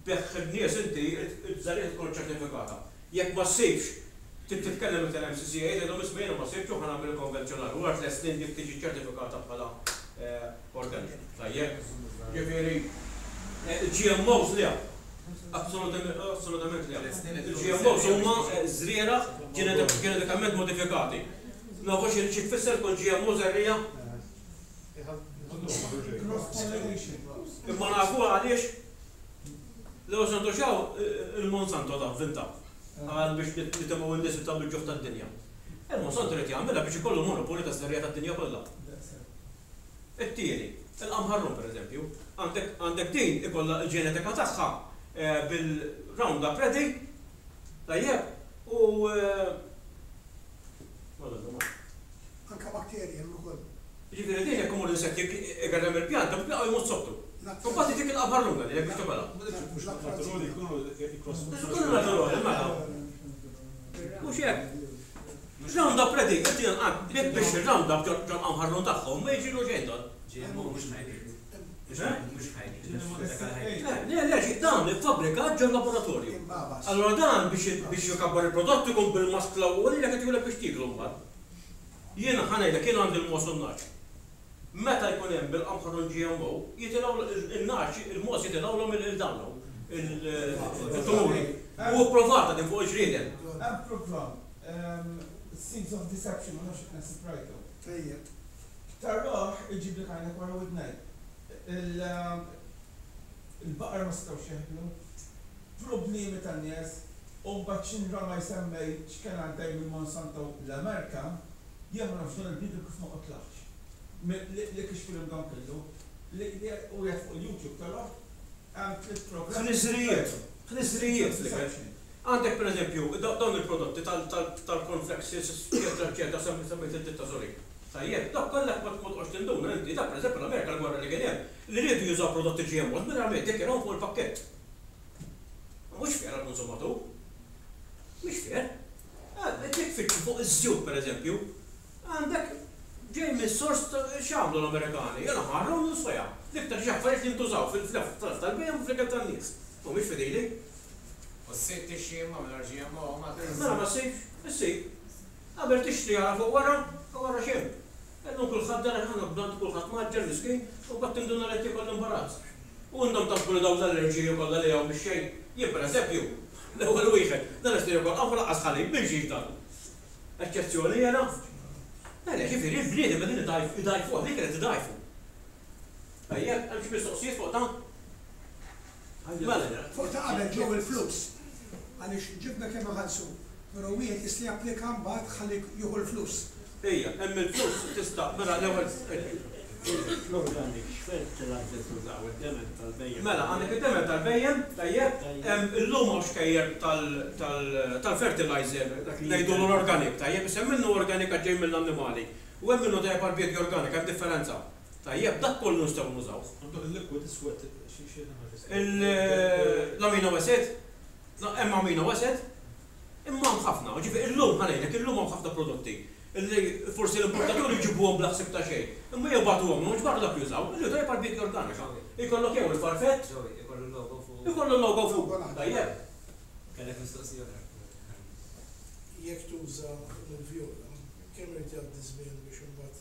B'hekk in-nies inti id-żerriegħa tkun ċertifikata. Jekk ma ssibx, trid titkellem mal-MCCA tgħidilhom isma' jiena ma sibtx u ħa nagħmel il-konvenzjonali. Wara tlett snin dik tiġi ċertifikata bħala organic. Tajjeb? Ġifieri il-GMOs le. Assolutament le. Il-GMOs huma żrieragħ ġenetikament modifikati. Nafu xi tfisser tkun GMO żerriegħa? Imma nafuha għaliex? L-ewwel Santo Xaw il-Monsanto ta vvinta għal biex nitimgħu n-nies ta' bil-ġuħ tad-dinja. Il-Monsanto ried jagħmilha biex ikollu monopolju tas-serrija tad-dinja kollha. It-tieni, il-qamħarrum pereżempju, għandek għandek din ikollha l-ġenetika tagħha bil-Roundup Ready, tajjeb, u
Anke bakterji hemm ukoll.
Jiġifieri din jekk imur insett igerrem il-pjanta b'bieqa jmut sottu. U mbagħad jitik il-qabħar lunga lilek biex tikolha.
Naturali jkunu
Ikunu naturali mela. Mhux hekk. Roundup ready, inti inqatt jekk biex ir-Roundup ġol-qamħarrun tagħhom ma jiġrilu xejn dan.
GMO mhux ħajliet. Mhux ħajliet.
Le, le, dan iffabbrikat ġol-laboratorju. Allura dan biex jkabbar il-prodott ikun bil-maskla u lilek qed jgħidulek biex tieklu mbagħad. Jiena ħa ngħidlek, jien għandi l-mogħoż u n-nagħaġ. Meta jkun hemm il-qamħarun GMO, jitilgħu n-nagħaġ, il-mogħoż jitilgħulhom il-dawn hawn, il-tumuri. U pprovata din fuq il-ġrieden.
Hemm programm.
Seeds of Deception, ma nafx jekk naħseb rajtu.
Tajjeb.
Tarah iġiblek għajnek wara widnejk. Il-baqar ma setgħux jeħlu. Problemi tan-nies u mbagħad x'inrama jsemmej x'kien għaddej minn Monsanto l-Amerka, jien ma nafx dan il-bniedem kif ma qotlahx. Li kixfilhom dan kollu. Li u qiegħed fuq il-YouTube tarah hemm tliet programmi.
Ħniżrijiet, ħniżrijiet fl-ikel. Għandek pereżempju dawn il-prodotti tal-cornflakes eċċetera eċċetera semmejt id-ditta sorry. Tajjeb, dawk kollha jekk ma toqgħodx tinduna inti, dak pereżempju l-Amerika l-gwerra li kien hemm, li riedu jużaw prodotti GMOs mingħajr ma jiddikjarawhom fuq il-pakkett. Ma mhux fair għall-konsumatur. Mhix fair. Jekk tfittxu fuq iż-żjut pereżempju, għandek ġej minn sors x'għamlu l-Amerikani? Jiena ħarru soja. L-iktar xi affarijiet li jintużaw fil-fluff tal-bhejjem u fl-ikel tan-nies. Mhumiex fidili.
U ssib tixtri imma mingħajr GMO ma tinsab.
Mela ma ssibx, issib. Qabel tixtri ara fuq wara u ara x'hemm. Illum kulħadd dara ħa blant kulħadd mgħaġġel miskin u mbagħad tinduna li qed jiekol l-imbarazz. U intom taħsbu li dawn l-allerġiji kollha li hawn mix-xejn? Jien pereżempju, l-ewwel wieħed, dan qed jiekol qamħ u lanqas ħalib, minn xiex dan? Eċċezzjoni jiena? Mela, jiġifieri l-bniedem qegħdin idgħajfuh, l-ikel qed idgħajfu. Tajjeb, hemm xi mistoqsijiet fuq dan?
Mela. Fuq ta' qabel ġew il-flus. Għaliex ġibna kemm iħallsu. Però wieħed jista' japplika mbagħad ħalli jieħu l-flus.
Ejja, hemm il-flus tista' mela l-ewwel.
Fl-organic x'fertilizer tużaw? Id-demel tal-bhejjem?
Mela, għandek id-demel tal-bhejjem, tajjeb, hemm illum hawn xkejjer tal-fertilizer ngħidulu l-organic, tajjeb, issa hemm minnu organic għax ġej mill-annimali u hemm minnu tajjeb għall-biedja organika, hemm differenza. Tajjeb, dak kollu nistgħu nużawh.
Għandok il-liquid iswed xi xi
L-amino acid? Hemm amino acid? Imma hemm ħafna, ġifieri illum ħa ngħidlek, illum hawn ħafna prodotti li forsi l-importaturi jġibuhom bla ħsieb ta' xejn, imma jibagħtuhom mhux barra dak jużaw, li tajjeb għall-biedja organika. Ikollok jew il-farfett,
Ikollu l-logo fuq.
Ikollu l-logo fuq. Tajjeb.
Kellek mistoqsija oħra.
Jekk tuża l-vjola, kemm irid jgħaddi żmien biex imbagħad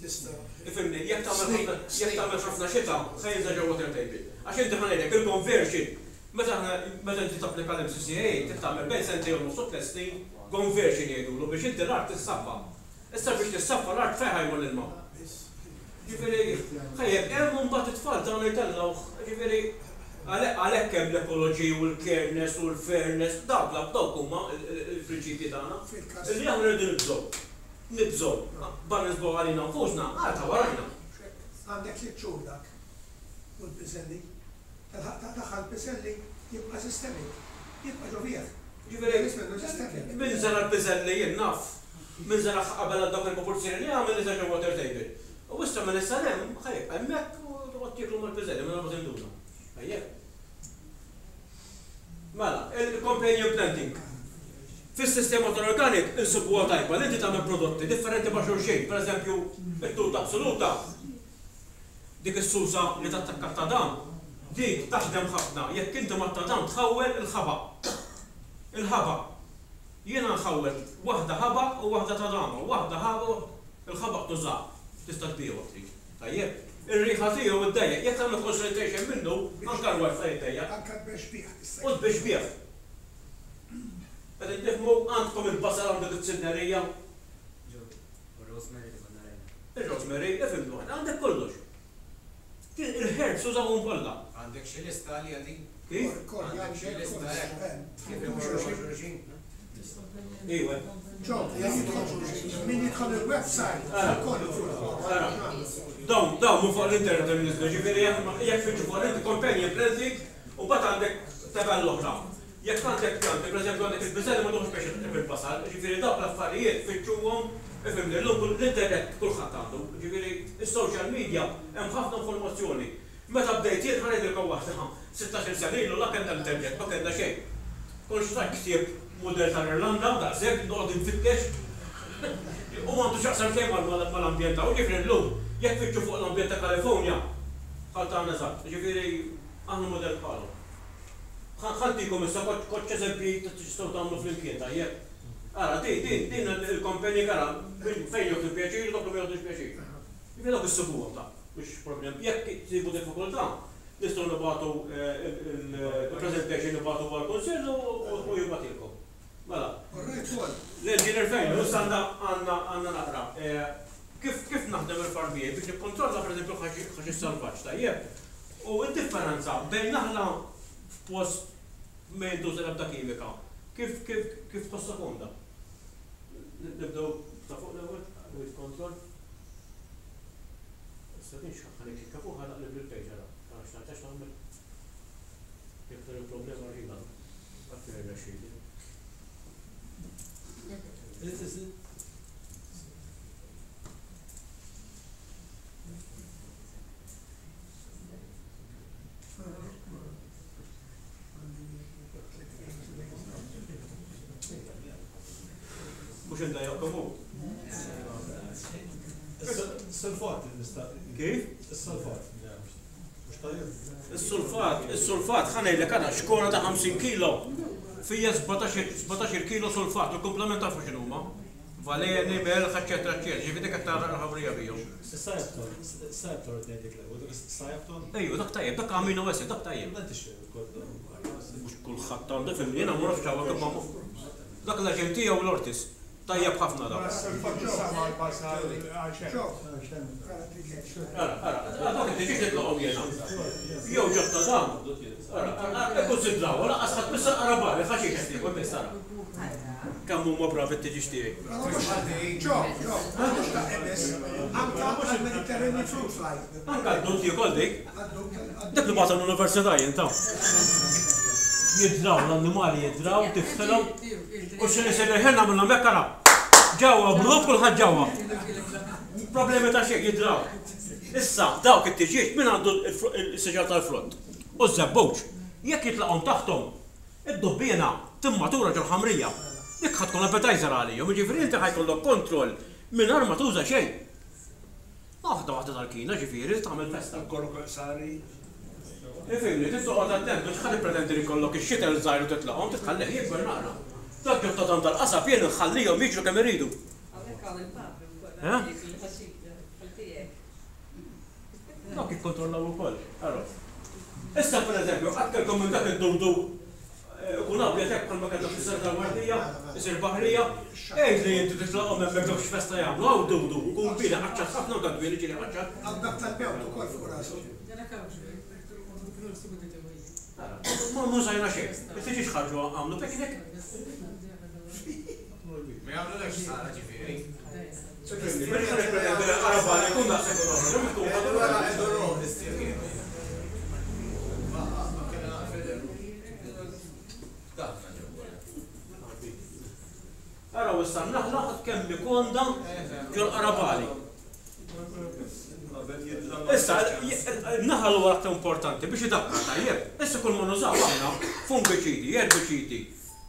tista'.
Ifhimni, jekk tagħmel ħafna, jekk tagħmel ħafna xita, se jinżel ġewwa water table. Għax inti ħa ngħidlek, il-conversion, meta aħna, meta inti tapplika l-MCCAA, trid tagħmel bejn sentejn u nofs u tliet snin conversion jgħidulu biex inti l-art tissaffa. Issa biex tissaffa l-art fejn ħa jmur l-ilma? Ġifieri, ħajjeb hemm u mbagħad it-tfal tagħna jtellgħuh, ġifieri, għalhekk hemm l-ecology u l-careness u l-fairness, dawk dawk huma l-prinċipji tagħna. Illi aħna rridu nibżgħu. Nibżgħu, barra nibżgħu għalina nfusna, għal ta' warajna.
Għandek tliet xhur dak u l-piżelli. Tilħaq taqtagħha l-piżelli jibqa' systemic. Jibqa' ġo fih.
Ġifieri, min żera' l-piżelli jien naf, min żeragħha qabel għal dawk il-proporzjoni li għamel niżel ġo water table. U issa minn issa 'l hemm ħa jibqa' hemmhekk u toqgħod tieklu mal-piżelli mingħajr ma tinduna. Tajjeb? Mela, il-companion planting. Fis-sistema tal-organic insibuha tajba li inti tagħmel prodotti differenti ma' xulxin. Pereżempju, it-tuta absoluta, dik is-susa li tattakka t-tadam, dik taħdem ħafna jekk inti mat-tadam tħawwel il-ħabaq. Il-ħabaq. Jiena nħawwel waħda ħabaq u waħda tadama, waħda ħabaq, il-ħabaq tużah, tista' tbigħu jekk trid. Tajjeb? Ir-riħa tiegħu ddejjaq, jekk tagħmel concentration minnu, anke l-wifi jiddejjaq.
Anke t-tbexbieħ tista'
U t-tbexbieħ. Qegħdin tifhmu? Għandkom il-basal għandek it-sinnerija.
U r-rosemary li konna rajna.
Ir-rosemary, ifhimni waħda, għandek kollox. Il-herbs użawhom kollha.
Għandek xi lista għaliha din?
Kif?
Għandek xi lista hekk? Kif imorru ma' xulxin?
Iwa.
Ġo, min jidħol il-website, kollu fuq.
Ara, dawn, dawn minn fuq l-internet hemm niżlu, ġifieri jekk tfittxu fuq l-internet companion planting, u mbagħad għandek tabella oħra. Jekk għandek pjanti, pereżempju għandek il-piżelli ma tieħux pjaċir tqib il-basal, ġifieri dawk l-affarijiet fittxuhom, ifhimni, llum l-internet kulħadd għandu, ġifieri is-social media hemm ħafna informazzjoni. Meta bdejt jien, ħa ngħidilkom waħda, sittax-il sena ilu la kellna internet, ma kellna xejn. Kont xtrajt ktieb mudell tal-Irlanda, daqshekk, noqgħod infittex. U m'għandu x'jaqsam xejn mal-ambjent hawn. Jiġifieri llum, jekk tfittxu fuq l-ambjent ta' California, bħal tagħna eżatt. Jiġifieri aħna mudell bħalhom. Ħa ntikom issa koċċ eżempji ta' x'tistgħu tagħmlu flimkien, tajjeb? Ara, din, din, din il-company, ara, fejn joħdu pjaċir u dawk li ma joħdux pjaċir. Jiġifieri dawk issibuhom ta'. Mhux problem. Jekk tsibu diffikultà, nistgħu nibagħtu il-presentation nibagħtu għall-Kunsill u jibgħatilkom. Mela.
All right, Paul.
L-engineer fejn, issa għandna għandna għandna naqra. Kif kif naħdem il-farm tiegħi biex nikkontrolla pereżempju l-ħaxix salvaġġ, tajjeb? U d-differenza bejn naħla f'post ma jintuża l-ebda kimika, kif kif kif tħossha komda? Nibdew ta' fuq l-ewwel, weed control. Issa din x'ħa nikklikka fuqha naqleb il-page ara, ara x'nagħmel x'nagħmel. Jekk tkun il-problema rħiba, qatt ma jirnexxili. Mhux indajjaqkom hu.
Is-sulfat nista'
Kif?
Is-sulfat. Mhux tajjeb?
Is-sulfat, is-sulfat ħa ngħidlek ara xkora ta' 50 kilo fija 17 kilo sulfat, il-komplement tafu x'inhuma. Valeni, melħ, eċċetera, eċċetera. Ġifieri dik qed tgħarraq il-ħamrija bihom.
Is-sajapton, is-sajapton qed ngħidlek l-ewwel, dak is-sajapton.
Ejju, dak tajjeb, dak amino acid, dak tajjeb.
Ma tixtieq ukoll.
Mhux kulħadd għandu, fimni, jiena ma nafx hawnhekk imma dak l-aġent tiegħu l-Ortiz. Tajjeb ħafna dak. Ara, ara, dawk it-tiġieġ nitlaqhom jiena. Jew ġotta dan. Ara, ara, ikkunsidraw, lanqas ħadd biss ara barri, ħaxix qed niekol biss ara. Kemm huma bravi t-tiġieġ tiegħi.
Ġo, ġo, mhux ta' emes, anka għall-Mediterranean fruit fly.
Anka d-dud tiekol dik. Dak li bagħatha l-università jien ta. Jidraw l-annimali jidraw, tiftilhom. U x'inhi se ħin nagħmilhom hekk ara. Ġewwa blu kulħadd ġewwa. Problemi ta' xejn jidraw. Issa dawk it-tiġieġ min għandu s-siġar tal-frott u ż-żebbuġ jekk jitlaqhom taħthom id-dubbiena timmatura ġol-ħamrija. Dik ħa tkun appetizer għalihom, jiġifieri inti ħa jkollok kontroll mingħajr ma tuża xejn. Waħda waħda tal-kina ġifieri tagħmel festa.
Kollok qsari.
Ifhimni, trid toqgħod attent mhux ħa tippretendi li jkollok ix-xitel żgħir u titlaqhom, trid tħallih jikber naqra. Dak ġo ta' tal-qasab jien inħallihom jiġru kemm iridu.
Hawnhekk hawn il-papri wkoll
Eh?
għandek il-ħaxix bħal tiegħek.
Dawk jikkontrollaw ukoll. Ara. Issa pereżempju, qatt kellkom minn dak id-dudu ikun abjad hekk bħalma kellna fis-sena tal-Mardija, isir baħrija, għid li inti titlaqhom hemmhekk dawk x'festa jagħmlu, hawn dudu, ikun kbir iqaċċat ħafna u dak dwieli ġieli qaċċat.
Hawn dak tal-bewt ukoll fuq rasu.
Ma użajna xejn. It-tiġieġ ħarġu għamlu picnic.
Ma jagħmlulekx ħsara ġifieri.
Mhux ħa nippretendi li l-qarabani jkun daqshekk u noħroġ, imma tkun ħadd. Araw issa n-naħla kemm hi komda ġol-qarabali. Issa, n-naħal huwa l-aktar importanti biex idakkar tajjeb. Issa kull ma nużaw aħna fungiċidi, erbiċidi,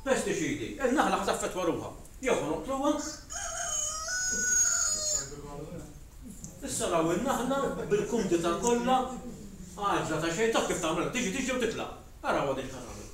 pestiċidi, in-naħla ħa taffettwa ruħha. Jew ħa noqtluha. Issa raw in-naħla bil-kumdità kollha għaġla ta' xejn taf kif tagħmel, tiġi tiġi u titlaq. Araw għadin x'ħa tagħmel.